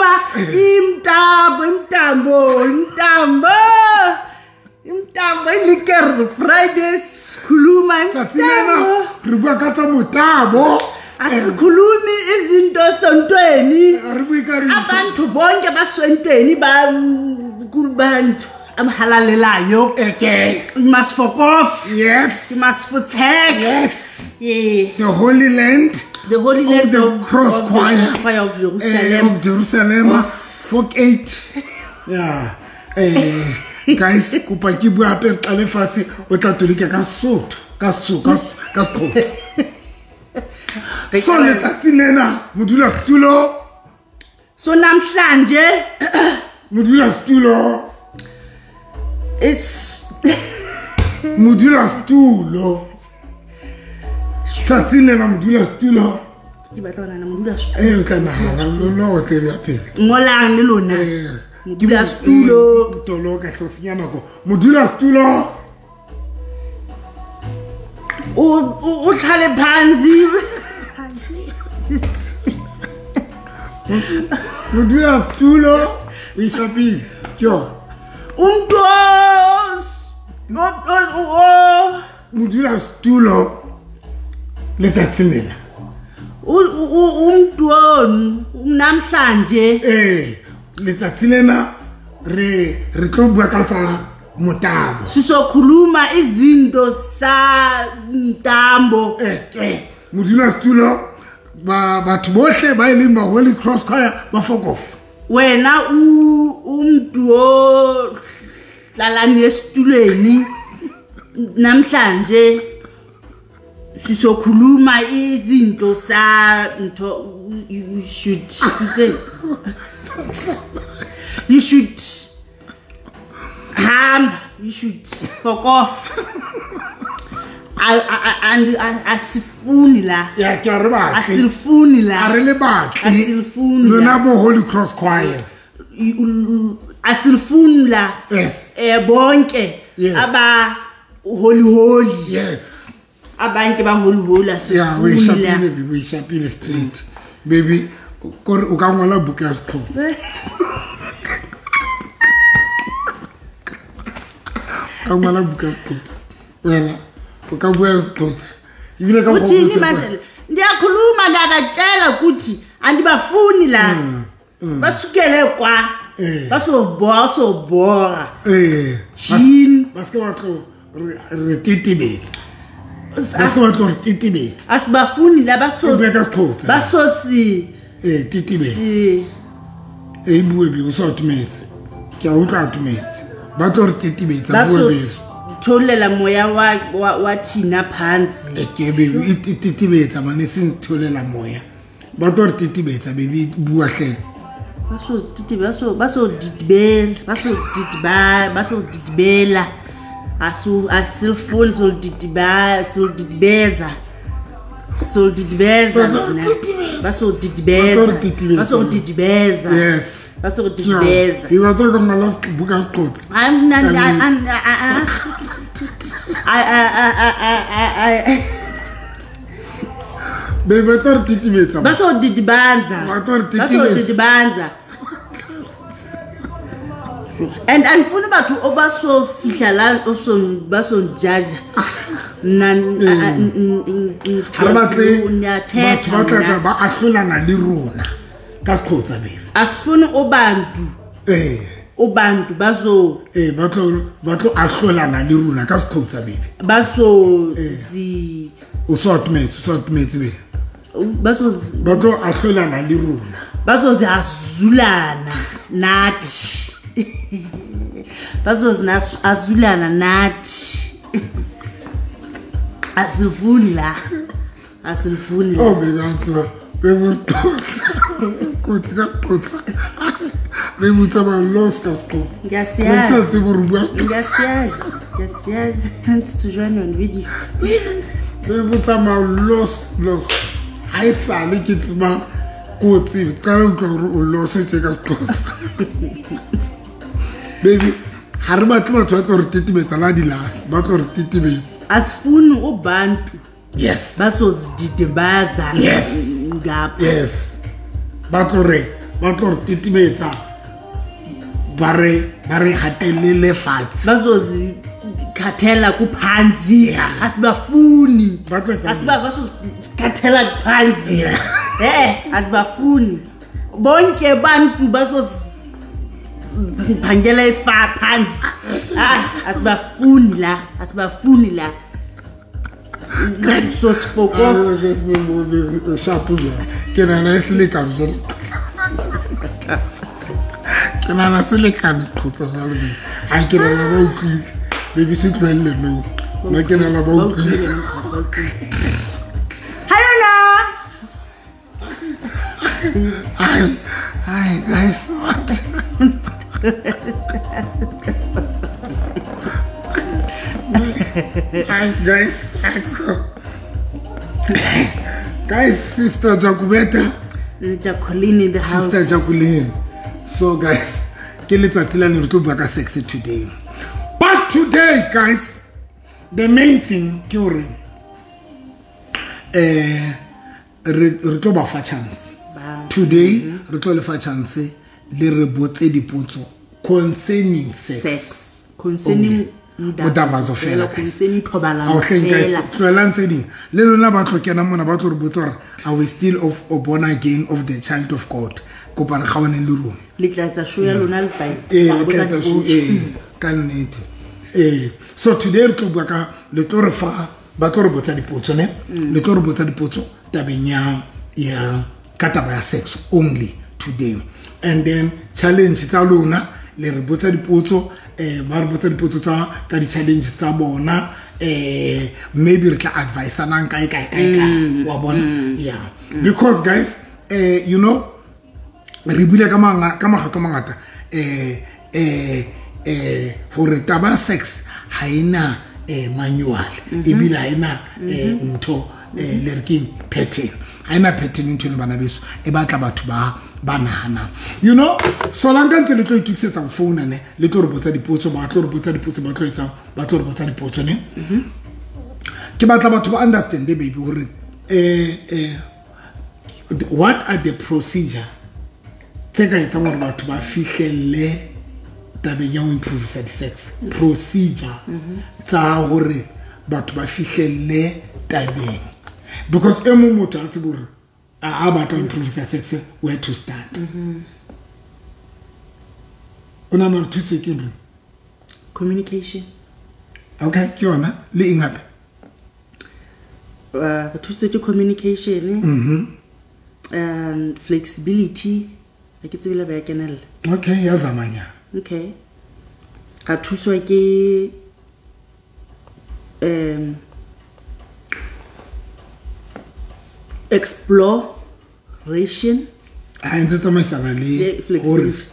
Sizokhuluma imtambo imtambo imtambo imtambo ilekker Friday sikhuluma imtambo re bua ka tsa motabo asikhulumi izinto sontweni abantu bonke basontweni ba kubantu amhalalelayo. Okay. You must fuck off. Yes. You must protect. Yes. Yeah. The Holy Land. The Holy Land of the Cross Choir of Jerusalem. Of Jerusalem. Fuck eight. Yeah. Guys, kopa ke bua hape qale fatshe o tla tolika ka Sotho, ka Sotho, ka Sotho. So letsatsi lena modula setulo. So namhlanje modula setulo. It's modula setulo. Tsatsi lena modula setulo. Ke batla hona modula setulo. Eh o tla nahana lona o tle ya pele. Ngolang le lona. Modula setulo. Toloka hlosinya nako. Modula setulo. O tlhale phansi. Modula setulo o ishapile. Ke yona. Umntu modula setulo letsatsi lena. Umntu namhlanje letsatsi lena re tlo bua ka tsa motabo. Sizokhuluma izinto sa mtambo. Modula setulo batho bohle ba e leng ba Holy Cross Choir ba fuck off. Wena umntu o hlalani esitulweni namhlanje sizokhuluma izinto sa ntho. You should you should hamba, you should fuck off. And asifuni la. Ya ke re batle. Asifuni la. A re le batle. Asifuni. Lona bo Holy Cross Choir. Asifuni la. Yes. Bonke aba holy holy. Yes. Abantu ba holy holy asifuni. Yeah, we shapile baby, we shapile street. Baby, o ka ngola buka ya Sexhosa. Ka ngola buka ya Sexhosa. Wena o ka bua Sexhosa. Ebile ka uthini manje? Ndiyakhuluma ndabatshela ukuthi andibafuni la. Basukele kwa. Basobora sobora. Chin. Ba se ba tlo re titibetsa. Ba se ba tlo re titibetsa. Asibafuni la baso. Basosi. Titibetsa. Bue be o sa atumetse. Ke a utlwa atumetse. Ba tlo re titibetsa bue be. Tholela moya wa thina phansi. Ke baby e titibetsa mane seng tholela moya. Ba tlo re titibetsa baby bua hle. Baso titibetsa baso ditibela baso ditiba baso ditibela. Asu asilfuni so ditiba so ditibeza. So ditibeza baso ditibeza baso ditibeza. Yes. Baso ditibeza. You are talking about last buka Sexhosa. I'm not I Baby ba tlo re titibetsa. Baso ditibanza. Baso ditibanza. And andifuni batho o ba so fihla la o so ba so judge. Nna ha re batle batho ba tla ba ahlolana le rona ka Sexhosa baby. Asifuni obantu. Obantu bazo ba tlo ahlolana le rona ka Sexhosa baby. Baso zi o so atumetse baby. Baso ba tlo ahlolana le rona. Baso zi azulana nathi. Baso zi azulana nathi. Asifuni la. Asifuni la. Oh baby answer. Baby Sexhosa. Kotsi ka Sexhosa. Baby tsamaya los ka Sexhosa. Ngiyasiyazi. Ngiyasiyazi. Ngiyasiyazi. Want to join on video. Baby tsamaya los. Ha e sale ke tseba kotsi ka utlwa hore o los tje ka Sexhosa. Baby ha re batle batho ba tlo re titibetsa la dilas, ba tlo re titibetsa. Asifuni ubantu. Yes. Basozididibaza. Yes. Ngapha. Yes. Ba tlo re ba tlo re titibetsa ba re hatelele fatshe bazozikhathela kuphansi asibafuni basozikhathela kuphansi asibafuni bonke bantu bazoziphangela ifa phansi asibafuni la asibafuni la sosifoko ke nana selekano ke nana selekano seqhotsa jalo ga ke nana ba utlwile baby se tlohelle no nna ke nana ba utlwile. Hello na. Hi guys, what? Hi guys. Guys, Sister Jacobetta. Jacqueline in the house. Sister Jacqueline. So guys, ke letsatsi la ne re tlo bua ka sex today. But today, guys, the main thing ke hore re tlo ba fa chance. Today, re tlo le fa chance le re botse dipotso concerning sex. Sex. Concerning modabazo fela. Concerning thobalano. Okay, guys, tloelang tse ding. Le lona ba tlo kena mona ba tlo re botsa hore are we still of or born again of the child of God? Kopana gawaneng le rona. Le tla etsa show ya lona le tla. Le tla etsa show ka nnete. So today re tlo bua ka le tlo re fa ba tlo re botsa dipotso ne? Le tlo re botsa dipotso tabeng ya ka taba ya sex only today. And then challenge tsa lona le re botsa dipotso ba re botsa dipotso tsa ka di challenge tsa bona maybe re tla advice-anang kae kae wa bona. Yeah, because guys you know re bule ka makgetlo mangata hore taba sex ha ena manual ebile ha ena ntho le re keng pattern ha ena pattern ntho eno bana beso e batla batho ba nahana you know. So la nka ntse le tlo itukisetsa go founa ne le tlo re botsa dipotso ba tlo re botsa dipotso ba tlo etsang ba tlo re botsa dipotso ne. Ke batla batho ba understand baby hore what are the procedure tse ka etsang hore batho ba fihlelle tabeng ya ho improve sex procedure tsa hore batho ba fihlelle tabeng, because e mong motho a tsebe hore a batla improve sex where to start. O nahana hore thuso ke eng? Communication. Okay, ke yona le eng hape? Re thusitswe ke communication and flexibility. Ha ke tsebe le ba ya kenella. Okay, ya zamanya. Okay. Ra thuswa ke exploration. Ha ntse tsamaisana le flexibility.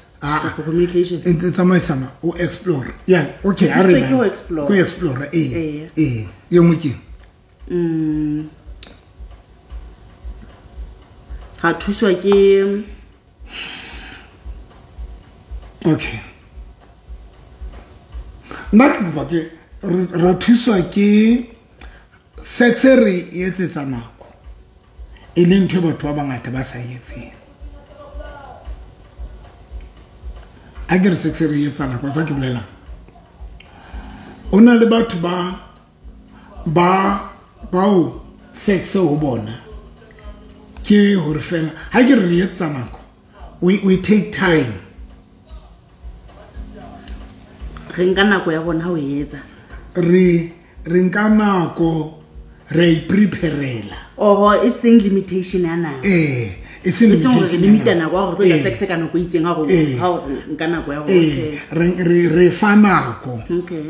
Communication. Ntse tsamaisana o explore. Yeah, okay, a re. Go explore. Go explore e nngwe ke. Ra thuswa ke okay. Nna ke kopa ke ra thuswa ke sex re etsetsa nako e leng ntho e batho ba bangata ba sa etseng. A ke re sex re etsa nako tsa ke bolelang. O na le batho ba bao sex ho bona ke hore fela ha ke re etsa nako we take time. Re nka nako ya rona ho etsa. Re nka nako re ipreparela. Oho e seng limitation ya nako. E seng limitation. Limita nako ya hore re sex ka nako e itseng ha re nka nako ya rona. Re fa nako.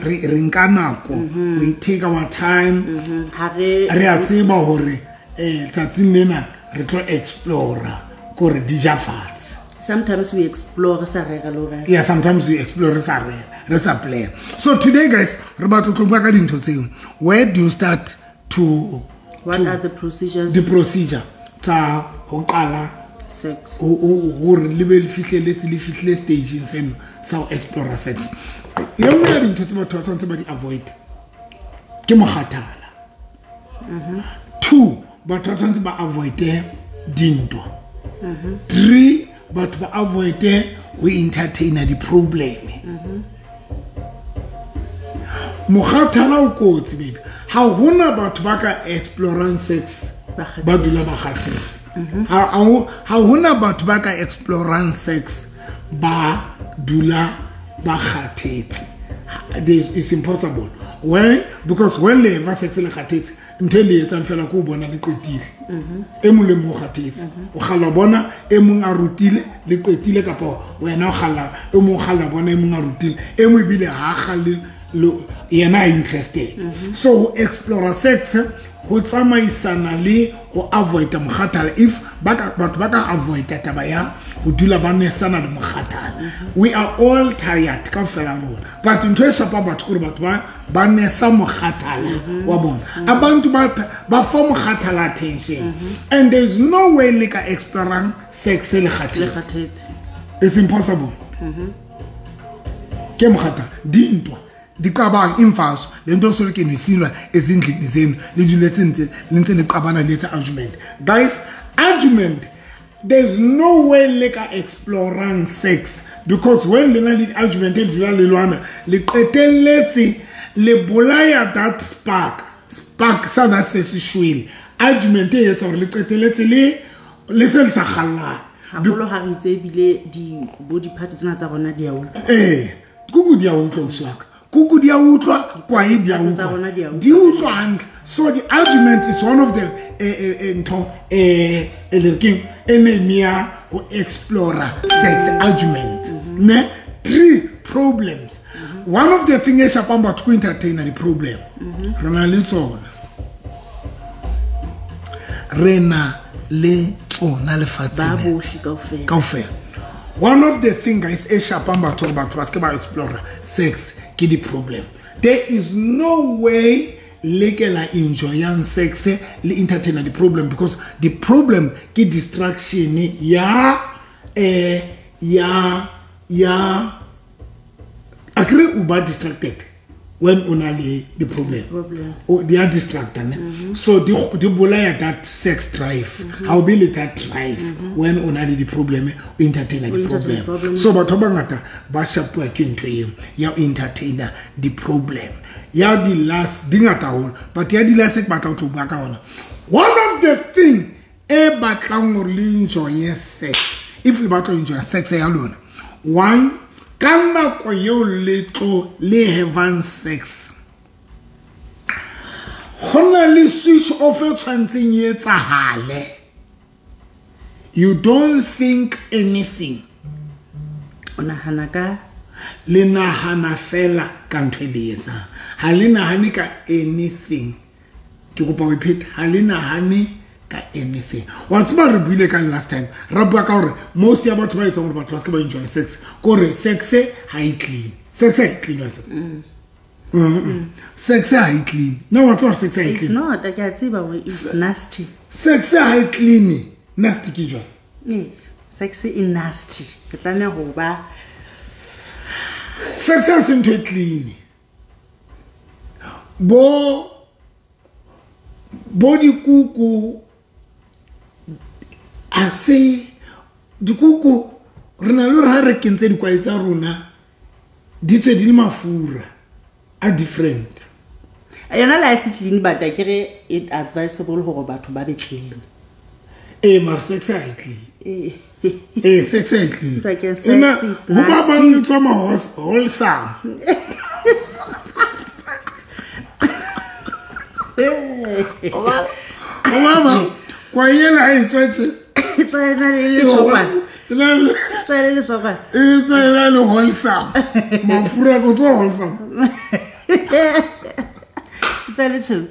Re nka nako. We take our time. Ha re a tseba hore tsatsing lena re tlo explore kore di ja fatshe. Sometimes we explore sa rera le rera. Yeah, sometimes we explore sa rera, re sa plan. So today guys, re batla tlo bua ka dintho tseo. Where do you start to What are the procedures? The procedure tsa ho qala sex. Hore le be le fihleletse le fihle stageng seno sa ho explore sex. E nngwe ya dintho tse batho ba tshwanetse ba di avoid ke mokgathala. 2, batho ba tshwanetse ba avoid dintwa. 3, batho ba avoid ho entertaina di-problem. Mokgathala o kotsi baby. Ha hona batho ba ka explorang sex ba dula ba kgathetse. Ha hona batho ba ka explorang sex ba dula ba kgathetse. It's impossible. Why? Because when le ba sex le kgathetse, ntho e le etsang fela ko bona le qetile. E mong le mong o kgathetse. O kgalla bona e mong a rutile le qetile, kapa wena o kgalla e mong kgalla bona e mong a rutile, e mong ebile ha kgalle yena interested. So ho explore sex ho tsamaisana le ho avoid mokgathala. If batho ba ka avoid taba ya ho dula ba nesana le mokgathala. We are all tired kaofela rona, but ntho e shapa batho kore batho ba nesa mokgathala wa bona. Abantu ba fa mokgathala attention, and there is no way le ka explorang sex le kgathetse. It's impossible. Ke mokgathala dintwa diqabang imfaso lento solo ke nisilwa ezindlini zenu le duletse ntse le ntse le qabana le etsa argument. Guys, argument, there's no way le ka explorang sex, because when le na le argument e dula le lwana le qetelletse le bolaya that spark sa that se se shwele. Argument e etsa hore le qetelletse le se le sa kgallana haholo. Ha re itse ebile di bo di-parts tsena tsa rona di a utlwa. Kuku di a utlwa uswaka. Kuku di a utlwa, kwae di a utlwa. Di utlwa hantle. So the argument is one of the ntho e le keng enemy ya ho explore sex argument. Ne three problems. One of the thing e shapang batho ko entertainer di problem. Re na le tsona. Re na le tsona lefatsheng. Ba bohle kaofela. Kaofela. One of the thing guys e shapang batho hore batho ba se ke ba explore sex ke di problem. There is no way le ke la enjoyang sex le entertainer the problem, because the problem ke distraction ya ya agree u ba distracted when o na le the problem. O they are distracted, ne? So di bolaya that sex drive. Ha o be le that drive when o na le the problem, o entertainer the problem. So batho ba bangata ba shapuwa ke ntho eo ya entertainer the problem. Ya di last di ngata haholo, but ya di last ke batla ho tlo bua ka ona. One of the thing e batlang hore le enjoy sex, if le batla enjoy sex ya lona, one, ka nako eo le tlo le havang sex, ho na le switch off e tshwantseng e etsahale. You don't think anything. O nahana ka le nahana fela ka ntho e le etsang. Ha le nahane ka anything. Ke kopa ho ipheta, ha le nahane ka anything. Wa tseba re buile ka last time, ra bua ka hore most ya batho ba etsang hore batho ba se ke ba enjoy sex, kore sex ha e clean. Sex ha e clean wa tseba. Sex ha e clean. No, wa tseba sex ha e clean. It's not, ke a tseba hore it's nasty. Sex ha e clean. Nasty ke jwang? Sex e nasty. Ke tlameha ho ba sex ha se ntho e clean. Bo dikuku a se dikuku re na le ha re kentse dikwae tsa rona di tswe di le mafura a different. Yona la se clean, but ke re it advisable hore batho ba be clean. Mara sex ha e clean. Sex ha e clean. Sex is nasty. Ho ba bang le tswa wholesome. Ho ba kwa yena e tswetse. E tswena le lesokwana. Tswena le lesokwana. E tswena le wholesome. Mafura go tswa wholesome. Tswa le tshweu.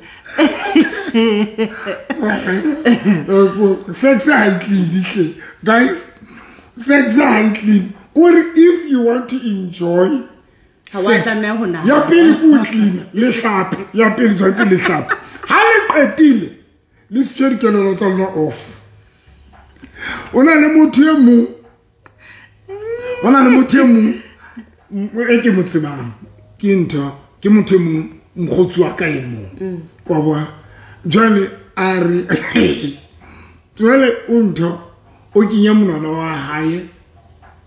Sex ha e clean hle. Guys, sex ha e clean. Kore if you want to enjoy sex, ya pele ko clean le hlape, ya pele tshwanetse le hlape. Ha le qetile le se dikelelo tsa lona off. O na le motho e mong, o na le motho e mong e ke mo tsebang, ke ntho, ke motho e mong mokgotsi wa ka e mong. Wa bona? Jwale a re jwale o ntho O kenya monwana wa hae,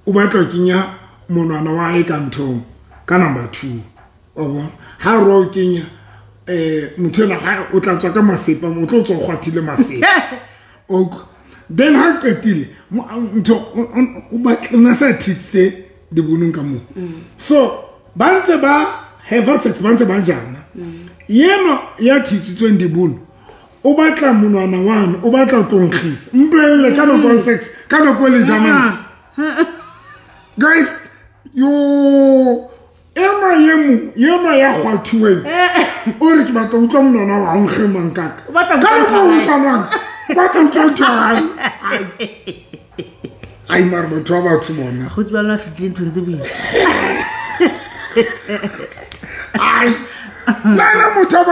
o batla ho kenya monwana wa hae ka nthong ka number 2. Wa bona? Ha re o kenya motho ena ha o tla tswa ka masepa, o tlo tswa o kgwathile masepa. Then ha qetile ntho o batla na sa thitse dibonong ka moo. So ba ntse ba have sex, ba ntse ba jana. Yena ya thitsitsweng dibono o batla monwana wane, o batla ho tlo nkgisa. Mpolelle ka nako ya sex, ka nako e le janang. Guys, yo ema yemu, yema ya kgwathuweng. O re ke batla ho utlwa monwana wa hao nkge mang kaka. O batla ho Ka nako utlwa o utlwa mang? O batla ho utlwa ntho ya hae. Ai, mara batho ba batsho bona. Bakgotsi ba lona fihlile nthong tse boima. Ai, nna motho a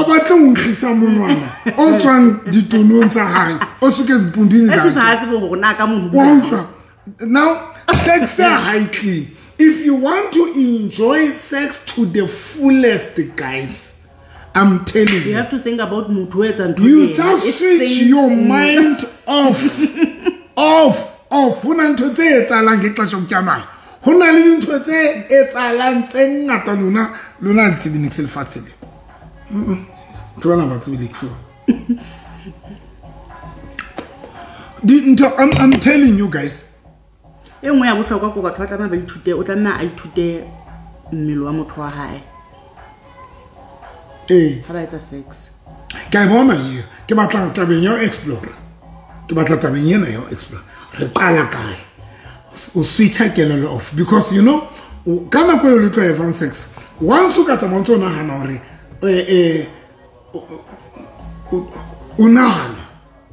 batle ho nkgisa monwana o tswang ditonong tsa hae, o suke dipundung E tsa se hae. fatshe bo hore na ka mono Wa utlwa? Now, sex high clean. If you want to enjoy sex to the fullest, guys, I'm telling You you. have to think about motho o etsang ntho You ena. just It's switch same your thing. mind off. Off, off. Ho na ntho tse etsahalang ke tla shoka mane. Ho na le dintho tse etsahalang tse ngata lona, lona le tsebe niks lefatshe le. Ntho bana ba tsebe niks. Dintho, I'm telling you guys. E nngwe ya bohlokwa ke batho ba tlameha ba ithute, o tlameha a ithute mmele wa motho wa hae. Ee. Ha ba etsa sex. Ke a e bona eo. Ke batla tabeng ya ho explore. Ke batla tabeng ena ya ho explore. Re qala kae? O switcha kelello off because you know, ka nako eo le tlo havang sex, once o ka tsamaya o ntso nahana hore, o nahana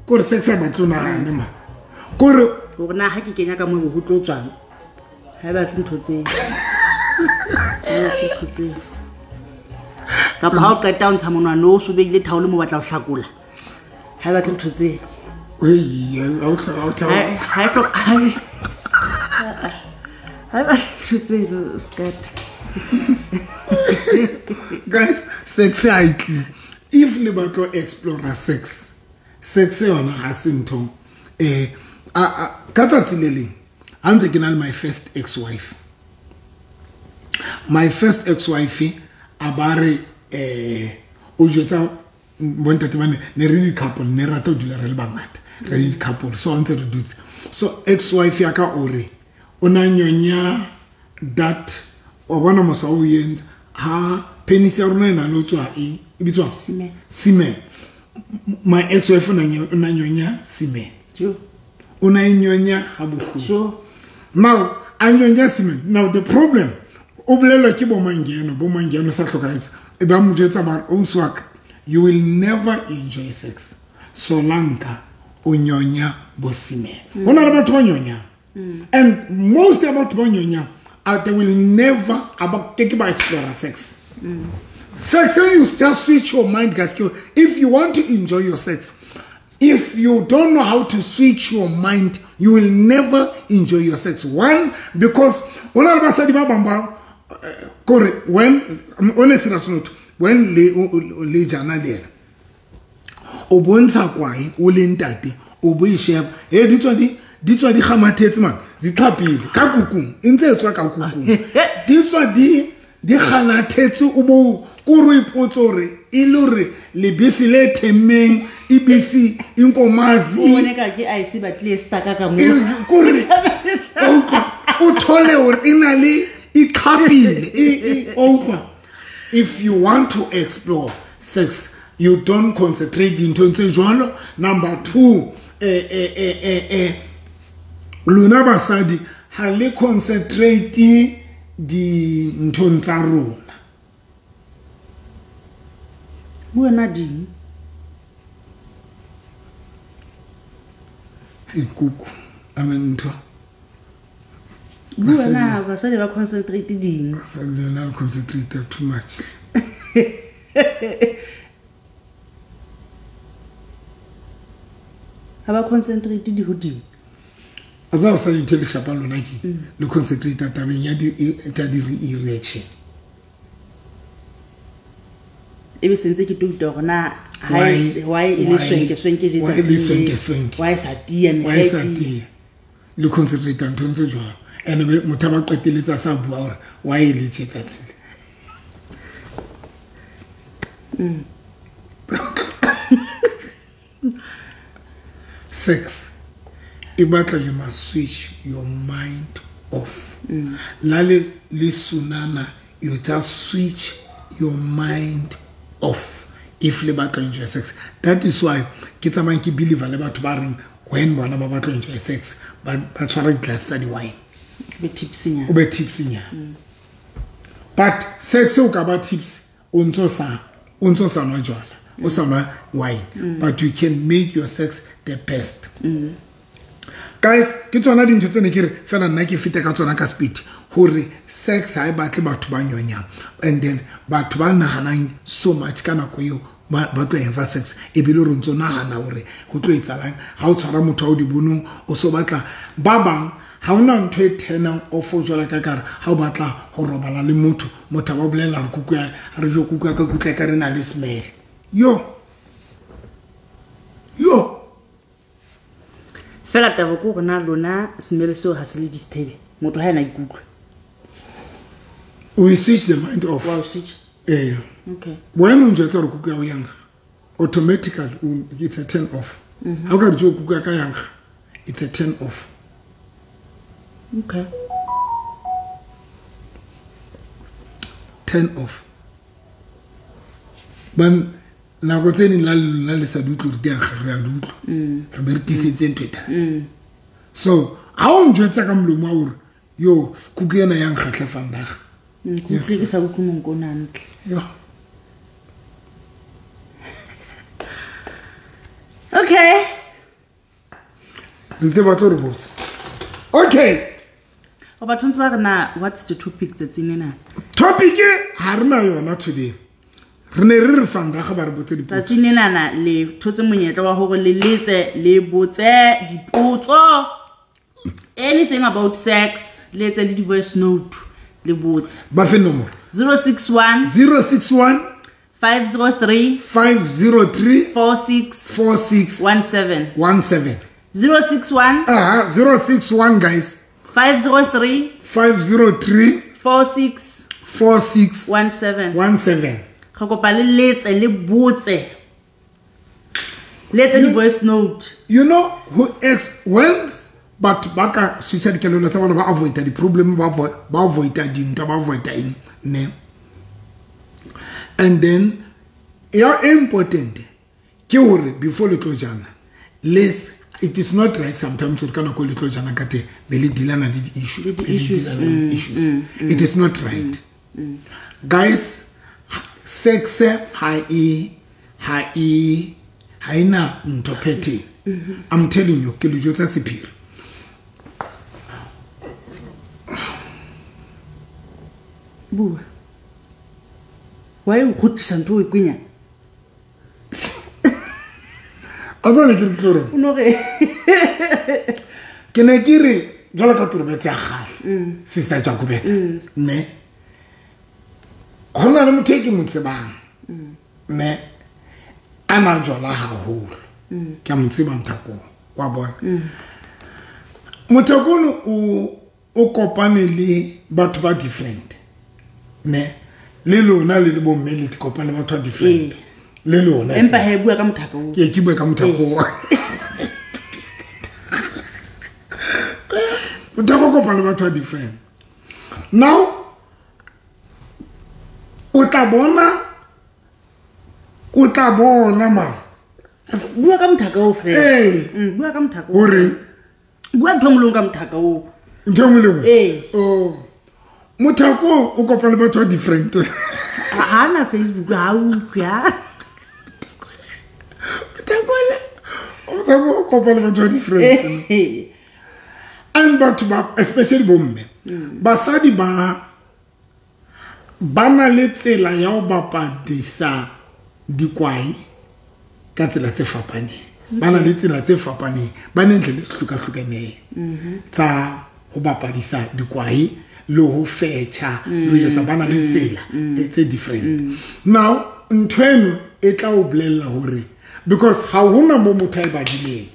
kore sex ha e batle o nahane ma. Kore hore na ha ke kenya ka moo ho tlo tswang. Ha e batle ntho tseo. Ha e batle ntho tseo. Kapa ha o qeta ho ntsha monwana o so beile thaole mo batla ho hlakola. Ha e batle ntho tseo. Hei, ha o hloka, ha o thaba. Ha e hloka, ha e ha e batle ntho tseo, skirt. Guys, sex ha e tle. If le batla ho explore sex, sex yona ha se ntho. Ka tsatsi le leng, ha ntse ke na le my first ex-wife. My first ex-wife a ba re, o jwetsa bontate ba ne, ne re di-couple, ne re rata ho dula re le bangata, re le di-couple, so ha ntse re dutse. So ex-wife ya ka o re, o na nyonya that, wa bona mosa o entse, ha penis ya rona e na le ho tswa eng? E bitswang? Semen. Semen. My ex-wife o na o na nyonya semen. Jo. O na nyonya ha bohloko. Jo. Now, a nyonya semen. Now the problem, o bolellwa ke bo Mangeno, bo Mangeno sa hlokahetse. E ba mo jwetsa ba re, ausi wa ka, you will never enjoy sex solanka o nyonya bo semen. Ho na le batho ba nyonyang. And most ya batho ba nyonyang, they will never ba ke ke ba explore sex. Sex, you just switch your mind, guys. If you want to enjoy your sex, if you don't know how to switch your mind, you will never enjoy your sex. One, because o na le basadi ba bang ba, kore, when, on a serious note, when le, o, o, le jana le yena, o bontsha kwae, o le ntate, o bo e sheba, he, di tswa di, di tswa di kgamathetse man, di tlhapile, ka kukung, e ntse e tswa ka kukung. Di tswa di, di kganathetse, o bo, ko re ipotse hore, e le hore lebese le themmeng, e bese, inkomazi. O bone ka ke ice e batlile e stuck-a ka moo. E, kore, o utlwa, o thole hore e na le, e tlhapile, e, e, o utlwa. If you want to explore sex, you don't concentrate dinthong tse jwalo. Number 2, lona basadi ha le concentrate dinthong tsa rona. Bua ding. Hey, kuku. I mean, ntho. Bua na, basadi ba concentrate ding. Basadi lona le concentrate too much. Ha ba concentrate di hodimo. A tswa sa ntho le shapa lona ke le concentrate tabeng ya di, e, tsa di re-erection. E be sentse ke touta hore na why e le swenke swenke je tsatsing, why sa tiya me why sa tiya le concentrate nthong tse jwalo. And motho ba qeteletsa sa bua hore why e le tje tsatsing. Sex e batla you must switch your mind off. Lale le sunana, you just switch your mind off if le batla enjoy sex. That is why ke tsamayang ke believe le batho ba reng when bona ba batla enjoy sex ba tshwara glass tsa di wine, be tipsy, o be tipsy nya. But sex o ka ba tips o ntso sa nwa jwala, o sa nwa wine, but you can make your sex the best. Guys, ke tsona dintho tse ne ke re fela nna ke fete ka tsona ka speed hore sex ha e batle batho ba nyonyang, and then batho ba nahanang so much ka nako eo ba tlo eng sex e bile re ntso nahana hore ho tlo etsalang ha o tshwara motho wa o di bonong o so batla ba bang. Ha ona ntho e turnang off jwala ka kare ha o batla ho robala le motho, motho ba bolela re kuku ya re jo kuku ya ka kutla ka re na le smell. Yo yo fela taba ko rona lona smell seo ha se le disturb motho ha ena ikutlwe. We switch the mind off. Wow, switch. Eh. Okay. When o njwetsa re kuku ya o yang automatically it's a turn off. Ha o ka re jo kuku ya ka yang it's a turn off. Okay. Turn off. Ban nako tse ding la lona le sa di utlwe re di ankga re a di utlwa. Re be re tiisetse ntho e thata. So ha o njwetsa ka molomo wa hore yo kuku ena ya nkgatlha vandag. Kuku ke sa utlwe monko o hantle. Yo. Okay. Le te batlo re botsa. Okay. O batho ntse ba re na what's the topic tsatsing lena? Topic ha re na yona today. Re ne re re vandag ba re botse dipotso. Tsatsing lena na le thotse monyetla wa hore le letse le botse dipotso. Anything about sex, le etse le di voice note le botse. Ba fe nomoro. 061 061 503 503 46 46 17 17. 061 061 guys. 503 503 46 46 17 17. Re kopa le letse le botse. Letse di voice note. You know who ex when but baka switcha dikelelo tsa bona ba avoid di problem ba avoid dintwa ba avoid eng ne. And then your important ke hore before le tlo jana les it is not right sometimes o kana ko le tlo jana ka te be le dealana le di issue issues. It is not right. Guys, sex ha ina ntho phethe. I'm telling you ke le jotsa sephiri. Bua. Why o kgutlisa ntho e kwenya? A tsone ke re tlo reng? O no re ke ne ke re jwalo ka torobetse ya kgale sister Jacobeta ne ho na le motho e ke mo tsebang ne a na jwala haholo. Ke a mo tseba Mothakong wa bona. Mothakong o kopane le batho ba different ne le lona le le bomme le kopane le batho ba different le lona empa he bua ka Mothakong. Ke bua ka Mothakong. Mothakong kopane le batho ba different. Now o tla bona ma bua ka Mothakong fela. Bua ka Mothakong hore bua ntho ngwe ka Mothakong ntho ngwe le nngwe. Oh Mothakong o kopane le batho ba different. Ha na Facebook ha utlwe ha Mothakong o kopane le batho ba different. And batho ba especially bomme basadi ba na le tsela ya ho bapadisa dikwai ka tsela tse fapaneng. Ba na le tsela tse fapaneng ba ne ntle le hluka-hlukaneng tsa ho bapadisa dikwai le ho fetcha le ho etsa ba na le tsela tse different. Now ntho eno e tla o bolella hore because ha hona mo motho a e badileng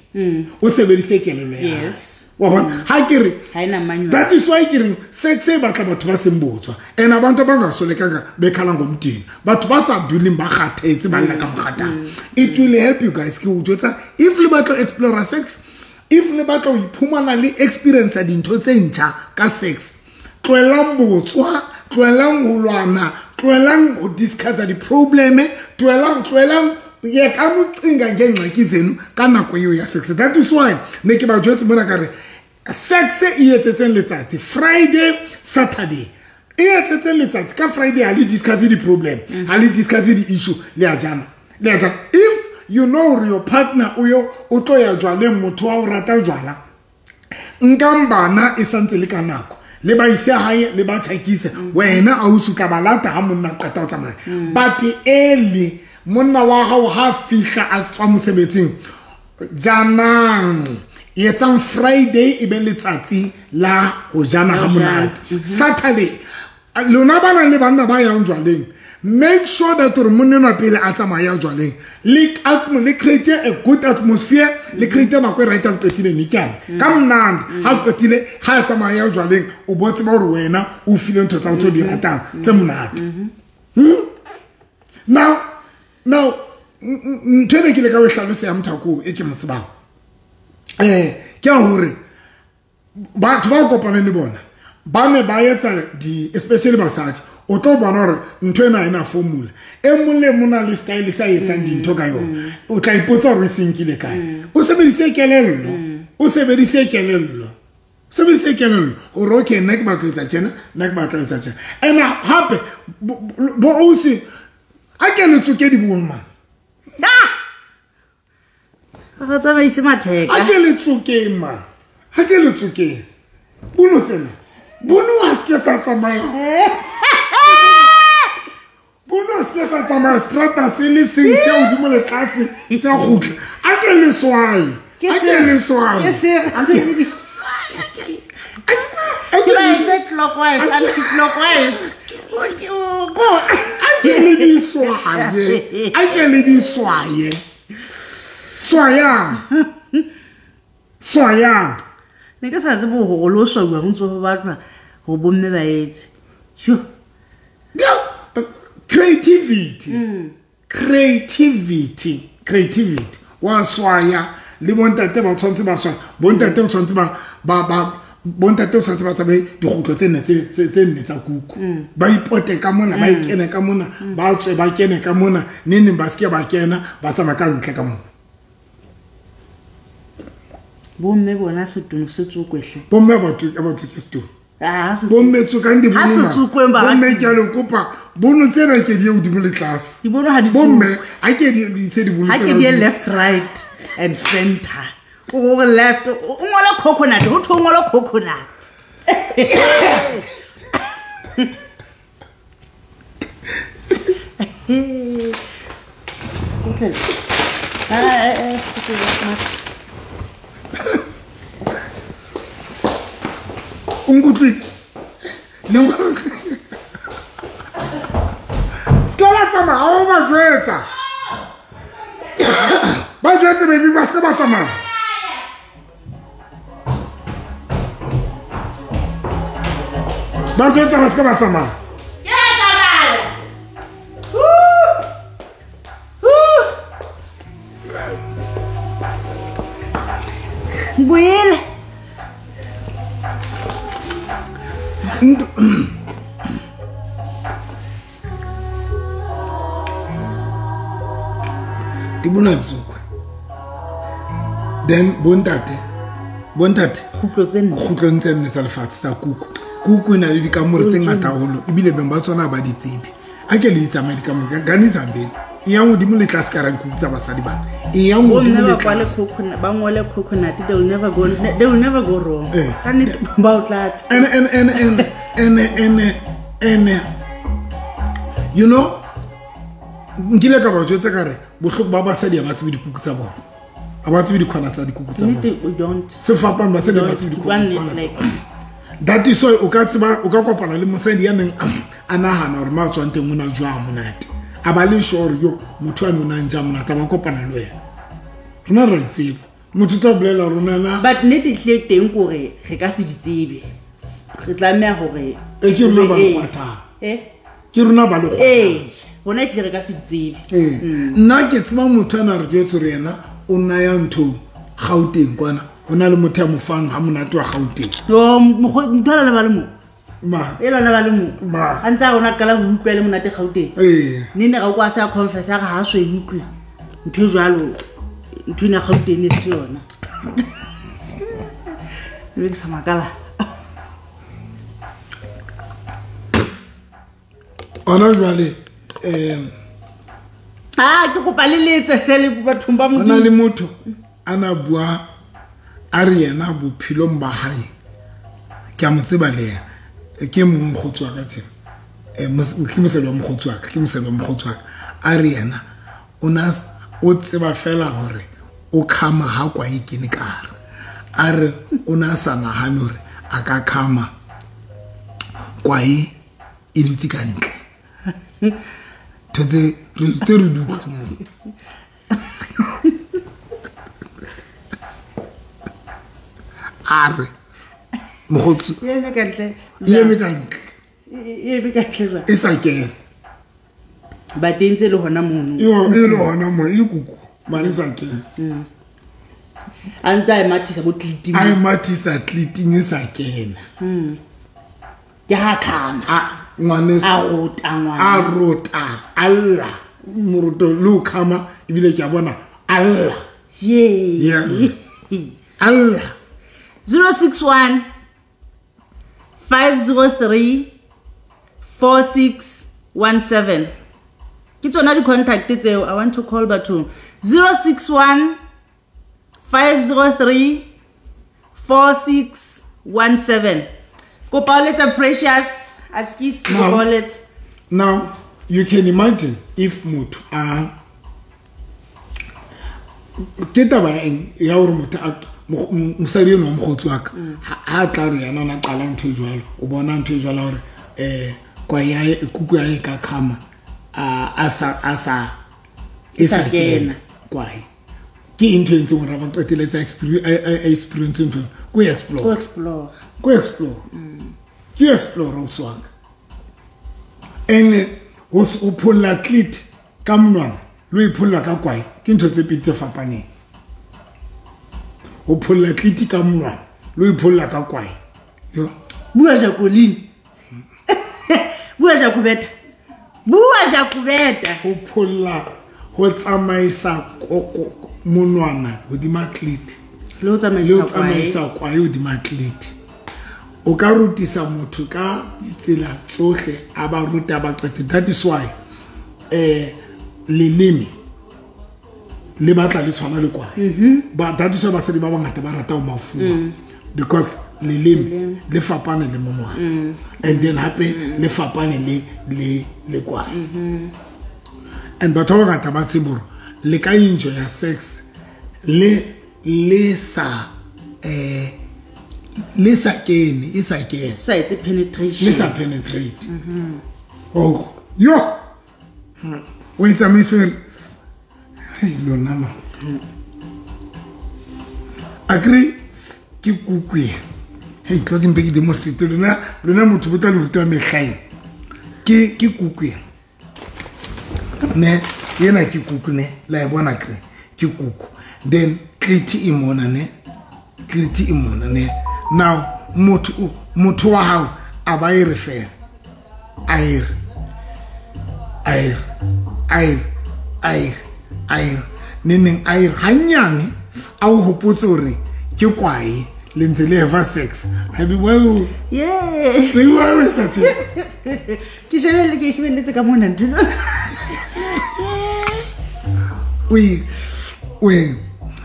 o sebedise kelello ya hae. Yes. Wa bona ha ke re Ha ena manual. That is why ke reng sex e batla batho ba seng botswa and abantu abangasolekanga bekhala ngomdini batho ba sa duleng ba kgathetse ba lla ka mokgathala. It will help you guys ke o jwetsa if le batla explore sex, if le batla ho iphumana le experience dintho tse ntjha ka sex, tlohelang botswa, tlohelang ho lwana, tlohelang ho discuss di-problem, tlohelang ye ka mocinga ngengxaki zenu ka nako eo ya sex. That is why ne ke ba jwetse mona ka re sex e etsetseng letsatsi Friday, Saturday e etsetseng letsatsi ka Friday ha le discuss di-problem, ha le discuss di-issue, le a jana, le a jana. If you know your partner o yo o tlo ya jwaleng, motho wa o rata jwala, nkang bana e santse le ka nako le ba ise hae le ba tjhakise, wena a o sutla ba lata ha monna qeta ho tsamaya. But early monna wa hao ha fihla a tswa mosebetsing, janang etsang Friday e be letsatsi la ho jana ha monate. Saturday lona ba nang le banna ba yang jwaleng, make sure that hore monna enwa pele a tsamaya jwaleng le create a good atmosphere, le create nako e right a qetile nekyane ka monate. Ha qetile ha tsamaya jwaleng o bo tseba hore wena o file ntho tsa tse di ratang tse monate. Now ntho ene ke le ka o hlalosa ya Mothako e ke mo tsebang, ke a hore batho ba kopaneng le bona ba ne ba etsa di especially basadi, o tlo bona hore ntho ena ena formula e mong le mong le style sa etsang dintho ka yona, o tla ipotsa hore e senkile kae. O sebedise kelello, o sebedise kelello, sebedise kelello hore okay nna ke batla etsa tjena, nna ke batla etsa tjena. And hape bo ausi a ke le tsoke di bomma. Ba tsamaise matheka. A ke le tsokeng man, ha ke le tsokeng bono tsena bono ha se ke sa tsamaya, bono se ke sa tsamaya strata se le seng se hodimo le tlase se kgutla. A ke le swaye, a ke le swaye, ke se ke ba etse clockwise, anti-clockwise. A ke le di swaye, a ke le di swaye, swayang, swayang. Ne ke sa tsebe hore lo swauwa ho ntso ho batlwa ho bomme ba etse. Yo. Creativity. Creativity. Creativity. Wa swaya le bontate ba tshwantse ba swaya, bontate o tshwantse ba bontate o tshwantse ba tsabe dikgutlo tse nne tse nne tsa kuku. Ba ipote ka mona, ba ikene ka mona, ba tswe ba kene ka mona, neng ba seke ba kena, ba tsamaya ka ntle ka mona. Bomme bona setono se tsokwehle. Bomme ba tsoke setono. Bomme tsokang di bono. Bomme ke a le kopa bono tsena ke di hodimo le tlase. Di bono ha di bomme ha ke di tse di bono. Ha ke di left, right and center. O go left, o ngola coconut, ho tho ngola coconut. O nkutlwile? Le se ka la tsamaya, ha o ba jwetsa. Ba jwetse baby ba se ka ba tsamaya. Ba jwetsa ba se ka ba tsamaya. Se ka tsamaya. Boele. Di bona tsokwe. Then bontate kgutlo tse nne, kgutlo tse nne tsa lefatshe tsa kuku. Kuku e na le dikamore tse ngata haholo ebile beng ba tsona ba di tsebe. A ke le di tsamaye dikamore gane zambeni. E yang hodimo le tlase ka ra dikuku tsa basadi bana. E yang hodimo le tlase. Ba ngole coconut, they will never go, they will never go wrong. Ka nnete ba o tlatsa. And you know nkile ka ba jwetsa ka re bohloko ba basadi ha ba tsebe dikuku tsa bona. Ha ba tsebe dikgwana tsa dikuku tsa bona. Sefapano ba se ba tsebe dikuku. That is why o ka tseba o ka kopana le mosadi ya neng a nahana hore ma tswang teng o na jwa monate. A ba le sure yo motho a nona ntja monate ba kopana le wena. Rona re tseba. Motho tla bolela rona na. But nnete tle teng kore re ka se di tsebe. Re tlameha hore e ke rona ba le eh? Ke rona ba le eh bona e tle re ka se tsebe. Nna ke tseba motho ana re jwetse re yena o nna ya ntho Gauteng kwana. Ho na le motho ya mo fang ha monate wa Gauteng. Yo motho ala ba le mo. Ma. E lona ba le mo. Ma. A ntse a rona qala ho utlwa le monate Gauteng. Eh. Ne ne ra kwa sa confess a re ha so e utlwe. Ntho e jwalo ntho ena Gauteng e se yona. Mme ke sa makala. Ona jwale ke kopa le letse hle bathong ba Modimo. Ona le motho ana bua a re yena bophelong ba hae ke a mo tseba le yena ke mongkgotsi wa ka tsena ke mosadi wa mokgotsi wa ka ke mosadi wa mokgotsi wa ka a re yena o na o tseba fela hore o khama ha kwa e kene ka hare a re o na sa nahane hore a ka khama kwae e dutse ka ntle. Tse re tse re dutse mo. A re mokgotsi e eme ka ntle. E eme ka ntle. E eme ka ntle. E sa kena. Ba teng tse le hona mono. Yo e le hona mono e le kuku mare sa kena. A ntse a e mathisa bo tliting. A e mathisa tliting e sa kena. Ke ha khama. A ngwaneso a rota ngwana. A rota alla moroto le o khama ebile ke a bona alla. Yeah. Alla. 061 503 4617. Ke tsona di contact tseo. I want to call bathong. 061 503 4617. Kopa o letsa Precious Askis kopa o letsa. Now you can imagine if motho a ke taba eng ya hore motho a mosadi eno wa mokgotsi wa ka ha tla re yena na qala ntho e jwalo o bona ntho e jwalo hore kwa ya kuku ya ka khama a sa e sa kena kwae ke ntho e ntseng hore ba qeteletse experience ntho ko explore ko explore ke explore o swang ene o pholla clit ka monwana lo e pholla ka kwae ke ntho tse pedi tse fapaneng. O pholla clit ka monwana lo e pholla ka kwae. Yo bua Jacqueline. Bua Jacobeta. Bua Jacobeta. Ho pholla ho tsamaisa monwana hodima clit le ho tsamaisa kwae hodima clit. O ka rutisa motho ka ditsela tsohle a ba ruta ba qete. That is why leleme le batla le tshwana le kwae. Ba that is why basadi ba bangata ba rata ho mafuwa because leleme le fapane le monwana and then hape le fapane le kwae. And batho ba bangata ba tsebe hore le ka enjoy ya sex le sa le sa kene e sa kene sa etse penetration le sa penetrate. Oh yo o itsamaise hey lona ma agree ke kuku hey tlo ke mpe ke demonstrate lona motho bo tla le ruta mehlaeng ke kuku ne yena ke kuku ne la e bona kre ke kuku then clit e mona ne clit e mona ne. Now motho wa hao a ba e re fela a ere neneng a ere hanyane a o hopotse hore ke kwae le ntse le have sex. Have you well yeah re wa re tsa ke shebelle ka mona ntho we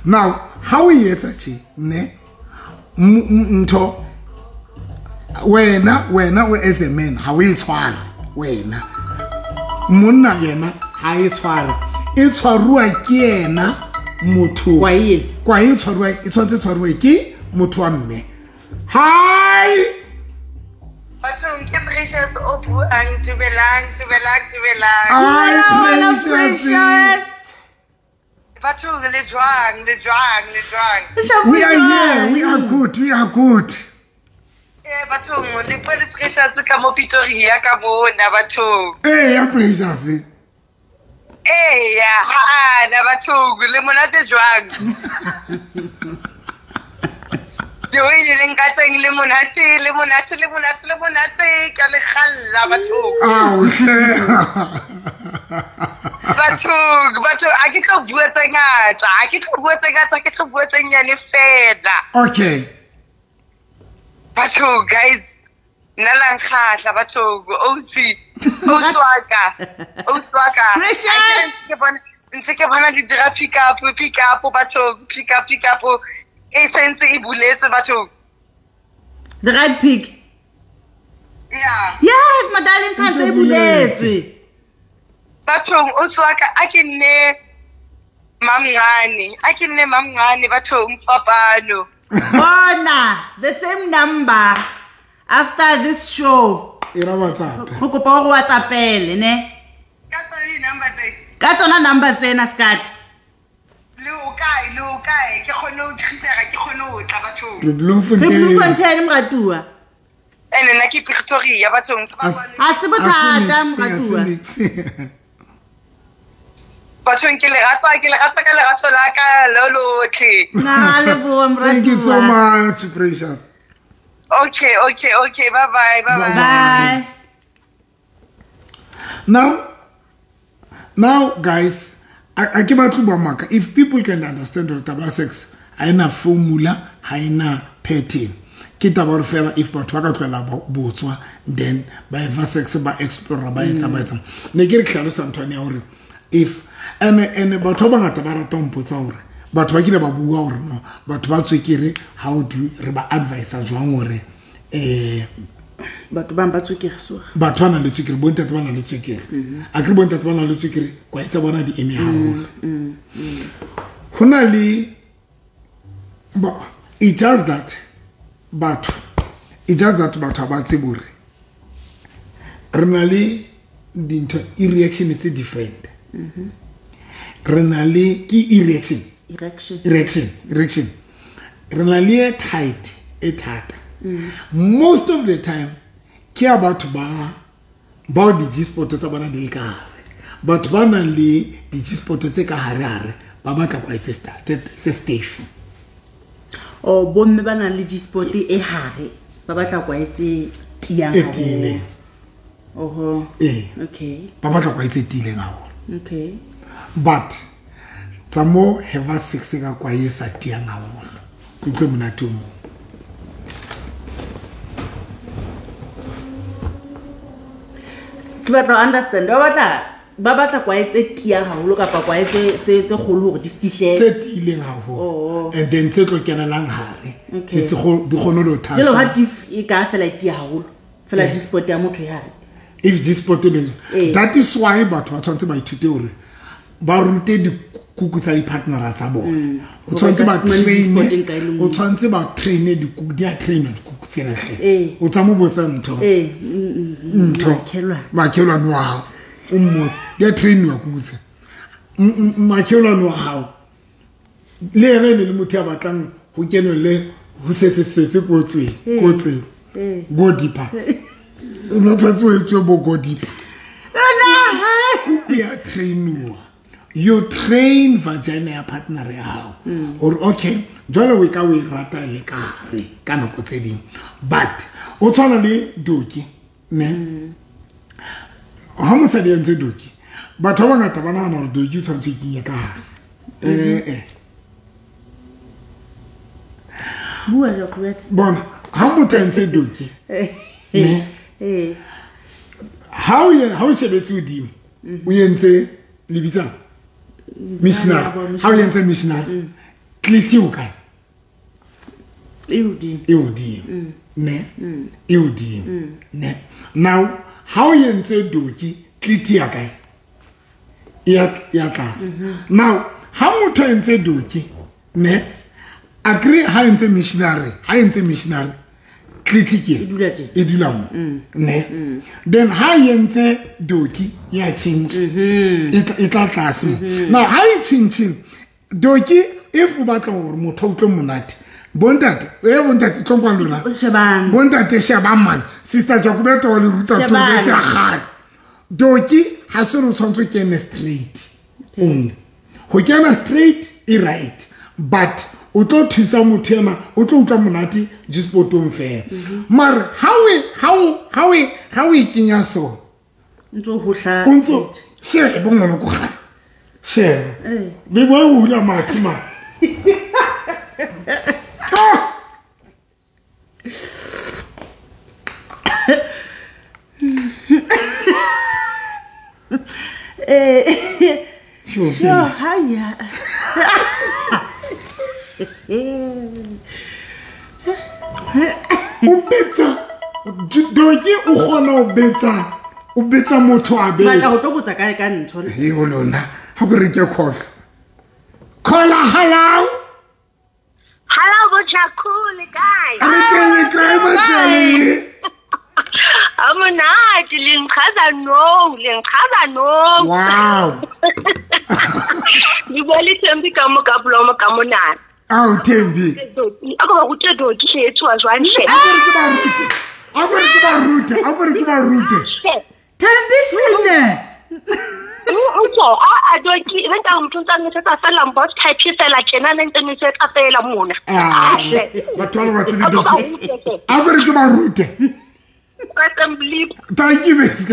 now how we etsa tje ne ntho wena o as a man ha o e tshware wena monna yena ha e tshware e tshwaruwa ke yena motho kwa e tshwaruwa e tshwantse tshwaruwe ke motho wa mme. Hi Bathong ke Precious o buang. Dumelang, dumelang, dumelang. Hi, Precious. Bathong le jwang, le jwang, le jwang. We are here. We are good. We are good. Eh bathong le bua le Precious ka mo Pretoria ka mona bathong. Eh ya Precious. Eh ya ha na bathong le monate jwang. Joe le nkateng le monate le monate le monate le monate ka le khalla bathong. Ao hle. Bathong, bathong a ke tlo bua tse ngata, a ke tlo bua tse ngata, ke tlo bua tse nyane fela. Okay. Bathong guys, nna la nkgatla bathong, OC, Oswaka, Oswaka. Precious. Ntse ke bona di dira pick up, pick up bathong, pick up, pick up. E sentse e buletswe bathong. The right pick. Yeah. Yes, my darling, santse e buletswe. Bathong Oswaka a ke nne mamngane, a ke nne mamngane bathong fapano. Bona, the same number after this show. Ira WhatsApp. Go kopa go WhatsAppele ne. Ka tsona di-number tse. Ka tsona number tsena skat. Le o kae, le o kae, ke kgone ho prepare, ke kgone ho tla bathong. Re Bloemfontein. Re Bloemfontein moratuwa. Ene nna ke Pretoria bathong. Ha se bothata moratuwa. Bathong ke le rata ka lerato la ka lo lotlhe. Na leboha moratuwa. Thank you so much, Precious. Okay, okay, okay. Bye bye, bye bye. Bye. Now guys, I ke batlo bua maka. If people can understand hore taba ya sex ha ena formula, ha ena pattern. Ke taba hore fela if batho ba ka tlohela botswa, then ba eva sex ba explore ba etsa ba etsa. Ne ke re ke hlalosa ntho ya hore if ene batho ba bangata ba rata ho mpotsa hore batho ba kile ba bua hore no batho ba tswekere, how do re ba advise jwang hore batho bang ba tswekere so batho ba nang le tswekere, bontate ba nang le tswekere, a ke bontate ba nang le tswekere kwa etsa bona di eme haholo. Ho na le it just that batho, it just that batho ba tsebe hore re na le dintho e-reaction tse different. Re na le ke erection, erection, erection. Re na le e tight, e thata. Most of the time ke ya batho ba bao di-G-spot tsa bona di le ka hare. Batho ba nang le di-G-spot tse ka hare hare ba batla kwa tse stiff. O bomme ba nang le G-spot e hare ba batla kwa tse tiyang E tiileng. Oho. Eh. Okay. Ba batla kwa tse tiileng haholo. Okay. But tsa mo have sex ka kwa e sa tiyang haholo. Ke utlwe monate o mong. Ke batla ho understand. Ba batla kwae tse tiyang haholo kapa kwae tse kgolo hore di fihle. Tse tiileng haholo. Oh. And then tse tlo kenelang hare. Okay. Tse di kgone ho thasa. Jwale ha di e ka fela e tiya haholo. Fela G-spot ya motho e hare. If G-spot le that is why batho ba tshwanetse ba ithute hore ba rute dikuku tsa di-partnera tsa bona. O tshwanetse ba train, o tshwanetse ba train dikuku, di a trainwa dikuku tsena hle. O tsa mo botsa ntho. Ntho. Makhelwane wa hao. O mmotse, di a trainwa kuku tsena. Makhelwane wa hao. Le yena e ne le motho ya batlang ho kenwe le ho se se se se ko tsweng, ko tseng. Go deeper. O no tshwanetse o etswe bo go deeper. Kuku ya trainwa. You train vagina ya partner ya hao. Or okay, jwale o ka o e rata le ka hare ka nako tse ding. But o tshwana le doki, ne? Ha mosadi a ntse doki, batho ba bangata ba nahana hore doki o tshwanetse o kenye ka hare. Bua jwang? Bona, ha motho a ntse doki, ne? Ha o shebetse hodimo, o entse lebitsa missionary. Ha o entse missionary, clit o kae? E hodimo. E hodimo. Ne? E hodimo. Ne? Now, ha o entse doki, clit ya kae? Ya tlase. Now, ha motho a entse doki, ne? Agree ha entse missionary, ha entse missionary, Clit ke e dula mo ne. Then ha yentse doki ya change e tla tlase mo. Now ha e change doki if o batla hore motho o utlwe monate bontate bontate tlo kwa lona shebang bontate shebang man sister Jacobeto wa le ruta tlo tsa gale doki ha se re tshwantse kene straight ho kena straight e right but o tlo thusa motho ema o tlo utlwa monate G-spotong fela mara ha we kenya so ntso ho hla ntso sheba ngwana ko ga sheba be bo o hula mathe ma yo haya o betsa doki o kgona o betsa motho a betsa batla ho tlo botsa kae ka ntho he ho lona ha go re ke call call hello hello bojakule kae re teng le kae batsali a monate le nchaza no wow le bua le Thembi ka mo ka blomo ka monana ao Thembi a go ba rute doki hle e tswa jwang hle a go re ke ba rute Thembi sile o a doki e benta motho ntse a ngetsa fela mbot type fela tjena ne ntse ngetsa fela mona batho ba tsebe doki a go re ke ba rute thank you miss.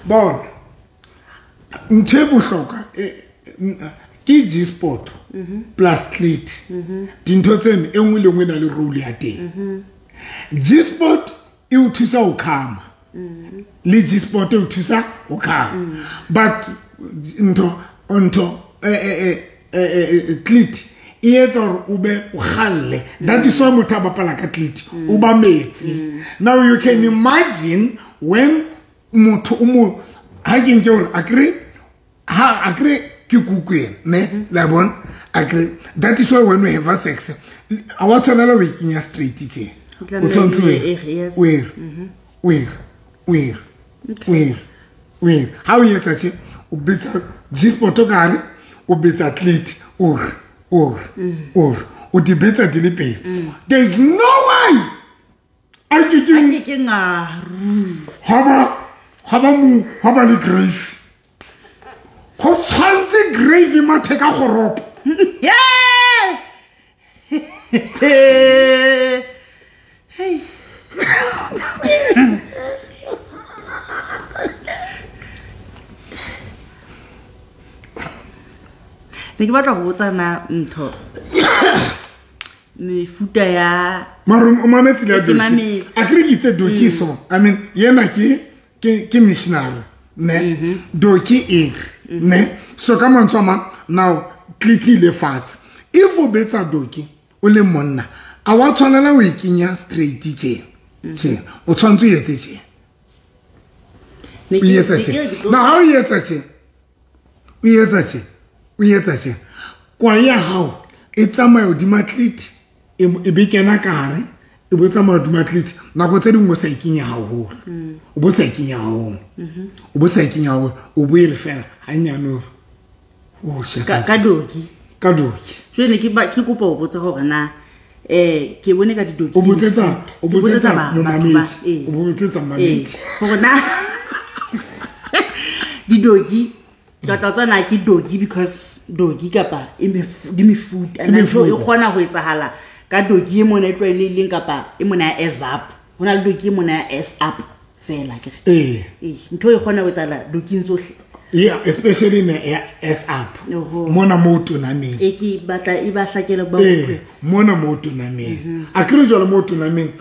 Bon ntho e bohlokwa ke G-spot plus clit dintho tseno e nngwe le nngwe e na le role ya teng. G-spot e o thusa ho khama le G-spot e o thusa ho khama but ntho clit e etsa hore o be o kgalle. That is why motho a bapala ka clit o ba metsi. Now you can imagine when motho o mo ha ke nke hore akre ha akre ke kuku ena ne la bona akre. That is why when we have sex a wa tshwanela ho e kenya straight tje o tshwanetse o e ha o etsa tje o betsa G-spot ka hare o betsa clit or o di betsa di le pedi. There is no way a ke ke ha ba le grave ho tshwantse grave mathe ka goropo. Hey ne ke batla go botsa na ntho mefuta ya mara o mametse le doki a kere ke itse doki so I mean yena ke missionary ne doki e ne so ka mantswe a mang now clit ile fatshe if o betsa doki o le monna a wa tshwanela o e kenya straight tje o tshwanetse o etse tje o etsa tje now ha o etsa tje o etsa tje kwa ya hao e tsamaya hodima clit e be kena ka hare e bo tsamaya hodima clit nako tse dingwe o sa e kenya haholo o bo sa e kenya haholo o bo sa e kenya haholo o bo e re fela hanyane o shaka ka doki jwale ke kopa ho botsa hore na ke bone ka didoki o botsetsa momamedi o botsetsa mamedi hore na didoki ka tla tsana ke doki because doki kapa e di mefuta and so e kgona ho etsahala ka doki e mona e tlwaelehileng kapa e mona ya S up ho na le doki e mona ya S up fela ke re ntho e kgona ho etsahala doking tsohle. Yeah, especially in the S up mona mo tonameng e ke batla e ba hlakele ba mona mo tonameng a kere jwalo mo tonameng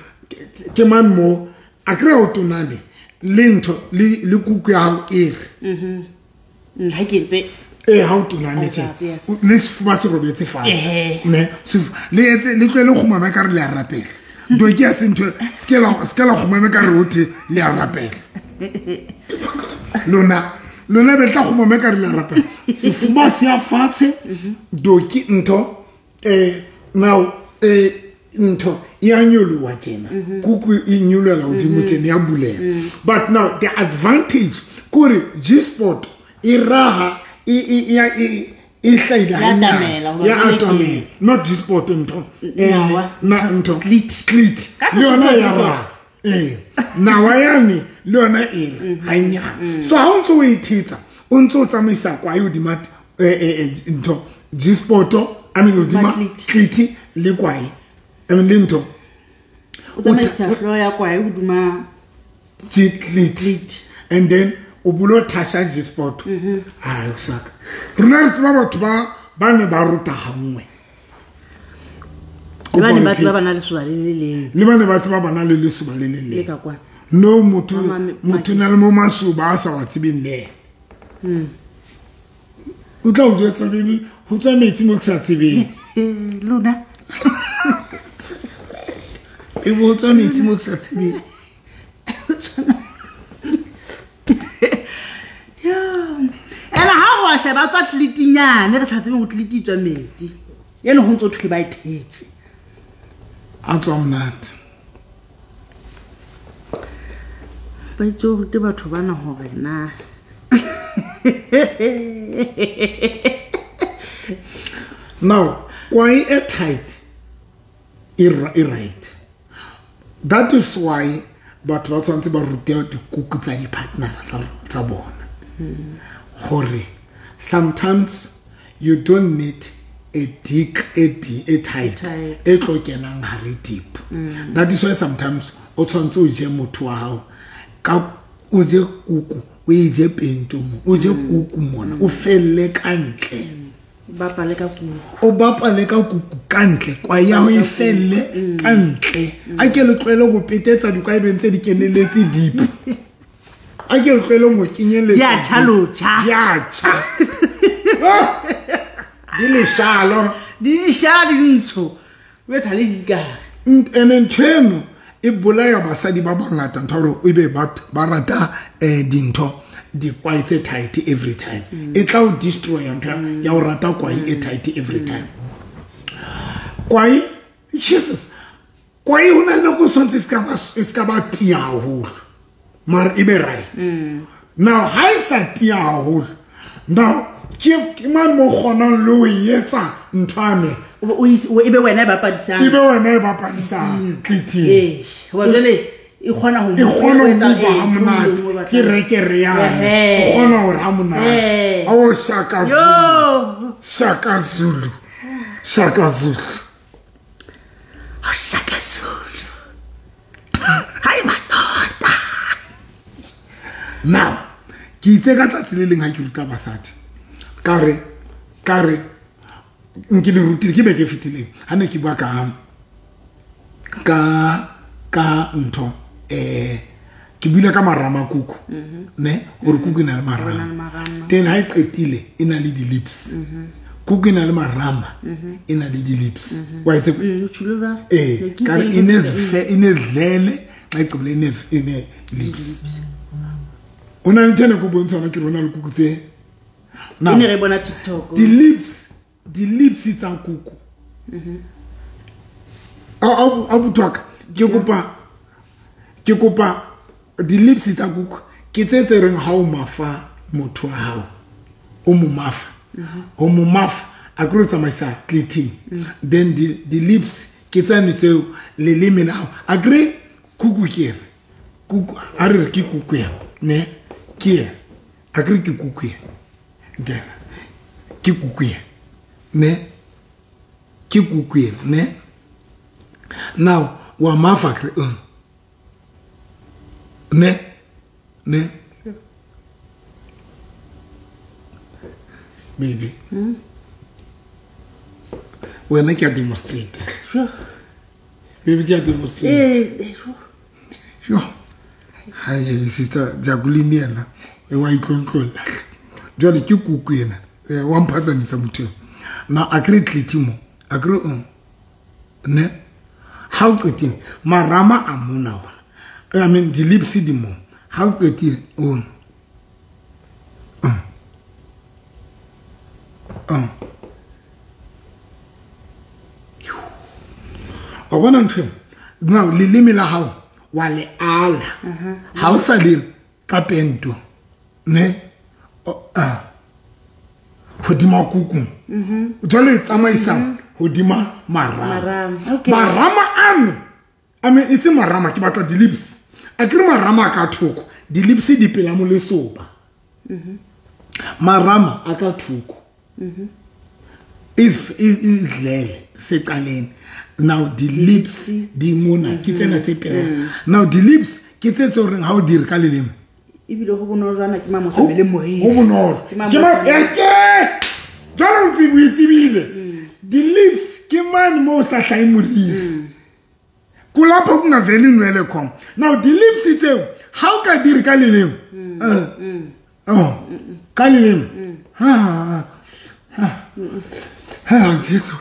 ke man mo a kere o toname le ntho le kuku ya hao e re ha ke ntse ha o toname tje le sefuba se robetse fatshe ne le etse le tlwele kgumama ka re le a rapela doki ya se ntho se ke la kgumama ka re hothe le a rapela lona be tla kgumama ka re le a rapela sefuba se ya fatshe doki ntho Now ntho ya nyoloha tjena kuku e nyolohela hodimo tjena ya buleha. But now the advantage kore G-spot e raha e hlaile hanyane ya atamela, not G-spot ntho na ntho clit le yona ya raha nawa yane le yona e hanyane. So ha o ntso o e thetsa o ntso o tsamaisa kwae hodima ntho G-spot, I mean hodima clit le kwae, I mean le ntho o tsamaisa hlooho ya kwae hodima clit and then o bulo thasha G-spot. Ai saka rona re tseba batho ba ne ba ruta hangwe le ba ne ba tseba bana le lesoba le le leng, le ba ne ba tseba bana le lesoba le le leng. No motho na le mo masoba a sa wa tsebeng le o tla o jwetsa baby ho tswa metsi mo ke sa tsebeng lona e bo tswa metsi mo ke sa tsebeng. Ena ha wa sheba tswa tlitinyane re sa tsebe ho tliti tswa metsi ene ho ntso thwe ba ithetse a tswa monate ba itse ho rute batho bana hore na now kwae e tight e right. That is why batho ba tshwanetse ba rute dikuku tsa di-partner tsa bona hore sometimes you don't need a dick a tight e tlo kenang hare deep. That is why sometimes o tshwanetse o je motho wa hao ka o je kuku o e je pento mo o je kuku mona o felle ka ntle bapale ka kuku o bapale ka kuku ka ntle kwa ya ho e felle ka ntle a ke le tlwele go petetsa dikwaebeng tse di keneletse deep a ke le tlwele mo kenyeletsa ya tjha ya tjha di le shalo di shala di ntsho o sa le dikare ene ntho eno e bolaya basadi ba bangata ntho hore e be ba rata dintho dikwae tse tight every time e tla o destroy ntho ya o rata kwae e tight every time. Kwae Jesus kwae ho na le go sontse se ka ba tia haholo mara e be right. Now ha e sa tia haholo now ke man mo kgonang le ho etsa ntho ame o ebe wena e bapadisang ebe wena e bapadisang tliti eh hoba jwale e kgona ho mova monate ke rekere ya o kgona hore ha monate o Shaka Zulu Shaka Zulu Shaka Zulu Shaka Zulu hai madoda. Now ke itse ka tsatsi le leng ha ke ruta basadi ka re nke le rutile ke beke fetileng ha ne ke bua ka ntho ke buile ka marama kuku ne hore kuku e na le marama then ha e qetile e na le di-lips kuku e na le marama e na le di-lips wa itse ka re e ne dlele xa e qebile e ne lips o na le ntho ene ko bontsha hona ke rona le kuku tse now ne re bona TikTok di-lips tsa kuku a botwaka ke kopa di-lips tsa kuku ke tse tse reng ha o mafa motho wa hao o mo mafa o mo mafa a kro tsamaisa cliting then di-lips ke tsane tseo leleme la hao a kre kuku ke ena kuku a re ke kuku ya ne ke ena a kre ke kuku ya ke kuku ya ne ke kuku ena ne now wa mafa kre ne ne baby wena ke a demonstrate baby ke a demonstrate sure hi sister Jacqueline yena e wa itlontlolla jwale ke kuku ena wa mphatsamisa motho now a kre tliti mo a kre ne ha o qetile marama a mona ona I mean di lips di mo ha o qetile o Wa bona ntho now leleme la hao wa le ala. Ha o sa le ka pento ne hodima kuku. Jwale e tsamaisa hodima marama. Marama ano I mean e se marama ke batla di-lips. A ke re marama ka thoko, di-lips di pela mo lesoba. Marama a ka thoko. Is lele seqaleng. Now the lips di mona ke tsena tse pela. Now the lips ke tse tse horeng ha o dire ka leleme. Ebile ho bonolo jwana ke mamosa mele moriri. Ho bonolo. Ke ma eke. Jwale o tsebile. The lips ke mane mo sa hlae moriri. Kulapho kungaveli inwele khona. Now the lips tseo ha o ka dire ka leleme. Ka leleme. Ha. Ha. Ha, Jesu.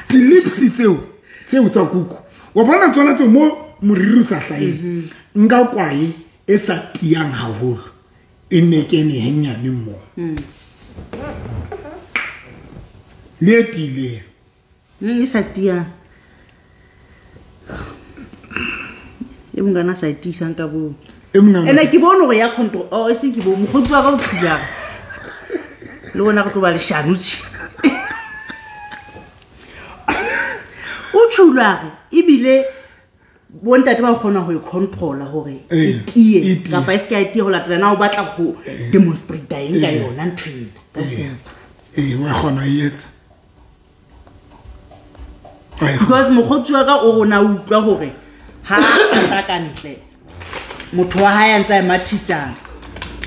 Di-lips tseo tsa kuku. Wa bona tsona tseo mo moriri o sa hlaheng. Nka kwae e sa tiyang haholo. E ne kene henyane mo. Le e tiileng. E sa tiyang. E mongana sa e tiisang ka bo. Ene ke bone hore ya control. Oh, e seng ke bo mokgotsi wa ka o thubang. Le bona re tlo ba leshano tje. O thulare ebile bontate ba kgona ho e controller hore e tie kapa e se ka e tie ho latela na o batla ho demonstrate eng ka yona ntho ena. Wa kgona e etsa. Because mokgotsi wa ka o rona utlwa hore ha a ka ntle motho wa hae a ntse a mathisa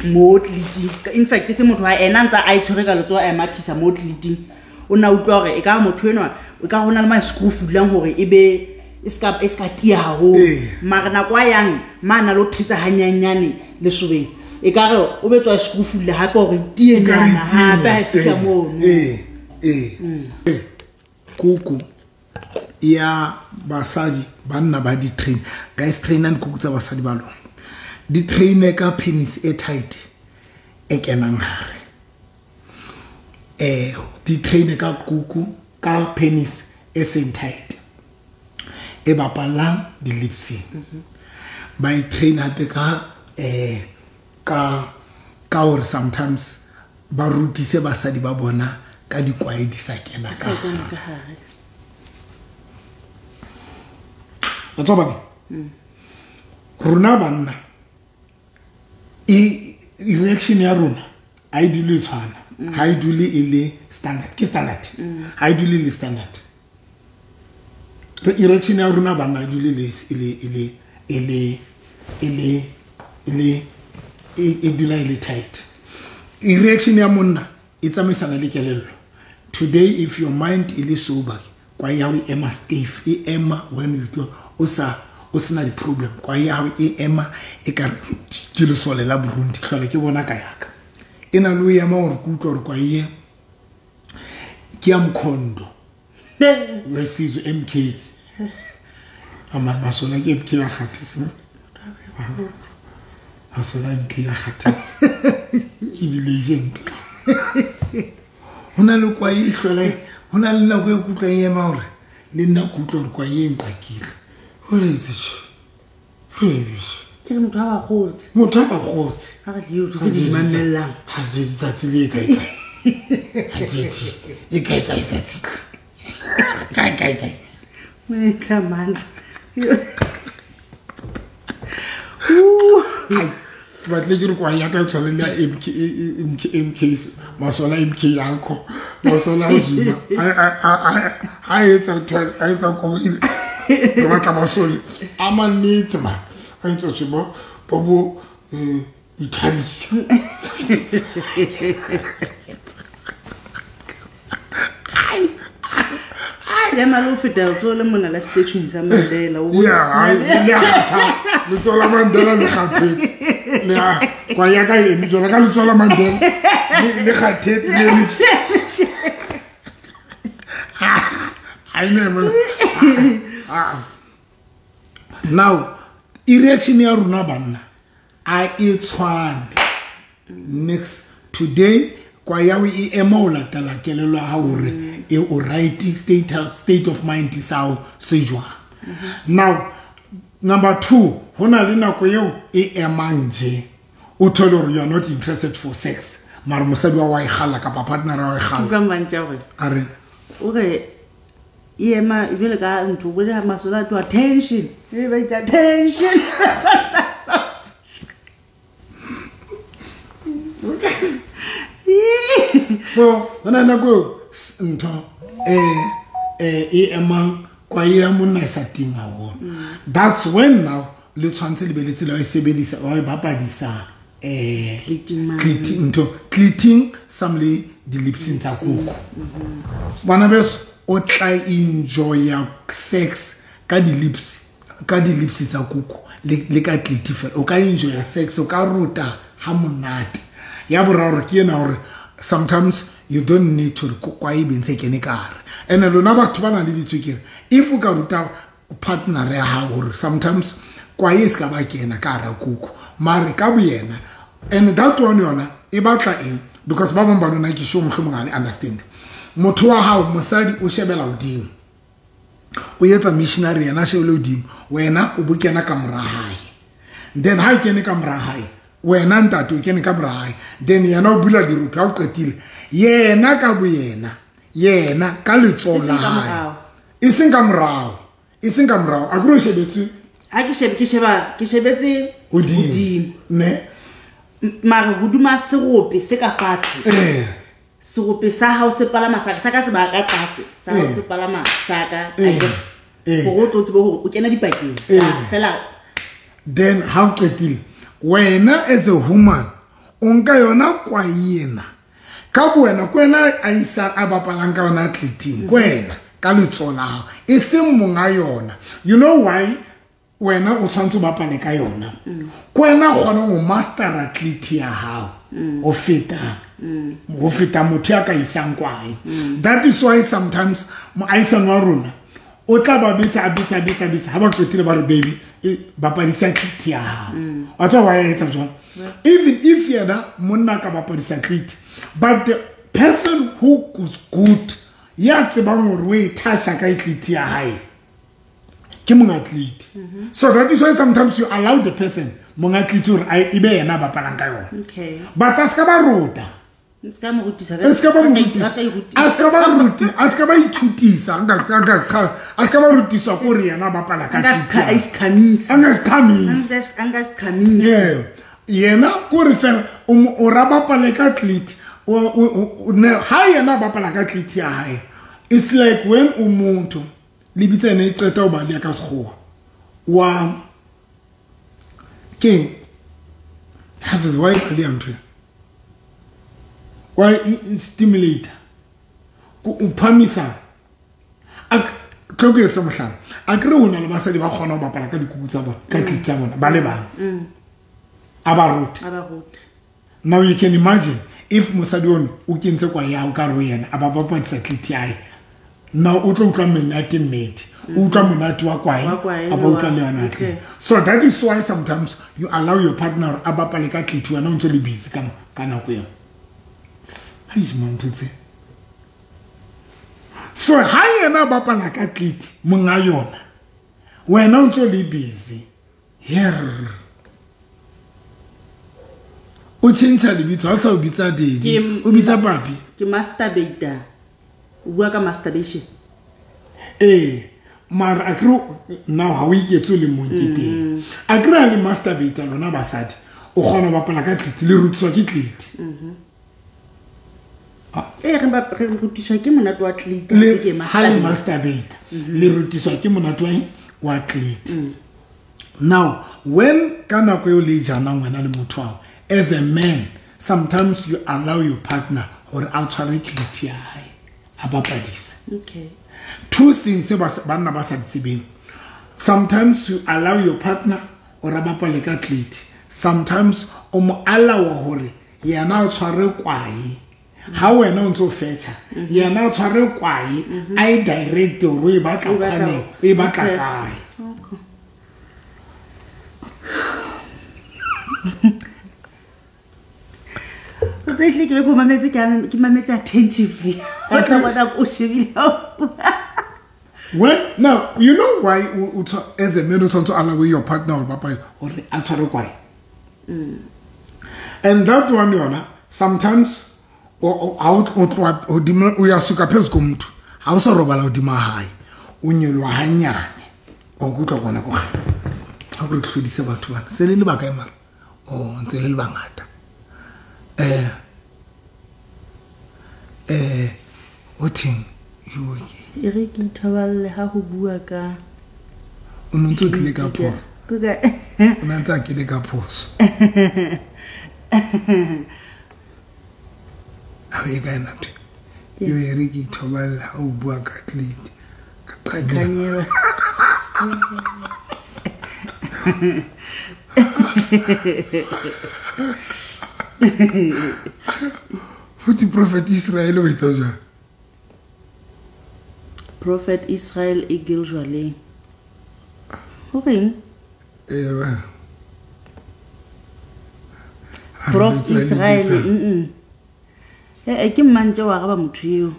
mo tliliting. In fact se motho wa ena ntse a itshwere ka letsoho a mathisa mo tliliting. O na utlwa hore e ka motho enwa o ka hona le ma screw fulang hore e be e ska tia haholo. Mara nako a yang mana lo thetsa hanyanyane lesobeng. E ka re o betswa screw fulle hape hore tie nyana hape ha fihla mono. Kuku ya basadi banna ba di train. Guys train and kuku tsa basadi ba lona. Di train ka penis e tight e kenang hare. Di train ka kuku ka penis e seng tight. E bapalang di lips. Ba e train hape ka ka hore sometimes ba rutise basadi ba bona ka dikwae di sa kena ka hare. Batho ba rona banna e reaction ya rona ha e dule tshwana, ha e dule e le standard, ke standard. Ha e dule le standard. Erection ya rona banna e dule le e le e le e e dula e le tight. Erection ya monna e tsamaisana le kelello. Today if your mind is sober, kwa ya e ema stiff, e ema when you go o sa o sena di problem, kwa ya e ema e ka ke le sole la Burundi tlhole ke bona ka yaka. E na le ema hore ke utlwa hore kwa ye ke ya mkhondo. Wesizwe MK. Ama masola ke MK ya kgathetse. Masola MK ya kgathetse. Ke di legend. Hona le kwa e hlole, hona le nako e kutlwa e ema hore le nna kutlwa hore kwa e nqakile. Hore itse. Ke re motho ha ba kgotse. Motho ha ba kgotse. Ha re le tse di mamellang. Ha re tsatsi le kae kae. Ha tsatsi. E kae kae tsatsi. Kae kae kae. Motla mandla. Batle ke re kwa ya ka tshwane le ya MK MK MK masola MK yakho masola Zuma a etsa ntho a etsa kobo ile re batla masole a mannete ma a etsa tsebo bo bo Italy. Ya malo feta letsoho le mona la statue sa Mandela. Yeah, le kgatha letsoho la Mandela le kgathetse. Le kwa ya ka eme jwalo ka letsoho la Mandela le kgathetse le le. I never. Now erection ya rona banna a e tshwane. Next today Kwa ya o e ema o latela kelello ya hao hore e o right state of mind sa hao se jwang. Now number 2, ho na le nako eo e emang je o thole hore you are not interested for sex, mara mosadi wa e kgalla kapa partner wa e kgalla. Utlwa mantša hore A re o re e ema jwale ka ntho bo le masola to attention, e ba itsa attention. So hona nako ntho e emang kwa ya monna e sa teng haholo. That's when now le tshwantse le be le tsela e sebedisa wa e bapadisa Cleating ntho cleating some le di-lipsing tsa koko. Bana beso o tla enjoya sex ka di-lips, ka di-lips tsa koko le ka cleat fela. O ka enjoya sex, o ka rota ha monate. Ya boraro ke ena hore sometimes you don't need to kwa e be ntse kene ka hare. Ene lona batho ba nang le ditswekere, if o ka ruta partner ya hao hore sometimes kwa e se ka ba kena ka hara koko, mare ka boyena, and that one yona e batla eng, because ba bang ba lona ke sure mohlomong ha le understand. Motho wa hao mosadi o shebela hodimo, o etsa missionary yena a shebele hodimo, wena o bo kena ka mora hae. Then ha o kene ka mora hae, wena ntate o kene ka mora hae, then yena o bula dirope ha o qetile, yena ka boyena, yena ka letsoho la Eseng ka hae. morao. Eseng ka morao, eseng ka morao. A ke re o shebetse Ha ke shebe, ke sheba, ke shebetse hodimo. hodimo. Ne? Mare hodima serope se ka fatshe. Serope sa hao se palama sa ka, sa ka se ba ka tlase, sa hao se palama sa ka. Hore o tlo tsebe hore o kena dipakeng. Fela. Then ha o qetile, wena as a woman, o nka yona kwai ena. Ka bowena, ke wena a isa a bapalang ka yona athleting, ke wena ka letsoho la hao, e seng monga yona. You know why wena o tshwanetse o bapale ka yona? Ke wena o kgonang ho master athlete ya hao ho feta, ho feta motho ya ka isang kwae. That is why sometimes moahisani wa rona o tla ba betsa, a betsa, a betsa, a betsa. Ha ba qetile ba re, baby, e bapadisa athlete ya hao. Wa tseba wa etsa jwang? Even if yena monna ka bapadisa athlete, but the person who is good, ya tsebang hore o e thasha ka athlete ya hae, ke monga athlete. So that is why sometimes you allow the person monga athlete hore a e be yena a bapalang ka yona. But a ska ba rota. A ska mo rutisa. A ska ba mo rutisa. A ska e rutisa. A ska ba ruti, a ska ba ithutisa, nka, nka, a ska ba rutiswa ke hore yena a bapala ka A nka athlete ya a hae. iqhamisa. A nka iqhamisa. A nka iqhamisa. Yeah. Yena ke hore fela o mo, o ra bapale ka athlete. O, ne, ha yena a bapala ka athlete ya hae, it's like when o motho le bitsa ene e qeta ho baleha ka sekgowa, wa keng? Ha se why baleha ntho e? Why stimulator? Ko o phamisa. A tlo ke etsa mohlala. A kere ho na le basadi ba kgona ho bapala ka dikuku tsa bona, ka athlete tsa bona, ba le bang. A ba rute. A ba rute. Now you can imagine if mosadi ono o kentse kwa ya o ka re ho yena, a ba bapadisa athlete ya hae. Now o tlo utlwa monate mmedi. O utlwa monate wa kwae, Wa kwae, a ba utlwa le yona okay. athlete. So that is why sometimes you allow your partner a bapale ka athlete, wena o ntse le busy ka nako eo. Eish, man, ntho tse. So ha yena a bapala ka athlete monga yona, wena o ntse le busy. Here. O tjhentjha lebitso, ha o sa o bitsa daddy, Ke o bitsa papi. Ke masturbator. O bua ka masturbation. Ee, mara a kere now ha o iketse o le mong ke teng. A kere ha le masturbator lona basadi, o kgona ho bapala ka tlete, le rutiswa ke tlete. Ee, re rutiswa ke monate wa tlete, Le ke ha le masturbate. masturbator, le rutiswa ke monate wa eng? Wa tlete. Now, when ka nako eo le janang wena le motho wa hao, as a man, sometimes you allow your partner hore a tshware tlete ya hae, a bapadise. Two things tse banna ba sa di tsebeng. Sometimes you allow your partner hore a bapale ka tlete. Sometimes o mo allow hore yena a tshware kwae. Ha wena o ntso fetcha, yena a tshware kwae, a e direct hore o e batla O batla kwaneng, o e batla Okay. kae. Okay. O tse hle ke be ko mametse ke mametse attentively. O tla bona o shebile. Well, now you know why as a man o tshwanetse allow your partner or papa or a tshware kwae. And that one yona sometimes o tloha hodimo o ya suka phezu komotho ha o sa robala hodima hae o nyelwa hanyane o kutlwa kona go kganya ha go re tlhodise batho bana se le lebaka e mara o ntse le bangata o theng yo e re ke ithoballe ha ho bua ka o ntse o tlile ka phoso o ntse a kile ka phoso ha e ka ena ntho yo e re ke ithoballe ha o bua ka athlete ka qanyela. Futhi Prophet Israel o etsa jang? Prophet Israel e gil jwaleng. Ho reng? Prof Israel ke mmantse wa ga ba motho eo.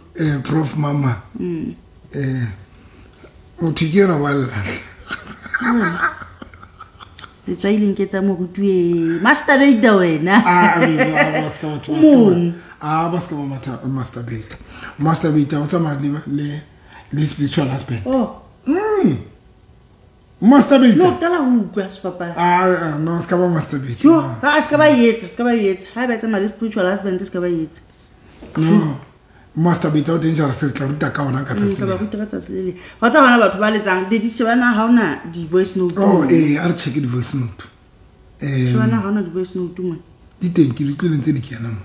Prof mama. Motho ke yena wa lla. Letswai le nketsa moruti e masturbate wena. Ba ska ba masturbate. Masturbate o tsamaya le spiritual husband. Oh. Masturbate. No qala ho utlwa sefapano. No ska ba masturbate. Jo, ha ska ba etsa, ska ba etsa. Ha ba tsamaya le spiritual husband ska ba etsa. No. Masturbate o dangerous re tla ruta ka ona ka tsatsi. Ka ba ruta ka tsatsi le. Wa tsa bana batho ba letsang di shebana ha ona di voice note. Oh a re check di voice note. Shebana ha ona di voice note mo. Di teng ke di tlile ntse di kena mo.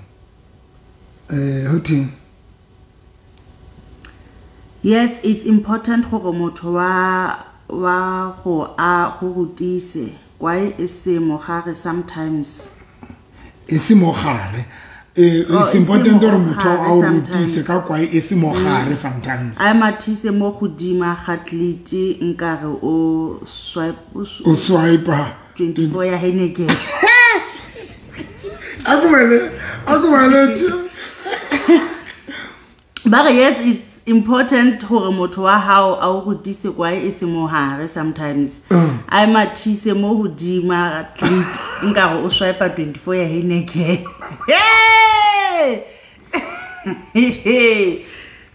Ho teng. Yes, it's important gore motho wa go a go rutise kwae e se mogare sometimes. E se mogare. It's important gore motho a o rutise ka kwae e se mogare sometimes. A mathise mo godima ga tlete nkare o swipe o swipe 24 ya Heineken. Akumele Ba yes, it's important gore motho wa hao a o rutise kwae e se mogare sometimes. A mathise mo godima ga tlete nkare o swipe 24 ya Heineken. Hey!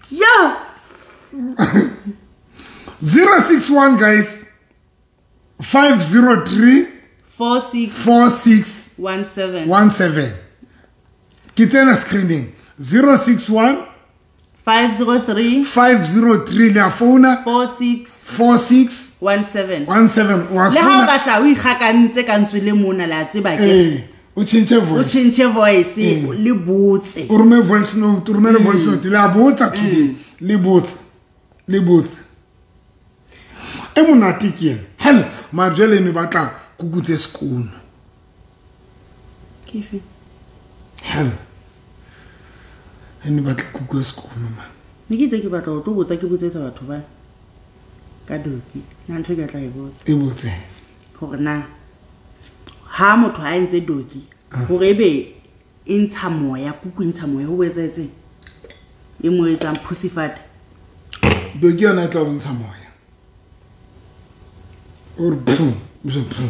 Yo! 061 guys 503 46 46 17 17. Ke tsena screening 061 503 503 le a founa 46 46 17 17 wa le ha o founa ka tla o ikgakantse ka ntswe le mona la tseba ke o change o voice change voice le botse o rome voice note o romele voice note le a botsa today le botse e monate ke ena hell majele ne batla kukutse sekolo ke fe hell ene batla kukutse sekolo ma ne ke itse ke batla ho tlo botsa ke botsetsa batho ba ka doki nna ntho e ke tla e botsa e botse hore na ha motho a entse doki hore ebe e ntsha moya kuku e ntsha moya ho etsetse e mo etsang pussyfat doki yona e tla bontsha moya or phu o phu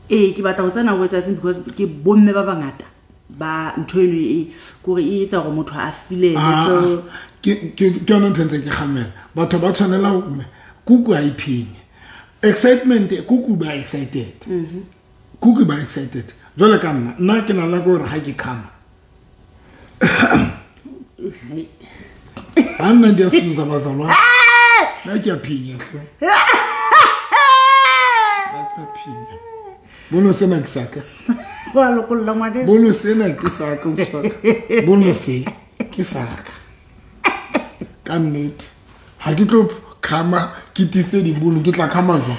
ke batla ho tsena ho etsetseng because ke bomme ba bangata ba ntho eno e kore e etsa hore motho a feel so ke yona ntho ntse ke kgamela batho ba tshwanela ho kuku ha e phenye excitement kuku ba excited kuku ba excited jwale ka nna ke na le gore ha ke khama a nna di a suza bazalwa nna ke a phinya hle nna ke a phinya bono sena ke saka wa lokolla ngwaneso bono sena ke saka o saka bono se ke saka ka nnete ha ke tlo khama ke tise dibono ke tla khama jwang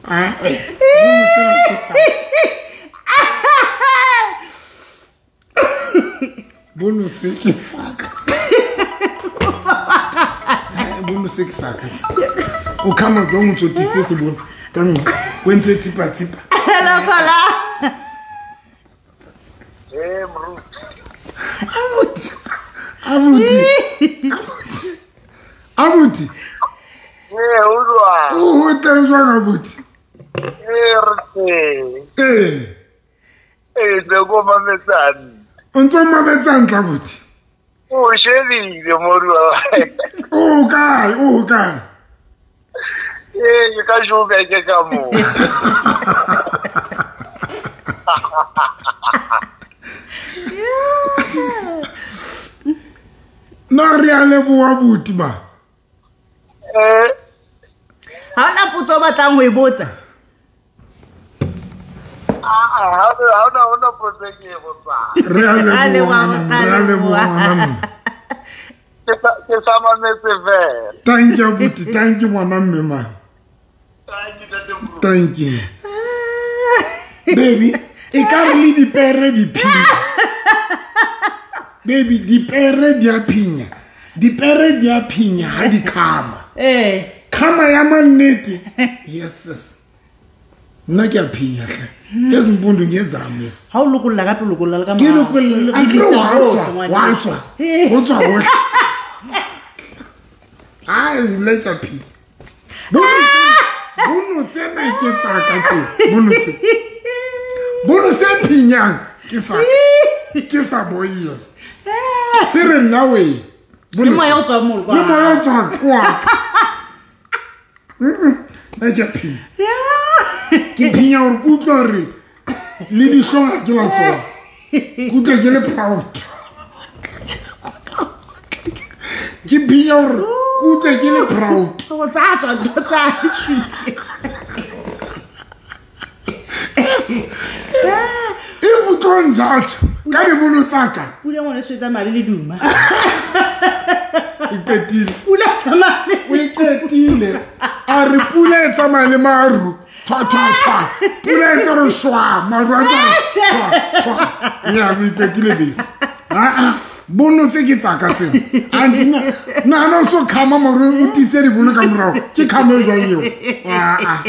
bono sena ke saka bono se ke saka bono se ke saka o khama jwang o tso tise se bono ka nngwe o entse tsipa tsipa Hello caller. Eh moruti. Abuti. Eh o jwang? O teng jwang abuti? Eh re teng. Eh. Eh le go mametsana. O ntse o mametsang tla abuti? O shebile morua. O kae? O kae? Eh ke ka Joburg ka mo. Na re a leboha abuti ma. Eh ha ona potso o batlang ho e botsa? Ah, ha ona potso e ke e botsang. Re a leboha ngwana, re a leboha ngwana. Ke sa mametse fela. Thank you abuti, thank you ngwana mme ma. Thank you ntate Moruti. Thank you. Baby, e ka re le dipere di phinya. Baby, dipere di a phinya. Dipere di a phinya ha di khama. Eh. Khama ya mannete. Yes sis. Nna ke a phinya hle. Yes mpundu ngezami yes. Ha o lokolla ka pele lokolla le ka Ke lokolla a ke wa tswa, wa tswa. Ho tswa hohle. Ai, nna ke a phinya. Bono tsena ke tsa ka tse. Bono tse. Bono se phinyang ke sa. Ke sa boiyo. Se re nna we. Le moya o tswang mo kwa. Le moya o tswang kwa. Nna ke a phinya. Ke phinya hore ke utlwa hore le dihlong ha ke la tsona. Ke utlwa ke le proud. Ke phinya hore ke utlwa ke le proud. O tsa tswa ntho tsa tshwile. If o tlo njatsa ka dibono tsa ka. Pula ngwana e tsamaya le leduma. O qetile. Pula tsamaya. O qetile. A re pula e tsamaya le maru. Thwa thwa thwa. Pula e tlo re shwa, maru a tlo re thwa thwa. Ya o qetile baby. Ah ah. Bono tse ke tsa ka tsena. Andina nna no so khama maru o tise dibono ka morao. Ke khama e jwang eo? Ah ah.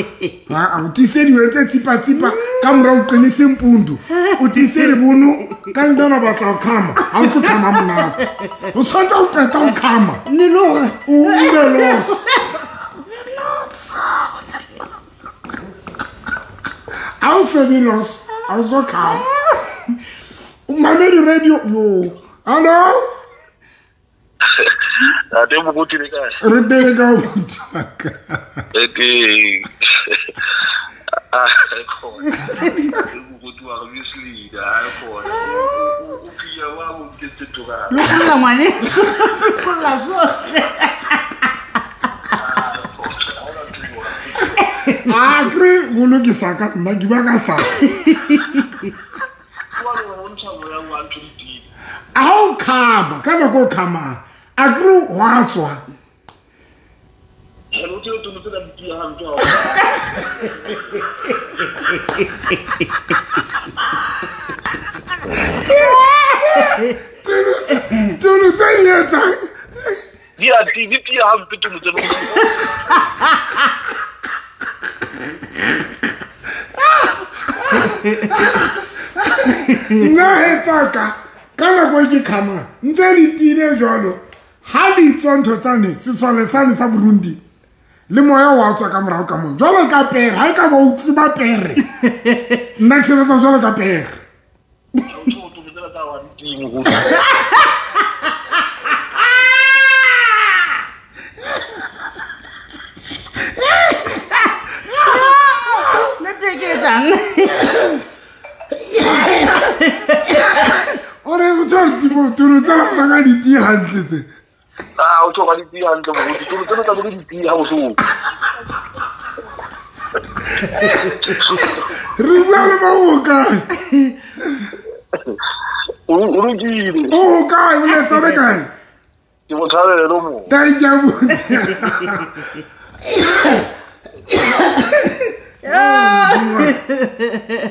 Ah ah, o tise diwe tse tsipa tsipa ka morao o qinise mpundu. O tise dibono ka ndona batla ho khama. Ha o tlo khama monate. O tshwanetse o qeta ho khama. Ne lo o ube los. Ha o so be los, ha o so khama. O mamedi radio yo. Hello? Ate moruti le kae? Re teng ka abuti wa ka. E teng. Ah, khona. Moruti wa re mislead, ah khona. O phinya wa mo nketse toka. Lokolla ngwaneso. Lokolla sohle. Ah, kre bono ke sa ka nna ke ba ka sa. A o khama, ka nako o khama. A kre wa tswa. Tuno tse di etsang. Di a di tia hampe tuno tse. Nna he tsaka ka nako e ke khama ntse di tiile jwalo ha di tswa ntho tsane sesole sane sa Burundi le moya wa tswa ka morao ka moo jwalo ka pere ha e ka ba o tseba pere nna ke sebetsa jwalo ka pere. Network e etsang? Ore o tswa tulo tsena tsa ka di tiye hantle tse. Ah, o tswa ka di tiye hantle moruti. Tulo tsena tsa di tiye ha bohloko. Re bua le ba o kae? O lokile. O kae? O letsa le kae? Ke mo thabele mo. Thank you abuti.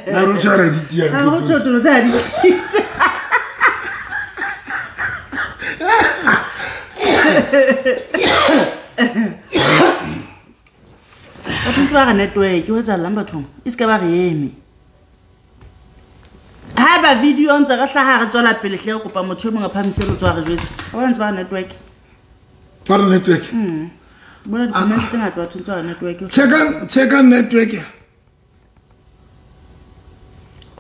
Na ro tshwara di tiye Ha o tswa tulo tsa di tiye. Batho ntse ba re network o etsahalang bathong e se ka ba re eme. Haeba video ntse re hlaha re tswela pele hle re kopa motho e mongwe a phamise letsoho a re jwetse. Wa bona ntse ba re network. Ba re network. Bona di-comment tse ngata batho ntse ba re network. Checka network.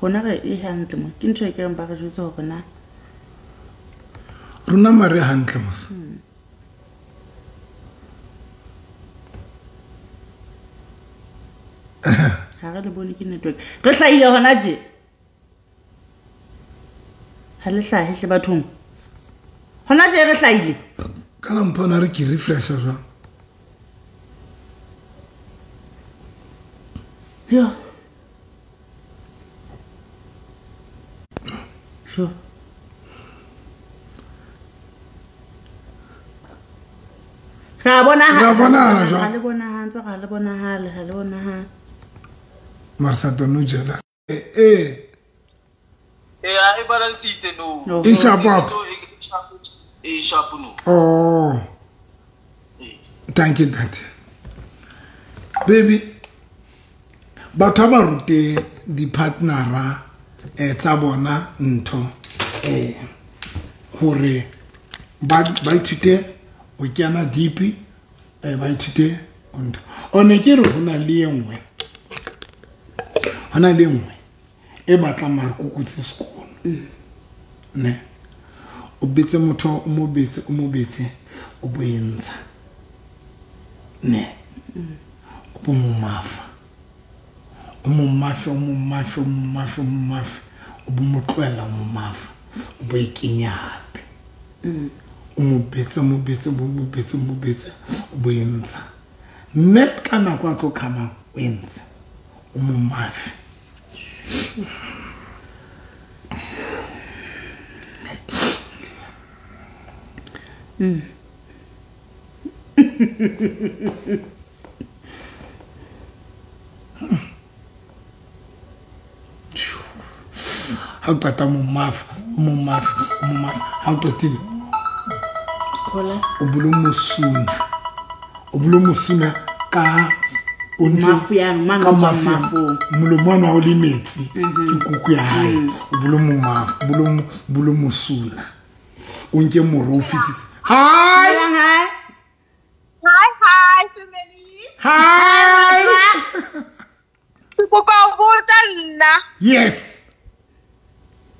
Rona re e hantle mo. Ke ntho e ke reng ba re jwetse hore na rona mare hantle mos. Ha re le bone ke network. Re hlahile hona tje. Ha le hlahe hle bathong. Hona tje re hlahile. Kana mpona re ke refresh jwang. Yo. Sure. Ra bonahala. Ra bonahala jwang? Ha le bonahale, ha le bonahale, ha le bonahale. Marsa no jealous. E balansitse no. E sharp up. E sharp no. Oh. Thank you that. Baby, batho ba rute di partnera tsa bona ntho hore ba ithute o kena deep ba ithute ntho. O ne ke re hona le engwe. Hona le engwe e batla mare kukutse sekolo. Ne. O betse motho o mo betse o bo entsha. Ne. O bo mo mafa. O mo mafa o bo mo tlohela mo mafa. O bo e kenya hape. O mo betse o bo entsha. Net ka nako a tlo khamang o entsha. O mo mafe. Ha o qeta mo mafa, ha o qetile o bolo mosuna ka mafu ya mang ka mafu molomo wa o le metsi ke kuku ya hae o bolo mo mafu bolo mosuna o nke moro o fitise. Hi hi hi family. Hi. Ke kopa ho botsa nna. Yes.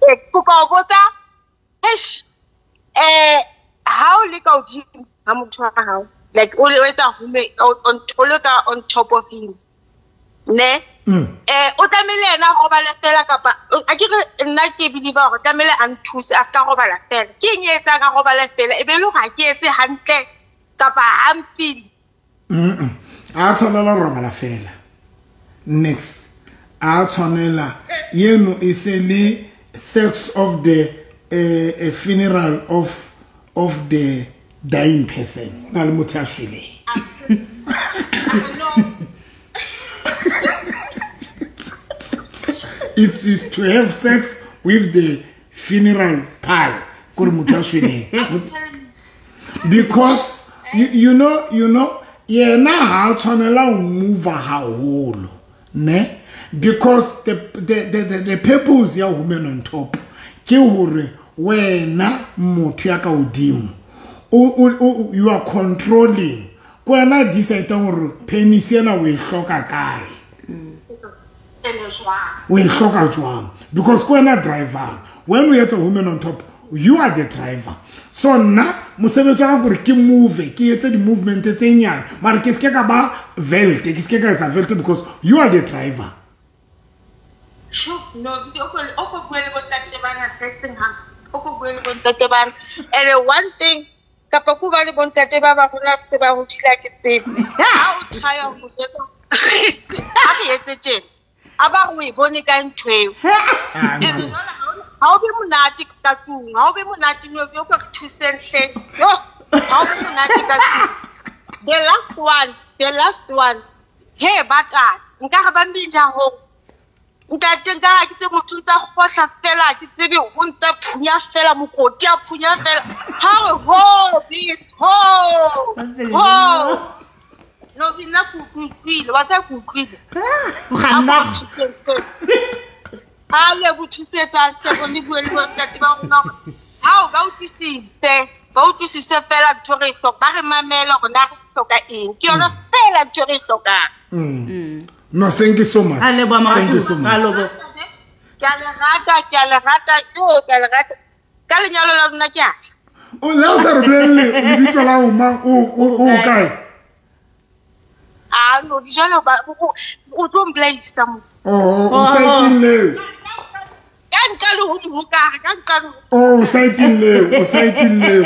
Ke kopa ho botsa eish ha o le ka hodimo ha motho wa hao, like o etsa home o le ka on top of him ne o tlamehile yena a robale fela kapa a ke re nna ke believe hore tlamehile a nthuse a ska robala fela. Ke eng e etsang a robale fela e be le hore ha ke etse hantle kapa ha mfeel? A tshwanela ho robala fela. Next a tshwanela yeno e se le sex of the funeral of the dying person. Na le motho a shweleng. It is to have sex with the funeral pile. Kore motho a shweleng. Because you know yena ha tshwanela ho move haholo, ne? Because the purpose ya woman on top ke hore wena motho ya ka hodimo you are controlling. Ko wena decide hore penis ena o e hloka kae. O e hloka jwang? Because ko wena driver. When we have a woman on top, you are the driver. So nna mosebetsi wa ka kore ke move, ke etse di-movement tse nyane. Mara ke seke ka ba velte, ke seke ka etsa velte because you are the driver. Sure, no, o ko bue le bontate bana se seng ha. O ko bue le bontate bana. And one thing kapa ku ba le bontate ba ba rona se ba ho thila ke tsebe. Ha o try ho motsetsa. Ha re etse tjena. A ba re o e bone ka ntho eo. Ha o be monate ka tlung, ha o be monate no o ka re thuseng hle. Yo, ha o be monate ka tlung. The last one. He batata, nka re ba mbinja ho. Ntate nka ha ke tse motho ntsa kgohla fela, ke tsebe o ntsa phunya fela mokoti a phunya fela. Ha re ho, please, ho. Ho. No nna ke utlwile, wa tsa ke utlwile. O kganna. Ha le bothusetsa hle le bue le bontate ba rona hore hao ba utlwisise. Ba utlwisise fela ntho re e hloka, ba re mamele hore na re hloka eng. Ke yona fela ntho re e hlokang. No, thank you so much. A leboha Thank you so moratuwa. A much. leboha. Ke a le rata, ke a le rata, jo, ke a le rata. Ka lenyalo la lona ke a tla. O le o sa re bolelle lebitso la o mang, o kae? Ah, no, jwale o tlo mpolaisa mos. Oh, o saeteng leo. Ka nka le ho mohokare, ka nka le ho. Oh, o saeteng leo, o saeteng leo.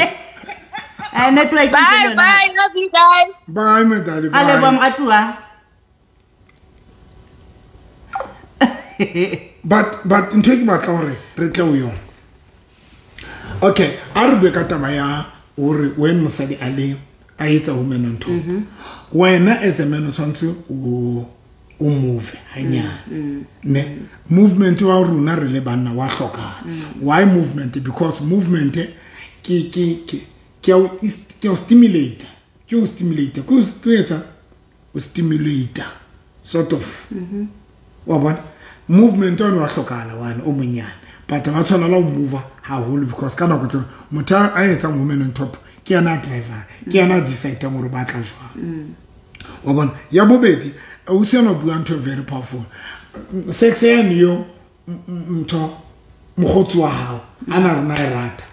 Network e ntse Bye, le yona. bye, love you guys. Bye, my darling, A leboha bye. moratuwa. But ntho e ke batla hore re tle ho yona. Okay, a re bue ka taba ya hore when mosadi a le a etsa woman on top. Wena as a man o tshwanetse o move hanyane. Ne movement wa rona re le banna wa hlokahala. Why movement? Because movement ke ya o stimulate. Ke o stimulate. Ke o etsa o stimulate sort of. Wa bona? Movement ona wa hlokahala wane o monyane. But wa tshwanela ho move haholo because ka nako tse motho a etsang woman on top ke yena a driver, ke yena a decide-ang hore o batla jwang. Wa bona? Ya bobedi, o se yena o bua ntho e very powerful. Sex yane yo ntho mokgotsi wa hao a na rona e rata.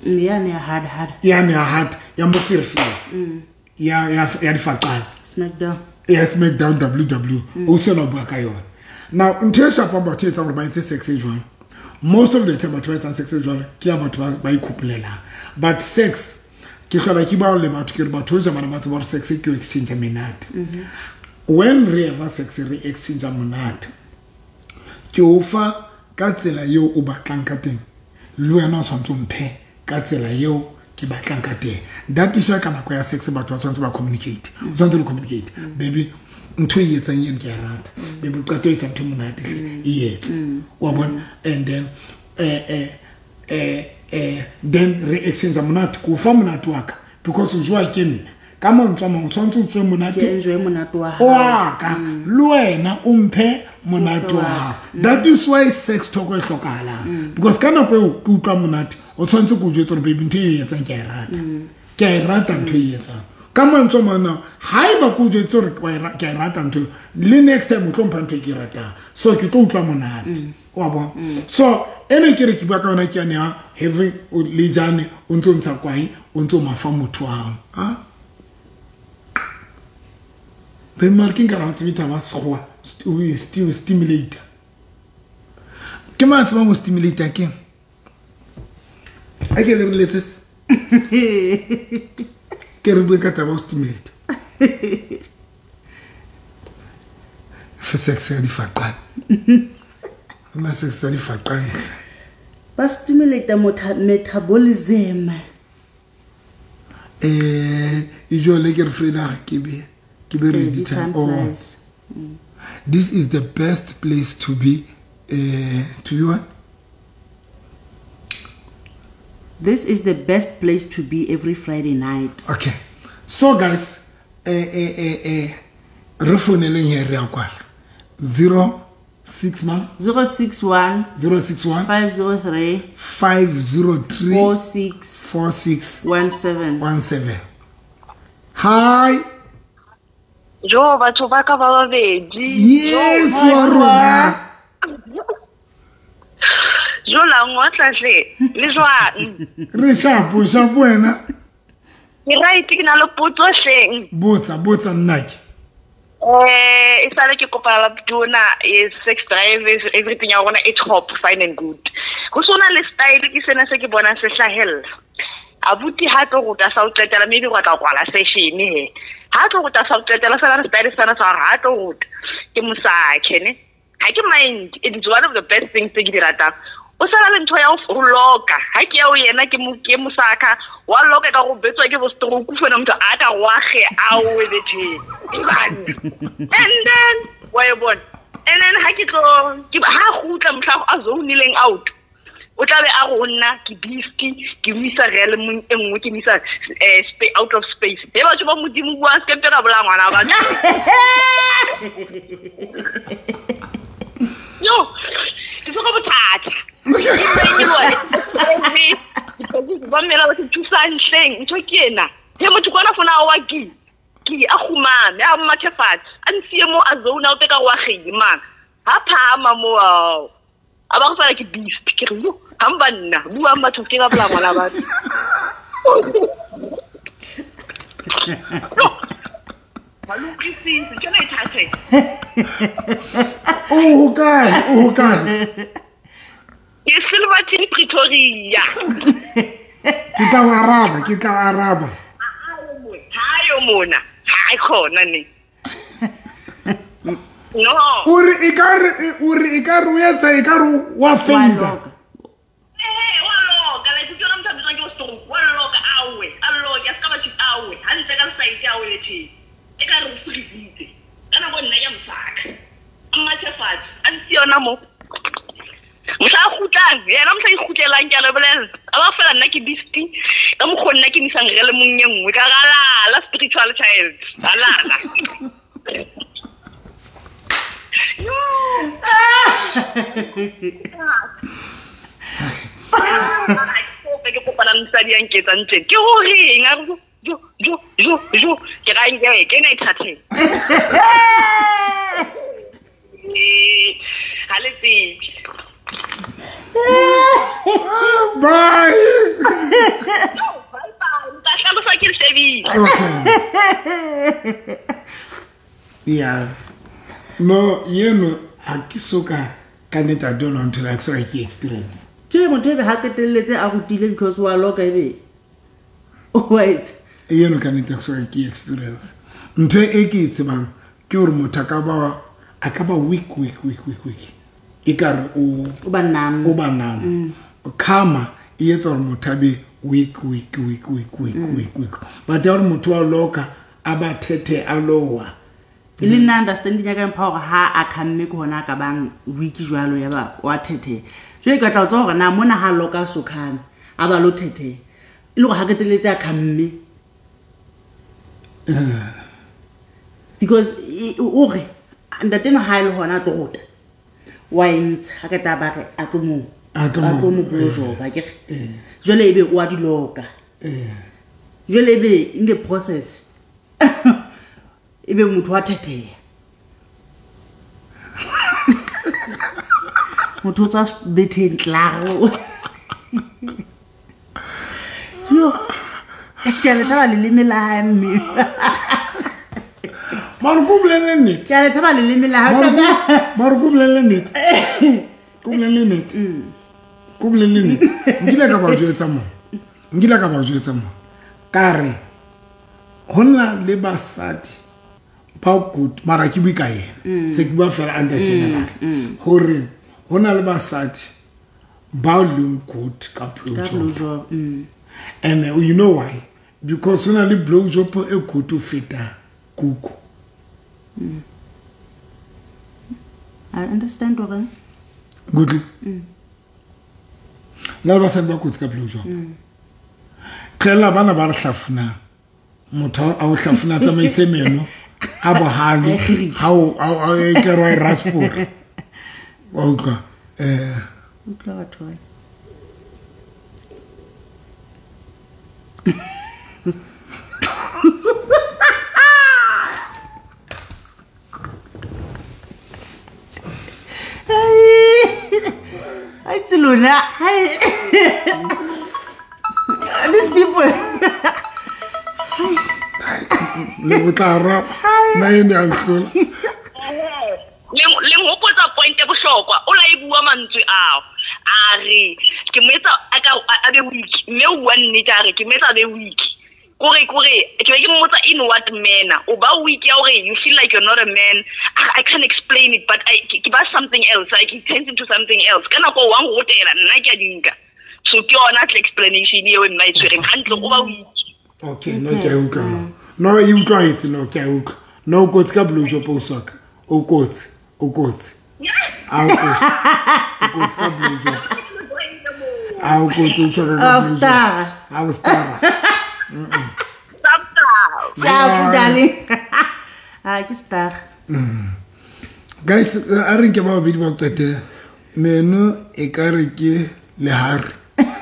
Yane ya hard hard. Yane ya hard ya moferefere. Ya difaqane. Smackdown. Ya Smackdown WW. O se yena o bua ka yona. Now, ntho e shapang batho e etsang hore ba etse sex e jwang. Most of the time batho ba etsang sex e jwalo ke ya batho ba ikgopolelang. But sex ke hlola ke bao le batho ke re batho hoja bana ba tseba hore sex ke ho exchange menate. When re eva sex re exchange monate. Ke o fa ka tsela eo o batlang ka teng. Le wena o tshwanetse o mphe ka tsela eo ke batlang ka teng. That is why ka nako ya sex batho ba tshwanetse ba communicate. O tshwanetse le communicate. Baby, ntho e etsang eno ke a rata. Baby, o qeta ho etsa ntho e monate hle, e etse. Wa bona? And then then re exchange monate. Ke o fa monate wa ka because o jowa ke nna. Ka mantswe a mang o tshwanetse o tswe monate. Ke enjoy monate wa hao. Wa ka. Le wena o mphe monate wa hao. That is why sex talk e hlokahalang. Because ka nako eo ke utlwa monate, o tshwanetse ke o jwetse hore baby ntho e etsang ke a e rata. Ke a e rata ntho e etsang. Ka mantswe a mang ao, haeba ke o jwetse hore ke a e rata ntho eo, le next time o tlo mpha ntho e ke e ratang. So ke tlo utlwa monate. Wa bona? So ene ke re ke bua ka yona ke yane ya having le jane o ntso ntsha kwae, o ntso mafa motho wa hao. Ha? Be mare ke nka ra tsebe taba sekgowa, o e stimulator. Ke mang a tsebang ho stimulator keng? A ke le re letsetse. Ke re bue ka taba ho stimulator. Fe sex ya difaqane. Nna sex ya difaqane. Ba stimulate metabolism. E jwale ke re Freda ke be ke be ready Ready time. time Oh. flies. This is the best place to be to be what? This is the best place to be every Friday night. Okay. So guys, re founeleng here re a kwala. 06 man? 061 061 503 503 46 46 17. 17. Hi. Jo, batho ba ka ba babedi. Yes, wa rona. Jo la ngotla hle. Le jwang? Re shapo, shapo wena. Ke right, ke na le potso hleng. Botsa, botsa nna ke. E sale ke kopa la tona, sex drive, everything ya rona e top, fine and good. Ho sona le style ke sena se ke bonang se hlahella. Abuti ha tlo ruta sa o qetela, maybe wa tla kwala session he. Ha tlo ruta sa o qetela, sala re style sena sa ha tlo ruta. Ke mosakhe ne. Ha ke mind, it is one of the best things tse ke di ratang. O sala le ntho ya ho loka. Ha ke ya ho yena ke mo, ke mosakha, wa loka ka go betswa ke bo stroke fela motho a ka wa ge a o e bethe. And then wa e bona. And then ha ke tlo, ke ha gutla mohla a zonileng out. O tla be a go nna ke beast, ke mo isa realm e nngwe, ke mo isa, out of space. He batho ba Modimo bua se ke ra bolaya ngwana wa batho. Yo, Ba mmela ba thusang hleng ntho ke ena. He motho kwana fona wa ke a khumame a mmathe fatshe a ntsiye mo a zone out ka wa geng mang ha phama mo ao a ba go fela ke beast ke re yo ha mba nna bua mbatho ke ka bla ngwana batho no ba lo krisitse ke na ithathe o kae ke Silverton Pretoria ke tla araba hayo mona ha khona ne no o re e ka re o etsa e ka re wa fenda wa loka la ke tsona motho a ke stroke wa loka awe a loka ska ba tshit awe ha ntse ka side awe le tshi e ka re o freezitse kana go nna ya msaka mmathe fatshe a ntse yona mo mohla kgutlang yena mohla ikgutlelang ke a lebolela a ba fela nna ke beast ka mokgo nna ke nisang re le mong e nngwe ka galala spiritual child alala yo ke kopana le mosadi ya nketsang teng ke goreng a re jo jo jo jo ke ra nke ke na ithatheng ha le tsebe. Bye. No, bye bye. Nka hlalosa ke le shebile. Okay. Yeah. No, yeno ha ke soka ka nnete I don't want to like so ke experience. Tjhe motho ebe ha qetelletse a rutile because wa loka ebe. Wait. Yeno ka nnete so ke experience. Ntho e ke e tsebang ke hore motho a ka ba weak. Ekare o ba nam. Karma e etsa hore motho a be weak. But ya hore motho wa loka a ba thethe a lowa. Le nna understanding ya ka mpha hore ha a khamme ke hona a ka bang weak jwalo ya ba wa thethe. Jwale ke tla tswa hore na mona ha loka so khame a ba lo thethe. E le hore ha keteletse a khamme. Because o re ntate no ha ile hona a tlo rota. Wa entse ha ke taba re a tlo mo blojo ba ke re jwale ebe o a di loka jwale ebe in the process ebe motho wa thetheya motho o tswa betheng tlaro yo ke a le tshaba leleme la hae mme mara ko bolelle nnete. Ke a le tshaba leleme la hae. Mara ko bolelle nnete. Ko bolelle nnete. Nkile ka ba jwetsa mo. Ka re ho na le basadi ba good mara ke bue ka yena. Se ke bua fela under general. Hore ho na le basadi ba leng good ka blowjob. And you know why? Because ho na le blowjob e good ho feta kuku. I understand what. Good. La basadi ba kotsi ka blowjob. Tlela bana ba re hlafuna. Motho a o hlafuna tsamaise meno a bohale ha o a ke rwa raspor. Wa utlwa utlwa batho ba. Luna, hi. These people. Le botla rap. Na ene a hlola. Le ngopotsa point e bohlokwa. O la e bua mantswe ao. A re ke mo etsa a ka a be weak. Mme o bua nnete a re ke mo etsa a be weak. Kore ke be ke mmotsa in what manner. O ba weak ya hore you feel like you're not a man. I can't explain it, but I ke ba something else. Like it turns into something else. Ka nako wa ngotela nna ke a dinka. So ke yona tle explanation eo nna e tshwereng hantle o ba weak. Okay, no ke a utlwa no. No e utlwaetse no ke a utlwa. No o kotsi ka blowjob o soka. O kotsi. A o kotsi. O kotsi ka blowjob. A o kotsi o soka ka blowjob. A o star. Ciao, darling. Ah, ke star. Guys, a re nke ba babedi ba qete. Meno e ka re ke lehare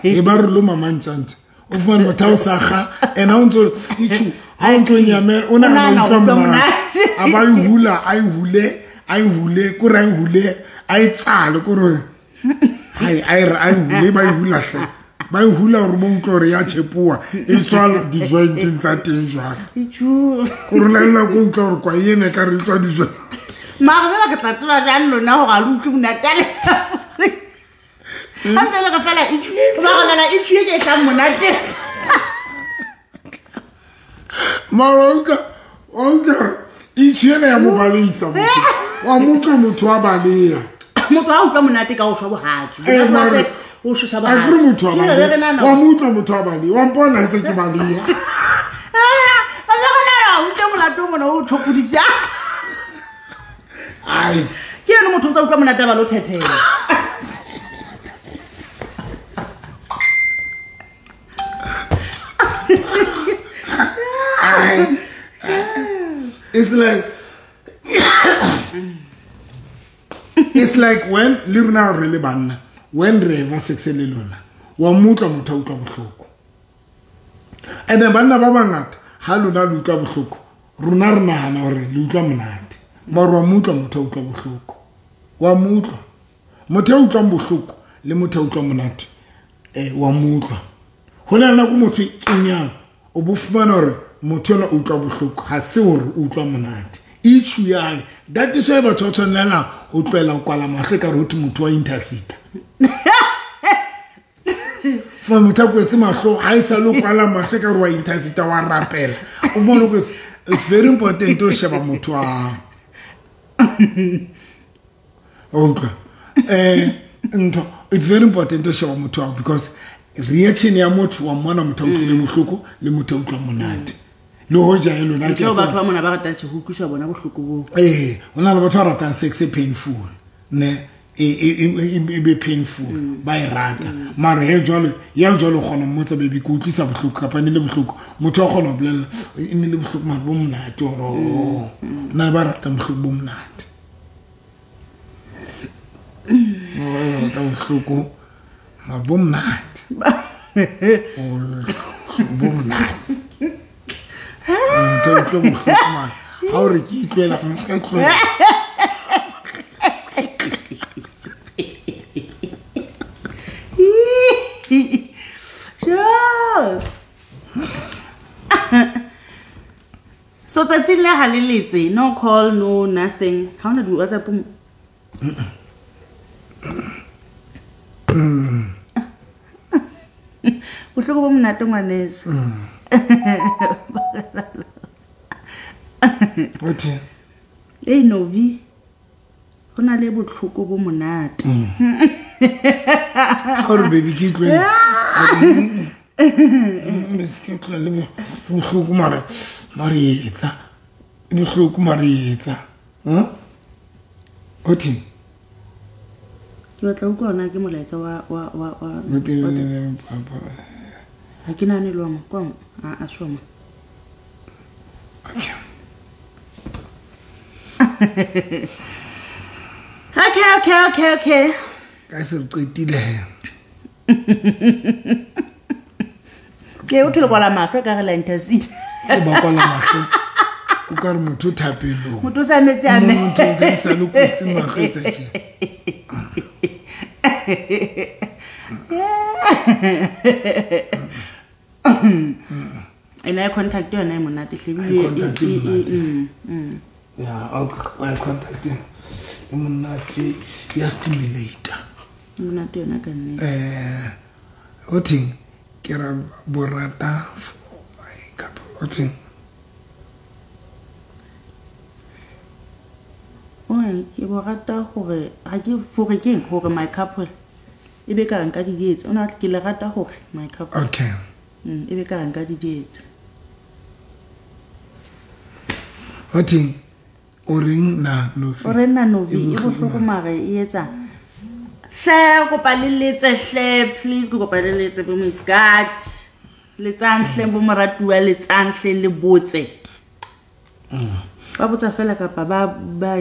e ba re loma mantjantja o fumane motho a o sakga and ha o ntso itjhu ha o ntso nyamela o nahana o utlwa monate a ba e hula a e hule a e hule kore a e hule a e tsale kore hai a e re a e hule ba e hula hle ba e hula hore bo utlwe hore ya tshepoa e tswa di-jointeng tsa teng jwale kore lalela ko utlwa hore kwa ena e ka re e tswa di-joint mara fela ke tla tseba jang lona hore a le utlwe monate a le sa ha ntse le re fela itjhu ba rolela itjhu e ke e tlang monate mara o utlwa hore itjhu ena ya mo baleisa motho wa mo utlwa motho wa baleya motho ha utlwa monate ka ho shwa bohatsu Eh, sex o shwa a kere motho wa Ke re baleya nana wa mo utlwa motho wa baleya wa mpona ha se ke baleya a be re nana o utlwe molato o mona o thopodisa ai ke eno motho o ntsa utlwa monate a ba lo thethela ai it's like it's like when le rona re le banna when re eva sex le lona wa mo utlwa motho a utlwa bohloko and banna ba bangata ha lona le utlwa bohloko rona re nahana hore le utlwa monate mara wa mo utlwa motho a utlwa bohloko wa mo utlwa motho a utlwang bohloko le motho a utlwa monate wa mo utlwa ho na le nako motho e kenyang o bo fumana hore motho enwa o utlwa bohloko ha se hore o utlwa monate itjhu ya hae that is why batho ba tshwanelang ho tlohela ho kwala mahlo ekare ho thwe motho wa intercita fa motho a kwetse mahlo ha e sale o kwala mahlo ekare wa intercita wa rapela o fumane o kwetse it's very important ho sheba motho wa hao o utlwa ntho it's very important ho sheba motho wa hao because reaction ya motho wa mmona motho a utlwile bohloko le motho a utlwa monate le hoja e lona ke ke a batho tseba ba mona ba ratang tjhe ho utlwiswa bona bohloko boo ee ho na le batho ba ratang sex e painful ne e be painful ba e rata mara he jwale ya jwale o kgona ho mmotsa baby ke utlwisa bohloko kapa e ne le bohloko motho wa kgona ho bolella e ne le bohloko mara bo monate ore oh na le ba ratang bohloko bo monate ba ratang bohloko mara bo monate bo monate motho a utlwe bohloko mara ha o re ke itlwela ka tlohela Sure. So tsatsing le ha le letse no call no nothing ha ona di WhatsApp mo bohloko bo monate ngwaneso Othi ei Novi ho na le bohloko bo monate ha o re baby ke itlwele ke tlohele bohloko mara mara etsa bohloko mara etsa othi ke batla ho utlwa hore na ke molaetsa wa wa wa wa ha ke nahane le wa mo kwa mo a soma okay okay ka se re qetile he ke o thole kwala mahlo ka re la intercity o ba kwala mahlo o ka re motho o thapelong motho o sa metse a me motho o ka sa le kotsi mahlo etsa tje ena ya contact yona e monate hle Eye ebile contact e monate. Ya eye contact e monate ya stimulator e monate yona ka nnete othi ke ra borata for my couple othi oi ke bo rata hore ha ke fore ke eng hore my couple e be ka re nka di dietsa o na ke le rata hore my couple okay e be ka re nka di dietsa othi o reng na Novi o re nna Novi e bohloko mara e etsa hle kopa le letse hle please ke kopa le letse bo Miskat letsang hle bo moratuwa letsang hle le botse ba botsa fela kapa ba ba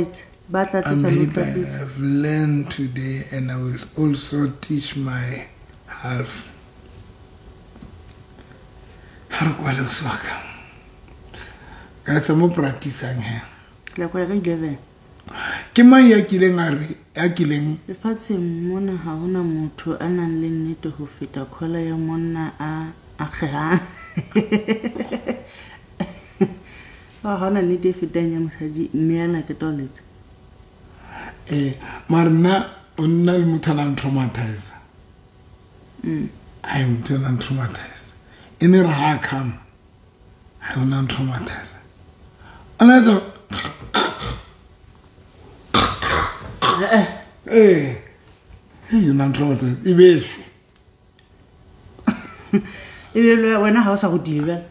ba I'm tlatsetsa le happy tlatsetsa I've learned today and I will also teach my Half. Ha re kwale o swaka. Ka tsa mo practice-ang he. Ke tla kwala ka 11. Ke mang ya kileng a re ya kileng lefatsheng mona ha hona motho a nang le nnete ho feta khola ya monna a akgehang. Ba hona nnete e fetang ya mosadi mme ana ke toletsa. Mara nna o nna le motho a nang traumatize. Ai motho a nang traumatize. E ne re ha come. Ha o nang traumatize. Another you nang traumatize. E besho. E be le wena ha o sa go dira.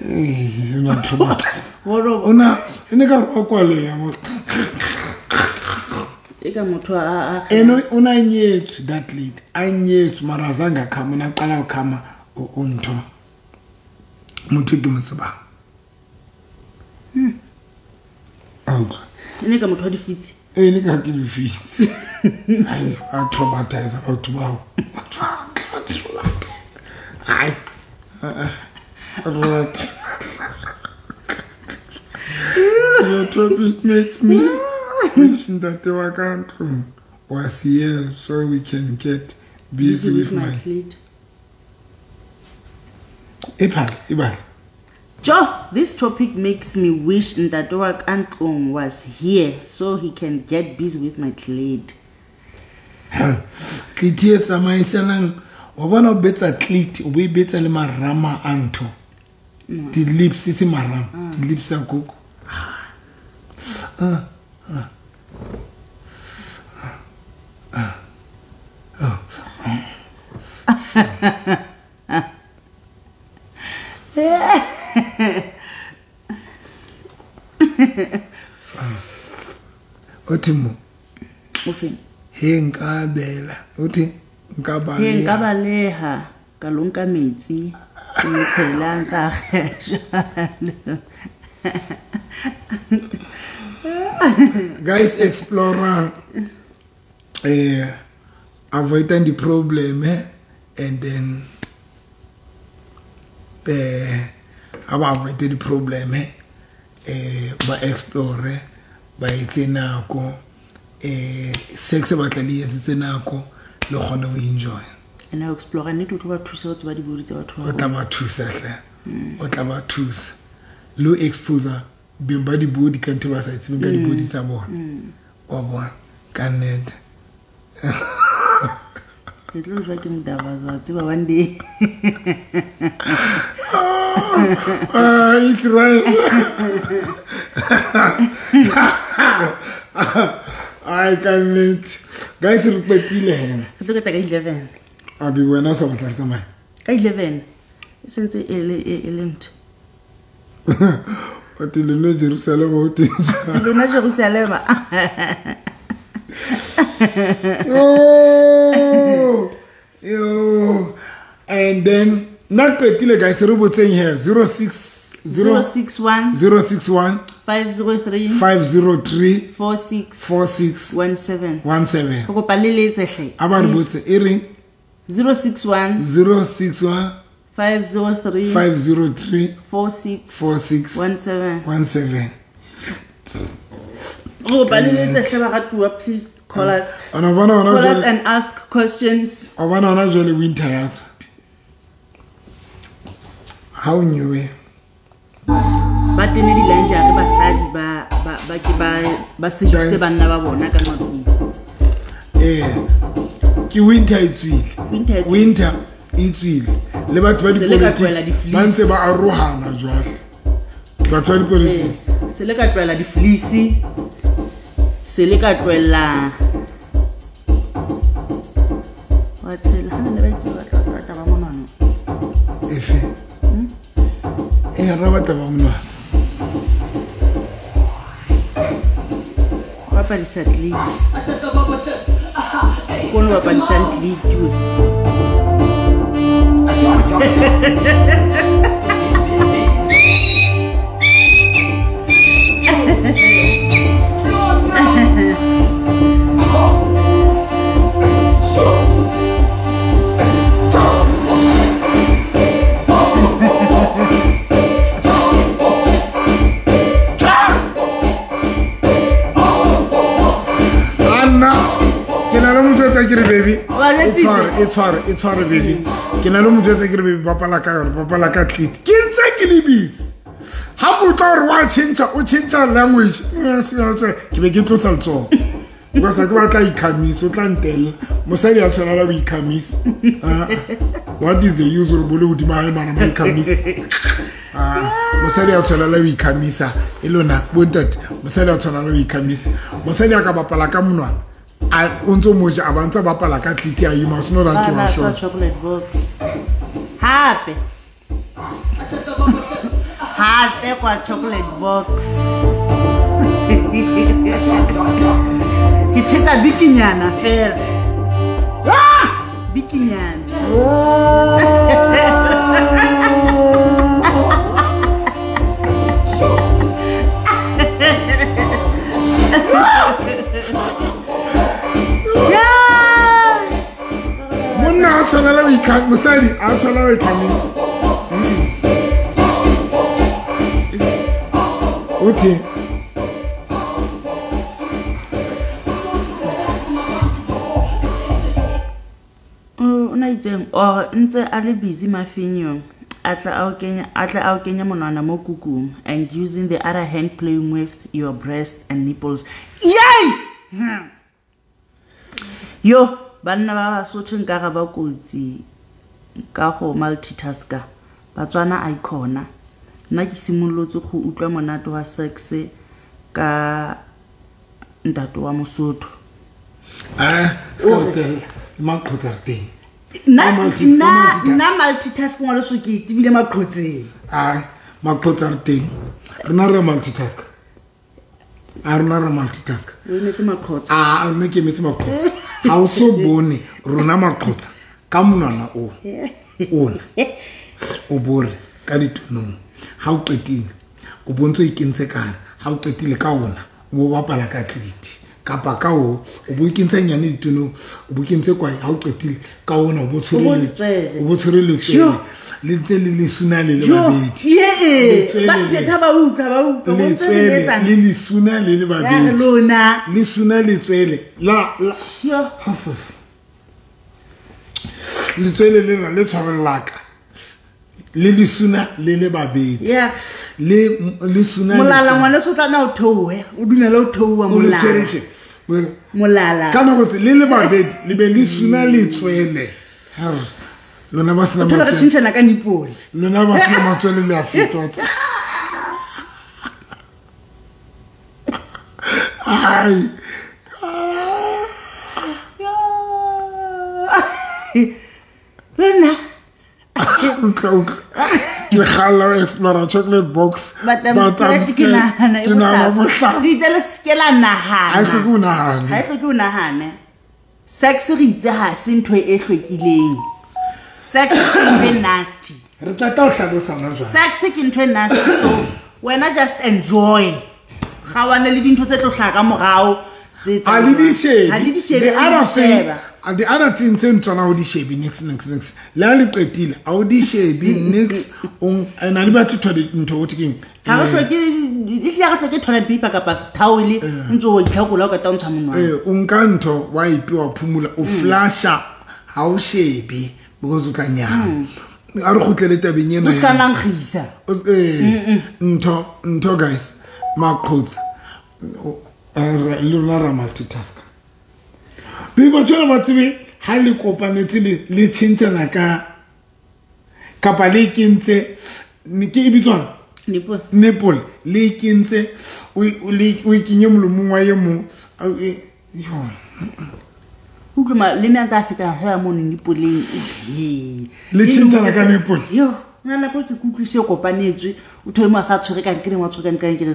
You nang traumatize. Ona e ne ka re o kwale ya mo. E ka motho a eno o na nyetswe that lady. A nyetswe mara azange khama na qala khama o ntho. Motho ke mo tsebang. E ne ka motho wa difitse. E ne ka ke difitse. Ai a traumatize batho bao. Traumatize. Ai. Traumatize. Your topic makes me wish Ntate wa ka ntlong was here so we can get busy with my clit. Ebale. Joe, this topic makes me wish Ntate wa ka ntlong was here so he can get busy with my clit. Clit e tsamaisanang wa bona o betsa clit o bo e betsa le marama a ntho. Di lips se marama, di lips a koko. Othi mo o feng he nka bela uthi nka he nka baleha ka lo nka metsi ke mo tshela ntsa jwalo. Guys, explorer avoiding the problem and then avoid the problem ba explore ba etse nako sex ba tla le etse nako le kgone ho enjoy. And I explore ne tlo ba thusa ho tseba dibodi tsa batho ba. O tla ba thusa hle. O tla ba thusa. Lo exposure beng ba dibodi ka ntho ba sa tsebeng ka dibodi tsa bona. Wa bona ka nnete. Ke tlo jwa ke modaba wa tseba one day. It's right. I can't. Guys, re qetile he. Re tlo qeta ka 11. A be wena o sa batla re tsamaye. Ka 11. E sentse e le ntho. O te lona Jerusalema o teng. Lona Jerusalema. Yo. And then nna qetile guys re botseng here 061 061 503 503 46 46 17 17. Go kopa le letse hle. A ba re botse e reng 061 061 503 503 46 46 17 17. Go kopa le letse hle baratuwa, please call us. Ona bona ona call us and ask questions. O bona ona jwale winter ya tswa. How new e? Ba tene di lingerie basadi ba ba ba ke ba ba seduse banna ba bona ka matlung. Ke winter e tswile. Winter e tswile. Le batho ba dipolitiki ba ntse ba arohana jwale. Batho ba dipolitiki. Se le ka tlohela di-fleece. Se le ka tlohela wa tshela ha ne ba itse ba tla ba monwana. Efe? Ra batla ba monwana. Bapadisa click. Kono bapadisa click. mojwetsa ke re baby e tshware baby ke na le mojwetsa ke re baby bapala ka yona bapala ka clit ke ntse ke le busy ha ke utlwa hore wa tjhentjha o tjhentjha language ke be ke tlosa letsoho because ha ke batla ikhamisa o tla ntella mosadi a tshwanela ho ikhamisa. What is the use of bole hodima hae mara ba ikhamisa? Mosadi a tshwanela ho ikhamisa e lona bontate mosadi a tshwanela ho ikhamisa mosadi a ka bapala ka monwana a o ntso moja a ba ntse bapala ka clit ya you must know that you are short. Chocolate box hape hape kwa chocolate box ke thetsa bikinyana fela bikinyana. Monna a tshwanela ho ikhamisa mosadi a tshwanela ho ikhamisa. Uthi or ntse a le busy mafinyong a tla a o kenya monwana mo kukung and using the other hand playing with your breast and nipples. Yay! Yo banna ba Basotho nka ga ba kotsi ka go multitasker Batswana a ikhona nna ke simolotse go utlwa monate wa sex ka ntate wa Mosotho. Skartel maqhotsa teng. Nna multitask ngwana so ke tsebile maqhotseng. Ai maqhotsa re teng rena re multitask a rena re multitask o emetse maqhotsa a nna ke emetse maqhotsa ha o so bone rona maqhotsa ka monwana o ona o bore ka ditonong ha o qetile o bontse o ikentse ka hare ha o qetile ka ona o bo bapala ka clit kapa ka o bo ikentse nyane ditonong o bo kentse kwae ha o qetile ka ona o bo tshwere letswele le ntse le lesuna le le babedi letswele le lesuna le le babedi lesuna letswele la letswele lena le tshwarellaka le lesuna le le babedi le lesuna molala ngwana so tla na o theohe o dumela o theoha molala molala ka nako le le babedi le be le suna letswele lona ba sena matswele re tjhentjhana ka nipole lona ba sena matswele le a fetwa ai lona ke kgalla ho explora chocolate box but I'm scared ke nahana e bohlaswa re itse le se la nahana ha e hloke o nahane ha e hloke o nahane. Sex re itse ha se ntho e hlwekileng. Sex ke ntho e nasty re tla tla o hlalosa hona jwale. Sex ke ntho e nasty so wena just enjoy ga wane le dintho tse tlo hlaha ka morao tse a le di shebe the other thing and the other thing tse ntswana o di shebe next le ha le qetile a o di shebe next o ena le batho ntho o thekeng ha re hloke e hle re hloke toilet paper kapa towel ntse o itlhakola o ka ta ntsha monwana o nka ntho wa ipiwa phumula o flasha ha o shebe because o tla nyana a re kgutlele tabeng ena o ska nankgisa ntho guys maqhotsa le rona ra multitask be batho ba tsebe ha le kopanetse le tjhentjhana ka kapa le kentse ke e bitswang nipple le kentse o ikenye molomong wa e mong yo utlwa le me a ntse feta ha mo nipoleng le tjhentjhana ka nipple yo nna nako ke kutlwise kopanetswe o thoe mo a sa tshwere ka nkene wa tshwere ka nkene ke re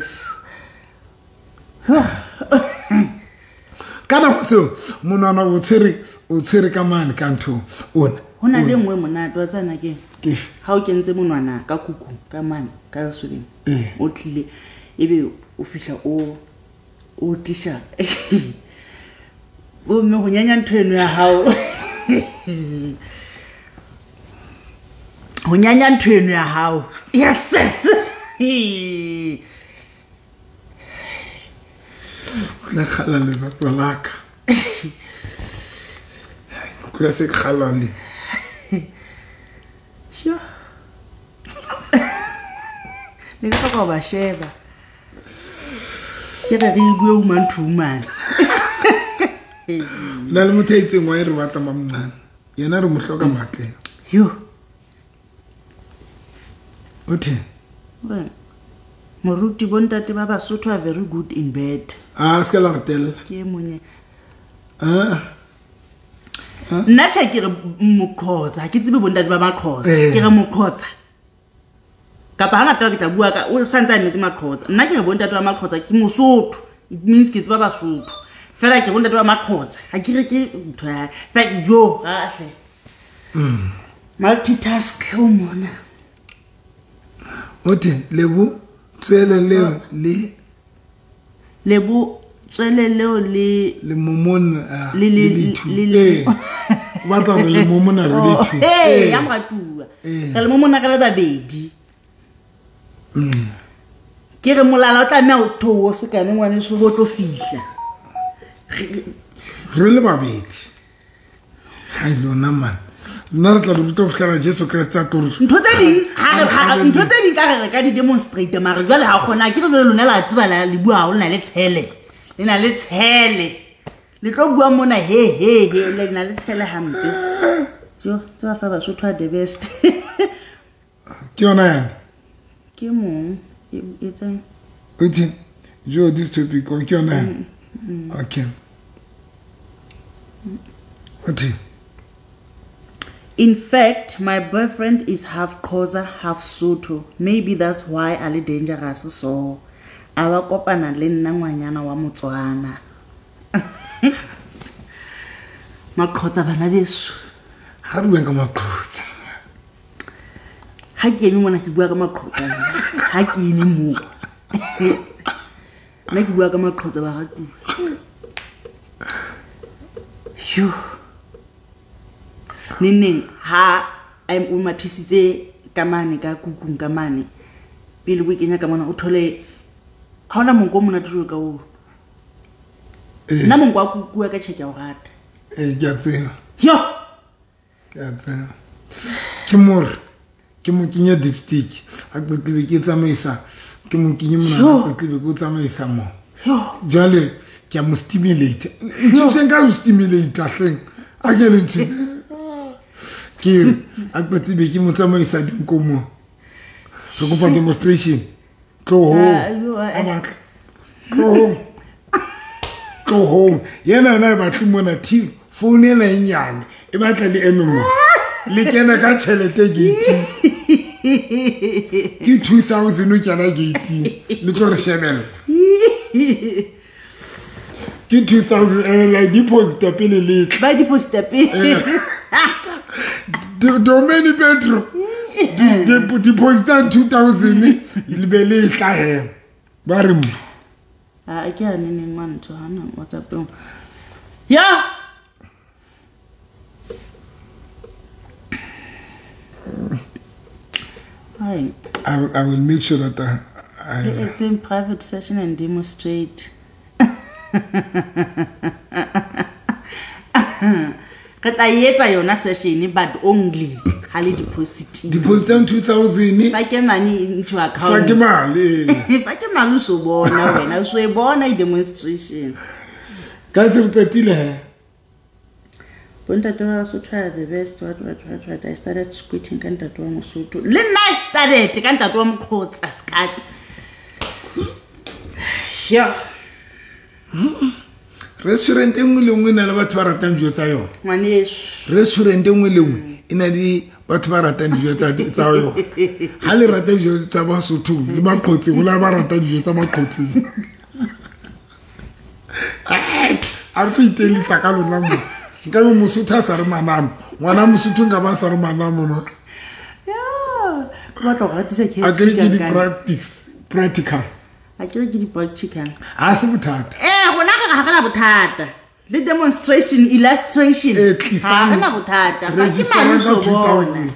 ka nako tseo monwana o tshwere ka mane ka ntho ona ho na le nngwe monate wa tsana ke ha o kentse monwana ka kuku ka mane ka soleng o tlile ebe o fihla o tlisha bo mme ho nyanya ntho eno ya hao ho nyanya ntho eno ya hao yes la kgala letsatsi la ka. Classic halali. Sure. Ne ke hloka ho ba sheba. Ke re re bue woman to woman. Na le motho a itseng wa e re batla mamncane. Yena re mo hloka matle. Yo. Othe. Moruti bontate ba Basotho are very good in bed. Ah, se ka la re tella. Ke monye. Ah. Nna tjhe ke re moqhotsa, ke tsebe bontate ba maqhotsa. Ke re moqhotsa. Kapa hangata ke tla bua ka o santse a emetse maqhotsa. Nna ke re bontate ba maqhotsa ke Mosotho. It means ke tseba Basotho. Fela ke bontate ba maqhotsa. Ha ke re ke ntho ya fela jo ha hle. Multitask o mona. Othe lebo tswele leo le lebo tswele leo le le momona le le ba tla re le momona re le two. Eh ya moratuwa. Re le momona re le babedi. Ke re molala o tlameha o theohe sekane ngwaneso ho tlo fihla. Re le babedi. Hai lona man. Nna re tla le ruta ho fihlela Jesu Kreste a tlo re Ntho tse ding ha re ntho tse ding ka re ka di demonstrate mare jwale ha kgona ke re jwale lona la tseba la le bua ha lona le tshele. Le na le tshele. Le tlo bua mona he he he le na le tshele hampe. Jo tseba fa Basotho are the best. Ke yona yana. Ke mong e tseng. Uthi jo this topic o ke yona yana. Okay. Uthi In fact, my boyfriend is half Xhosa, half Sotho. Maybe that's why a le dangerous so. A ba kopana le nna ngwanyana wa Motswana. Maqhotsa bana beso. Ha re bueng ka maqhotsa. Ha ke eme mona ke bua ka maqhotsa. Ha ke eme mo. Nna ke bua ka maqhotsa ba ratuwa. Yo. Neneng ha o mathisitse ka mane ka kukung ka mane pele o kenya ka mona o thole ha ona monko o monate jwalo ka oo. Nna monko wa kuku wa ka tjhe ke a o rata. Eh ke a tseba. Yo. Ke a tseba. Ke more ke mo kenye dipstick a qetile ke tsamaisa ke mo kenye mona a qetile ke o tsamaisa mo. Yo. Jwale ke a mo stimulate. Nthuseng ka ho stimulate hleng. A ke le nthuse. Ke a qetile ke mo tsamaisa dinko mo. Re kopa demonstration. Tloho. A batla. Tloho. Tloho. Yena yena e batle mona TV phone ena e nyane e batla le eme mo. Le kena ka tjhelete gate. Ke 2000 o kena gate. Le tlo re shebella. Ke 2000 ene la deposit pele le tla. Ba deposit pele. Domeni Petro. Deposit 2000 le be le tla he. Ba re mo. Ah ke a neneng wa ntho hana WhatsApp. Ya. I will make sure that I it's in private session and demonstrate. Re tla etsa yona session but only ha le deposit. Deposit 2000. Fa ke money into account. Fa ke mali. Fa ke mali so bona wena so e bona i demonstration. Ka se re qetile he. Bontate ba Basotho are the best. What. I started squirting ka ntate wa Mosotho. Le nna I started ka ntate wa Moqhotsa skat. Sure. Restaurant e nngwe le nngwe e na le batho ba ratang dijo tsa yona. Ngwaneso. Restaurant e nngwe le nngwe e na le batho ba ratang dijo tsa yona. Ha le rata dijo tsa Basotho le Maqhotseng, ho na le ba ratang dijo tsa Maqhotseng. A re tlo itelisa ka lona mo. Nka be Mosotho a sa re manamo. Ngwana Mosotho nka ba sa re manamo no. Yeah. Ke batla go ratisa KFC. A ke re ke di practical. A ke re ke di practical. Ha se bothata. Eh rona re ha re na bothata. Le demonstration illustration. Eh ha re na bothata. Register ka 2000.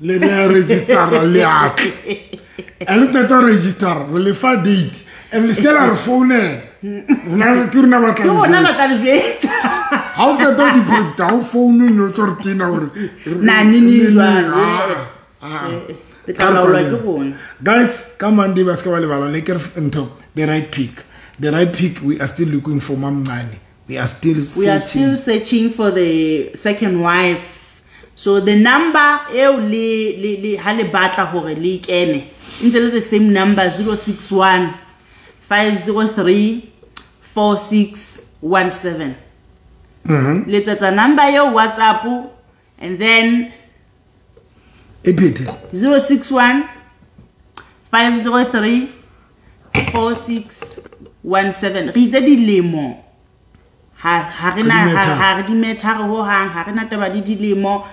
Le ne register le a. E le qeta register re le fa date. E le se la re founela. Rona ke rona ba tla Ke rona ba tla le jwetsa. Ha o qeta ho deposit, ha o foune no tlo re tena hore Na nini jwalo. Le tla laolwa ke rona. Guys, ka Monday ba ska ba lebala le ke re ntho the right pick. The right pick, we are still looking for Mamncane. We are still We are still searching for the second wife. So the number eo le le le ha le batla hore le kene. Ntse le the same number 061 503 4617. Letsetsa number eo WhatsApp and then E phethe. 061 503 4617. Re itse dilemo. Ha re na Ha di matter. ha re di matter ho hang, ha re na taba le dilemo.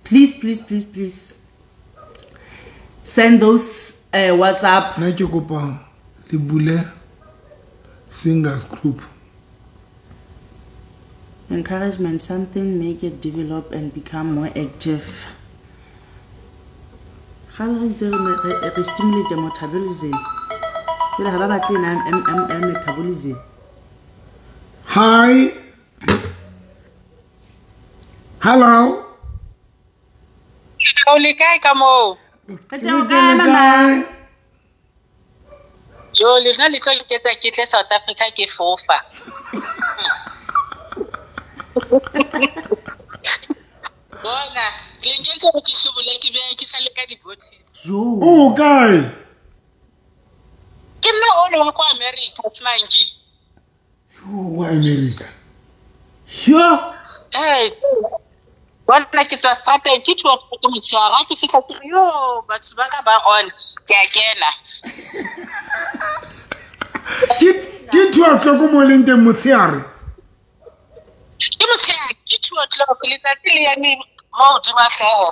Please, please, please, please send those WhatsApp. Nna ke kopa le bule singers group. Encouragement, something make it develop and become more active. Kgale re itse re stimulate metabolism. Jwale ha ba batle ena metabolism. Hi. Hello. O le kae ka moo? Re teng o kae, mama? Jo, le nna le tlo nketsa ke tle South Africa ke fofa. Bona, le nkentse hore ke hlobole ke be ke sale ka di-bottles. Jo. O kae? Ke nna ono wa kwa America, Smangi. O wa America. Sure. Eh, bona ke tswa strateng ke 2 o'clock motshehare, ha ke fihla ke re, yo, batho ba ka ba on, ke a kena. Ke 2 o'clock mo leng teng motshehare. Ke motshehare, ke 2 o'clock, letsatsi le eme mo hodima hlooho.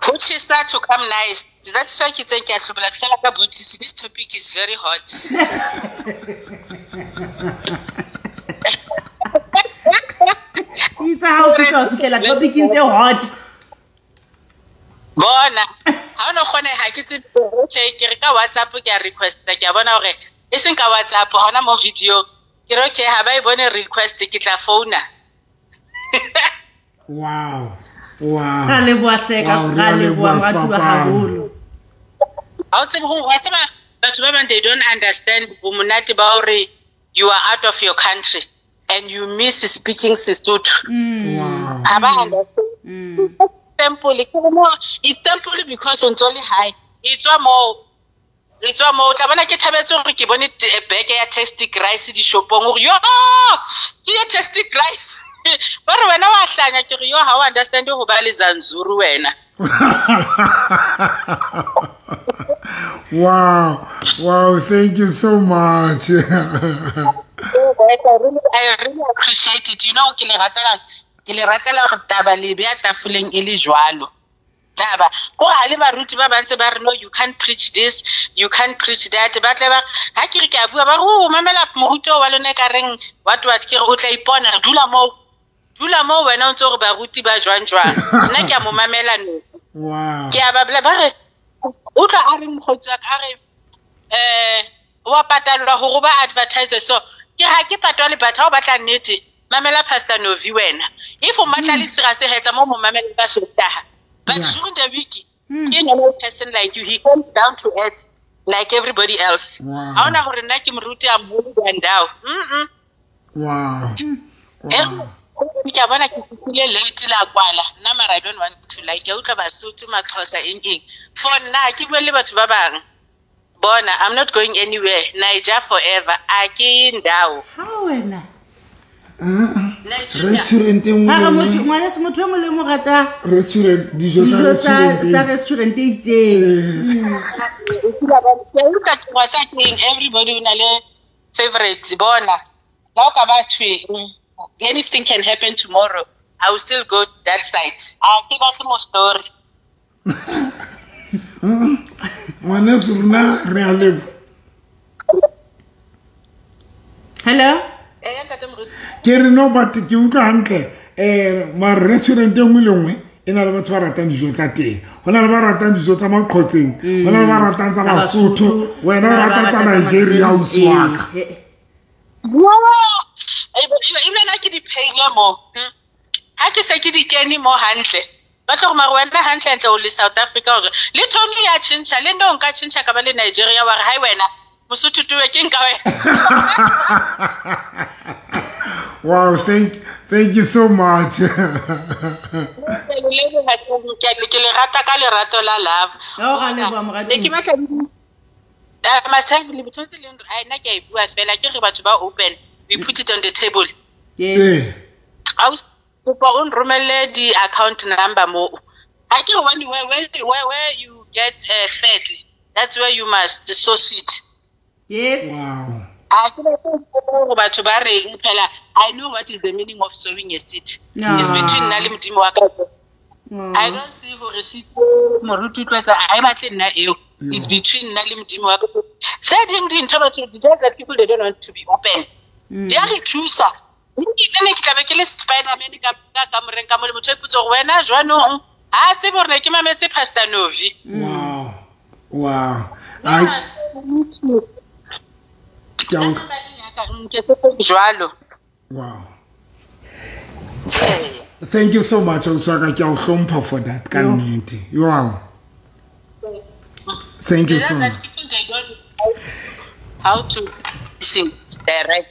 Ho tjhesa to come nice. That's why ke tseng ke a hlobola ke sala ka booties. This topic is very hot. Itse ha o fihla o fihlela topicing tse hot. Bona, ha o no kgoneha ke tsebe, okay, ke re ka WhatsApp ke a request, ke a bona hore e seng ka WhatsApp hona mo video. Ke re okay, ha ba e bone request ke tla founa. Wow. Wow. Ra leboha hle ka Wow, re ra a leboha leboha moratuwa sefapano. haholo. Ha o tsebe ho wa tseba batho ba bang they don't understand bomonate ba hore you are out of your country and you miss speaking Sesotho. Wow. Ha ba understand. Simple, ke re mo it's simple because o ntso le hae. E tswa moo. E tswa moo, o tla bona ke thabetse hore ke bone beke ya Tastic Rice dishopong hore yo ke ya Tastic Rice. Ba re wena wa hlanya, ke re yo ha o understand ho ba le Zanzuru wena. Wow. Wow, thank you so much. I really appreciate it. You know, ke le ratela hore taba le beha tafoleng e le jwalo. Taba ko ha le baruti ba ba ntse ba re no, you can't preach this, you can't preach that. Ba tle ba ha ke re ke a bua, ba re o mamela moruti wa lona e ka reng what what, ke re o tla ipona, dula moo, dula moo wena o ntse hore baruti ba jwang jwang, nna ke a mo mamela no. Ke a ba ba re utlwa a re mokgotsi wa ka a re wa patalwa hore ba advertise, so ke ha ke patale, but ha o batla nnete mamela Pastor Novi wena, if o matla le serious hetla mo mamela ka Sontaha, but during the week ke normal person like you, he comes down to earth like everybody else. Ha ona hore nna ke moruti a moholo than thou. Ke a bona ke fihlile late la kwala nna, mara I don't want to like ke utlwa Basotho, Maxhosa, eng eng, for nna ke bue le batho ba bang. Bona, I'm not going anywhere. Niger forever, a ke ye ndawo. Ha wena. Nigeria. Restaurant e nngwe Ha re le motho nngwe. ngwaneso, motho e mong le mo rata Restaurant, dijo tsa dijo tsa restaurant. Tsa restaurant e itseng. Ke utlwa ke wa tsa keng, everybody o na le favorites. Bona la o ka ba thwe anything can happen tomorrow, I will still go that side, a ke batle mo story. Ngwaneso, rona re a leboha. Hello. Eh, ntate moruti. Ke re no, but ke utlwa hantle mara restaurant e nngwe le nngwe E na le batho ba ratang dijo tsa teng, ho na le ba ratang dijo tsa Maqhotseng, ho na le ba ratang tsa Basotho, wena o rata tsa Nigeria, ausi wa ka. Ebile nna ke di pheile mo. Ha ke se ke di kene mo hantle. Ba tlo gore mare wena hantle-hantle o le South Africa o jwang. Le Tony ya tjhentjha, le nna o nka tjhentjha ka ba le Nigeria wa re hai wena Mosotho tuwe ke nka wena. Wow, thank you so much. Ke le rata ka lerato la love. Oh, ra leboha, moratuwa. Ne ke batla must have le botho tse leng ai nna ke a e bua fela, ke re batho ba open, we put it on the table. Yes. Aus kopa o nromelle di account number mo. Ha ke re one where you get fed, that's where you must source it. Yes. Wow. A ke batla gore batho ba reng phela, I know what is the meaning of sowing a seed. No. It's between nna le Modimo wa ka. No. I don't see gore seed moruti tlwetsa a e batle nna eo. It's between nna le Modimo wa ka. Tse ding dintho batho, just that people they don't want to be open. Di a re thusa. Nne ke tlabe ke le Spider-Man ka kamoreng ka mo le motho a ipotsa gore wena jwanong ha tsebe gore ne ke mametse Pastor Novi. Wow. Wow. I don't. Jwalo. Wow. Thank you so much, ausi wa ka, ke a o hlompha for that ka nnete. Wow. Thank you so much. People they don't know how to sing direct.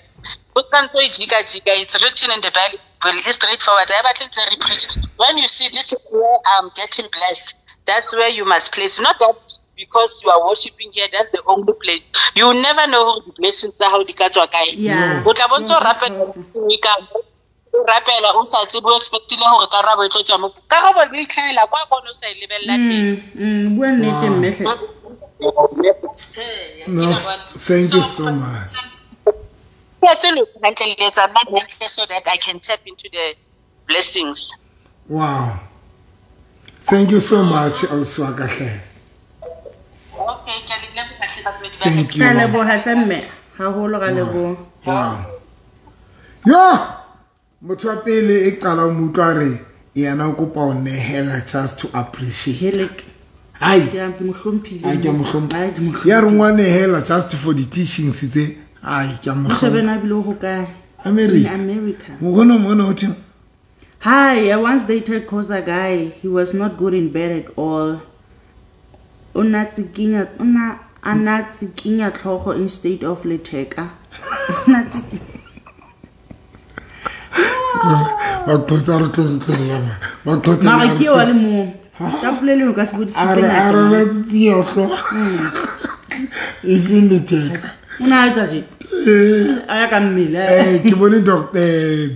O tla ntse o jika jika, it's written in the Bible, it's straightforward. I batla ntse re preach. When you see this is where I'm getting blessed, that's where you must place. Not that because you are worshiping here, that's the only place. You will never know who the blessings are, how di ka tswa kae. Yeah. O tla bontse o No, that's rapela, powerful. ka o rapela, o sa tsebe, o expectile hore karabo e tlo tswa mo. Karabo e itlhahela kwa kgone o sa e lebella teng. Bua nnete mme hle. No, thank you so much. So that I can tap into the blessings. Wow. Thank you so much, ausi wa ka hle. Okay, ke a le leboha hle, batswadi ba ka. Thank you. Ra leboha hle mme, haholo ra leboha. Wow. Yo, motho wa pele e qala mo utlwa re yena o kopa ho nehela just to appreciate. Helek. Ai. Ke a mo hlomphile. Ai, ke a mo hlompha. Ai, ke mo Ya re hlomphile. ngwa nehela just for the teachings tse. Ai, ke a mo O shebe hlompha. na bile ho kae? America. In America. Mona mona o theng? Hi, I once dated Xhosa guy. He was not good in bed at all. O na tsikinya, o na a na tsikinya tlhogo instead of letheka. O na tsikinya. Ba qotsa re tlo ntlela ba. Ba qotsa Mara re ke wa le mo. Ka polelo ka se bodisitse A re ngata. a re tsikinya tlhogo. E seng letheka. O na a etsa tje? A ya ka mmele. Ke bone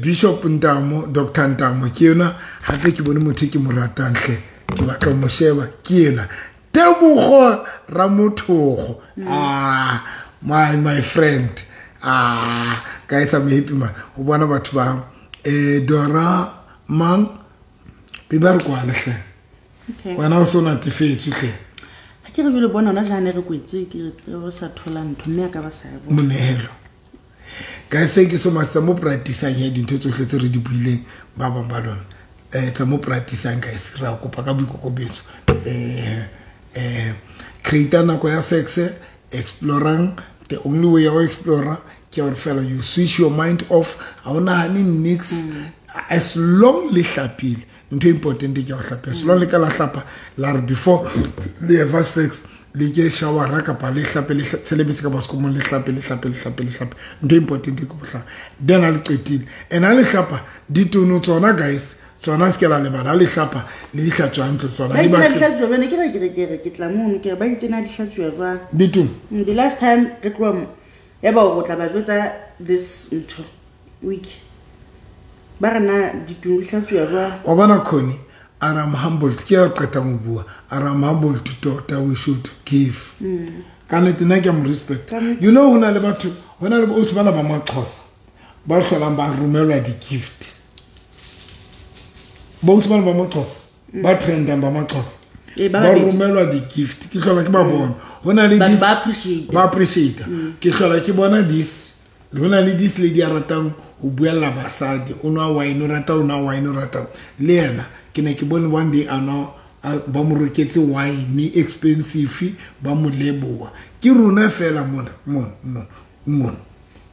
Bishop Ntamo, Dr. Ntamo ke yena, hape ke bone motho e ke mo ratang hle. Ke batla ho mo sheba ke yena. Tebogo Ramothogo. My friend. Guys, I'm happy man. O bona batho ba Dora Mang be ba re kwale hle. Okay. Wena o so natefetswe hle. Ha ke re jwale bona hona jane re kwetse ke re o sa thola ntho mme a ka ba sa e bona. Monehelo. Guys, thank you so much. Tsa mo practice-ang he dintho tsohle tse re di buileng ba bang ba lona. Tsa mo practice-ang guys, re a kopa ka boikokobetso. Create nako ya sex, explorang. The only way ya ho explore ke hore fela you switch your mind off. Ha o nahane nix. As long le hlapile, ntho e important ke ya ho hlapa. As long le ka la hlapa, la re before le have sex, le ke showera kapa le hlape, le tshele metsi ka baskomong, le hlape, le hlape, le hlape, le hlape. Ntho e important ke ho hlapa. Then ha le qetile, and ha le hlapa, ditono tsona guys, tsona se ke la lebala, ha le hlapa, le di hlatswa hantle tsona. Ba Di itse na batle di hlatswa jwang? Ne ke re, ke re, ke re, ke tla mono, ke re, ba itse na di hlatswa jwang? Ditono? The last time re tloha mo, ya ba o tla ba jwetsa this ntho week. Ba re na ditono di hlatswa jwang? Wa bona Connie, a re I'm humbled, ke ya qetang ho bua, a re I'm humbled tota, we should give. Ka nnete nna ke a mo respect. Ka nnete. You know, ho na le batho, ho na le bo ausi bana ba Maxhosa, ba hlolang ba romelwa di-gift. Bo ausi bana ba Maxhosa, ba trendang ba Maxhosa. Ba Ba babedi. romelwa di-gift, ke hlola ke ba bona. Ho na le Batho this ba appreciate. Ba appreciate. Ke hlola ke bona this Ho na le this lady a ratang ho buella basadi, o nwa wine, o rata o nwa wine, o rata. Le yena ke ne ke bone one day a nwa, ba mo reketse wine expensive, ba mo leboha. Ke rona fela mona mona mona mona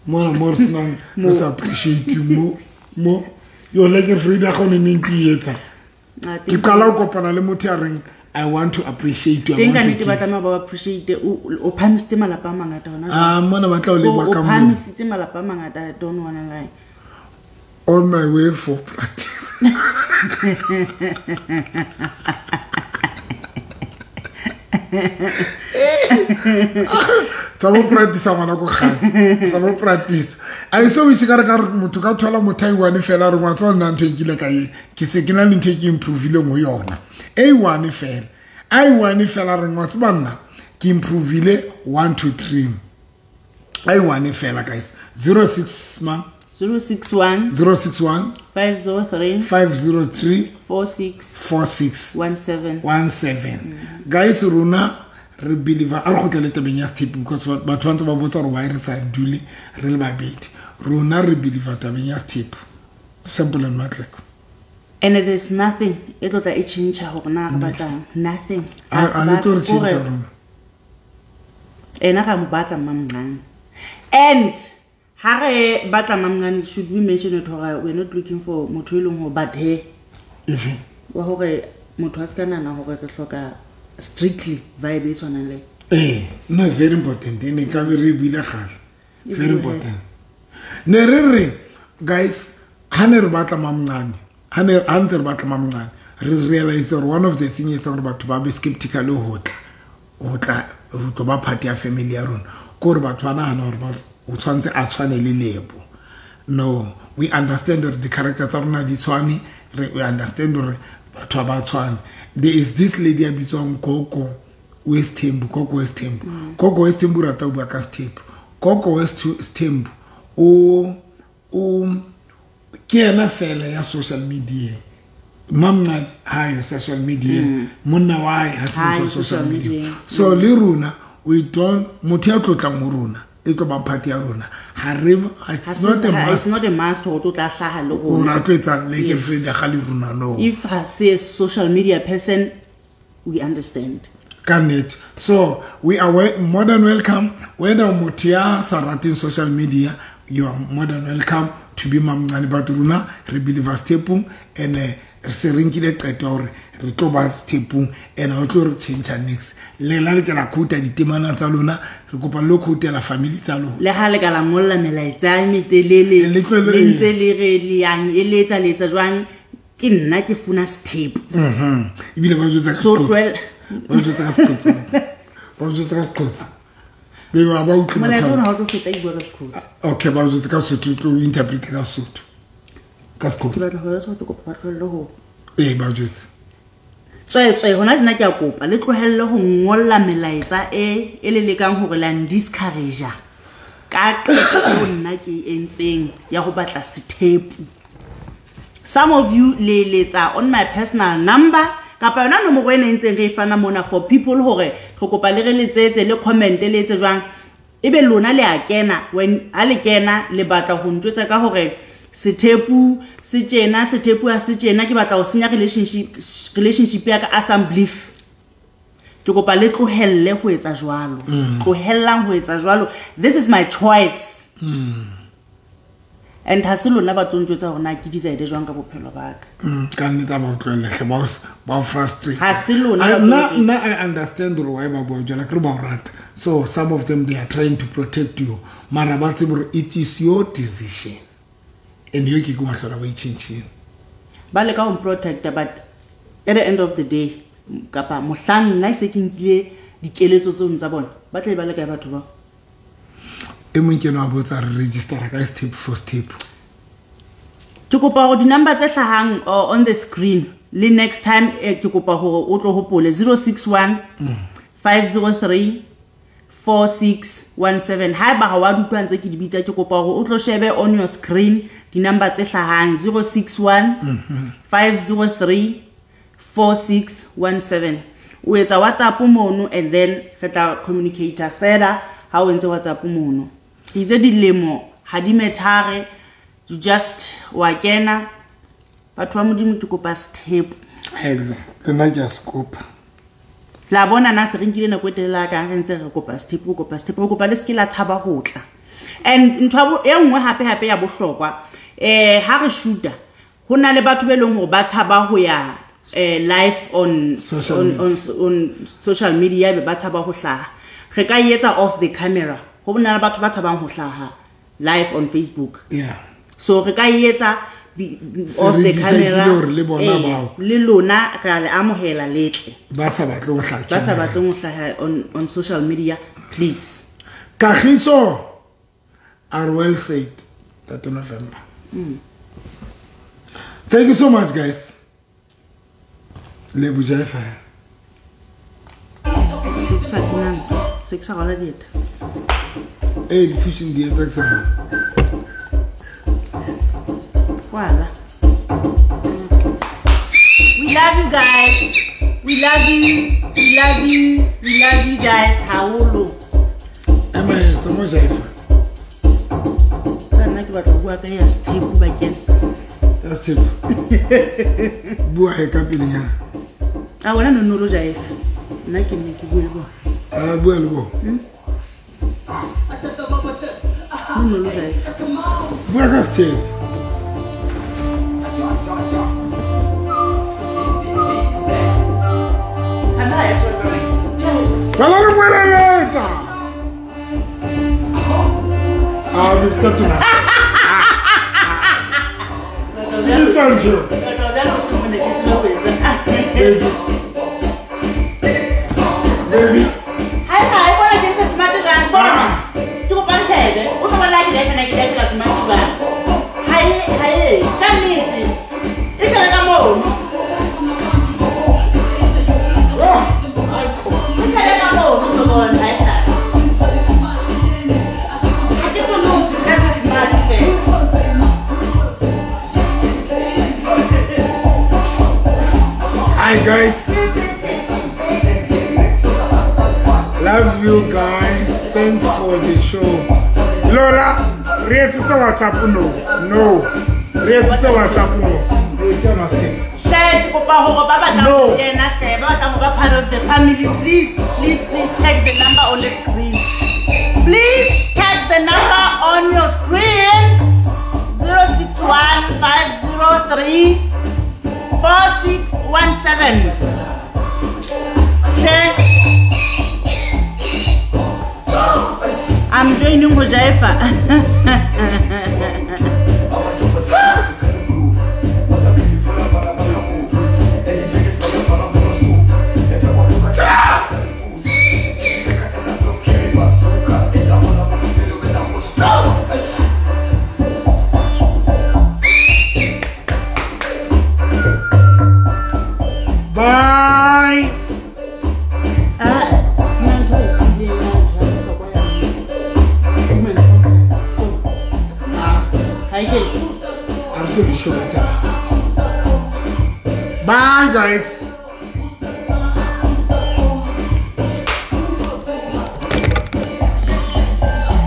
mona mo re senang, re sa appreciate mo mo. Yo le ke Frida ga o ne neng ke etsa. Ke qala ho kopana le motho ya reng I want to appreciate you, I Teng ka want to nnete ba give. tlameha ba appreciate. O phahamisitse malapa a mangata hona jwale. Ah, mona ba tla o leboha O ka moo. phahamisitse malapa a mangata, I don't wanna lie. On my way for practice. Tsa bo practice ngwana ko gae. Tsa bo practice. A so wish ka re ka re motho ka thola motho a one fela re ngwa tswa nna ntho e nkile ka e. Ke se ke na le ntho e ke improveileng ho yona. A one fela. A one fela re ngwa tseba nna ke improveile 1 2 3. A one fela guys. 06 man. 061 061 503 503 46 46 17. 17. Guys, rona re believe a re kgutlele tabeng ya sethepu because batho ba ntse ba botsa gore why re sa dule re le babedi. Rona re believe tabeng ya sethepu. Simple and matleko. And there's nothing e tlo tla e tjhentjha hore na re batlang. Nothing. A Ha se a le tlo re batle tjhentjha hore rona. Ena ra mo batla mmamncane. And ha re batla mmamncane, should we mention it hore we're not looking for motho e leng hore but he Efe? wa hore motho a se ka nahana hore re hloka strictly vibe e tshwanang le. No, very important. E ne ka be re buile kgale. E Very buile. important. Ne re re guys, ha ne re batla mamncane, ha ne ha ntse re batla mamncane, re realize gore one of the thing etsang gore batho ba be skeptical ho tla, ho tla, ho tlo ba part ya family ya rona, ke hore batho ba nahana hore ba o tshwantse a tshwane le Lebo. No, we understand that the character tsa rona di tshwane, we understand hore batho ha ba tshwane. There is this lady a bitswang Gogo Westhembu, Gogo Westhembu. Gogo Westhembu o rata ho bua ka sethepu. Gogo Westhembu o ke yena fela ya social media. Mamncane ha yo social media, monna wa hae ha se Ha motho wa yo social social media. media. So le rona we don't, motho ya tlotlang ho rona e tlo bang party ya rona, ha re, it's Ha se- not a ha- it's must. not a must hore o tlo tla hlaha le O rona. ra tlo etsang le ke Yes. Frida ga le rona, no. If ha se a social media person, we understand. Ka nnete. So we are more than welcome. Whether motho ya sa rateng social media, you are more than welcome to be mamncane, but rona re believe stepong and re se re nkile qeto ya hore re tlo ba stepong and ha o tlo re change next. Le la le ke la quote ditemana tsa lona, re kopa lo quotela family tsa lona. Le ha le ka la ngolla melaetsa e metelele, Le tlohele- le ntse le re le yang eletsa le etsa jwang, ke nna ke funa sethepu. Ebile ba jwetsa ka So Seqotsa. tlohela- Ba jwetsa ka Seqotsa. Ba jwetsa ka Seqotsa. Be ba ba utlwe Molaetsa motho ona ha o tlo feta ke bua ka Seqotsa. Okay, ba jwetsa ka Sotho, tlo interpret ka Sotho. Ka Ke Seqotsa. batla ho jwetsa hore ke kopa ba tlohelle ho Ee, ba jwetse. Tswetswe hona tjena ke a kopa le tlohelle ho ngolla melaetsa e le lekang hore la ndiscourage ka qeto eo nna ke e entseng ya ho batla sethepu. Some of you le letsa on my personal number kapa yona nomoro ena e ntseng re e fana mona for people hore re kopa le re letsetse le comment le etse jwang, ebe lona le a kena, when ha le kena le batla ho ntjwetsa ka hore sethepu se tjena, sethepu ha se tjena, ke batla ho senya relationship ya ka a some belief. Ke kopa le tlohelle ho etsa jwalo. Tlohellang ho etsa jwalo. This is my choice. And ha se lona ba tlo ntjwetsa hore na ke decide jwang ka bophelo ba ka. Ka nnete ha ba o tlohelle hle, ba o frustrate. Ha se lona ba tlo ntjwetsa. Nna I understand hore why ba bua jwalo, akere ba o rata. So some of them, they are trying to protect you. Mara ba tsebe hore it is your decision. And yo ke ke wa hlola ba e tjhentjhile. Ba leka ho mprotecta, but at the end of the day, kapa mohlang nna e se ke nkile dikeletso tseo tsa bona, ba tla be ba le kae batho bao? E mong ke enwa a botsa re registera ka step for step. Ke kopa hore di-number tse hlahang on the screen le next time ke kopa hore o tlo hopole 061 503 4617. Haeba ha wa di utlwa ntse ke di bitsa, ke kopa hore o tlo shebe on your screen di-number tse hlahang 061 503 4617. O etsa WhatsApp mono and then re tla communicate further ha o entse WhatsApp mono. Ke itse dilemo Ha di methare, you just wa kena. Batho ba Modimo ke kopa step. Exactly. Nna ke a se kopa. La bona na se re nkile nako e telele ka re ntse re kopa step, re kopa step, re kopa le se ke la tshaba ho tla. And ntho e nngwe hape hape ya bohlokwa, ha re shoota ho na le batho be leng hore ba tshaba ho ya live on social media, be ba tshaba ho hlaha. Re ka etsa off the camera. Ho na le batho ba tshabang ho hlaha live on Facebook. Yeah. So re ka etsa off the camera. Le lona re le amohela letle. Ba sa batle ho hlaha. Ba sa batle ho hlaha on social media, please. Kagiso are well said that November. Thank you so much, guys. Lebo Jaifa. 6 horas. Hey, pushing the attacks. Voila. We love you guys. We love you. We love you. We love you guys. Haholo. Emma, so Jaifa. Nna ke batla ho bua ka ya step bakeng. Ya step. Bua he ka pelenyana. A wena no no lo Jaifa. Nna ke ne ke bue le bona. A bua le bona. No lo Jaifa. Bua ka step. Bala re bueleleta. Ah, mi sta tu. Baby. Hi, hi, bona ke ntse smart jang? Bona. Ke kopa le shebe. O tlo bona ke le smart jang. Hi, hi. Ka nnete. E shebe ka mono. E shebe ka mono tlo bona. Hi, hi. Ha ke tlo no se ka smart fela. Hi guys, love you guys. Thanks for the show. Lola, read the WhatsApp no, no, read the WhatsApp no. No. Part of the family, please, please, please text the number on the screen. Please text the number on your screens. 061 503 4617. Share. I'm joining Hojaifa. Bye. I'm so sure. Bye, guys.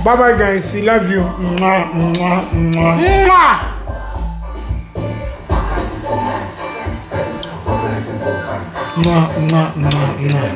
Bye, bye, guys. We love you. Mwah, mwah, mwah. Mwah. Mwah, mwah, mwah, mwah.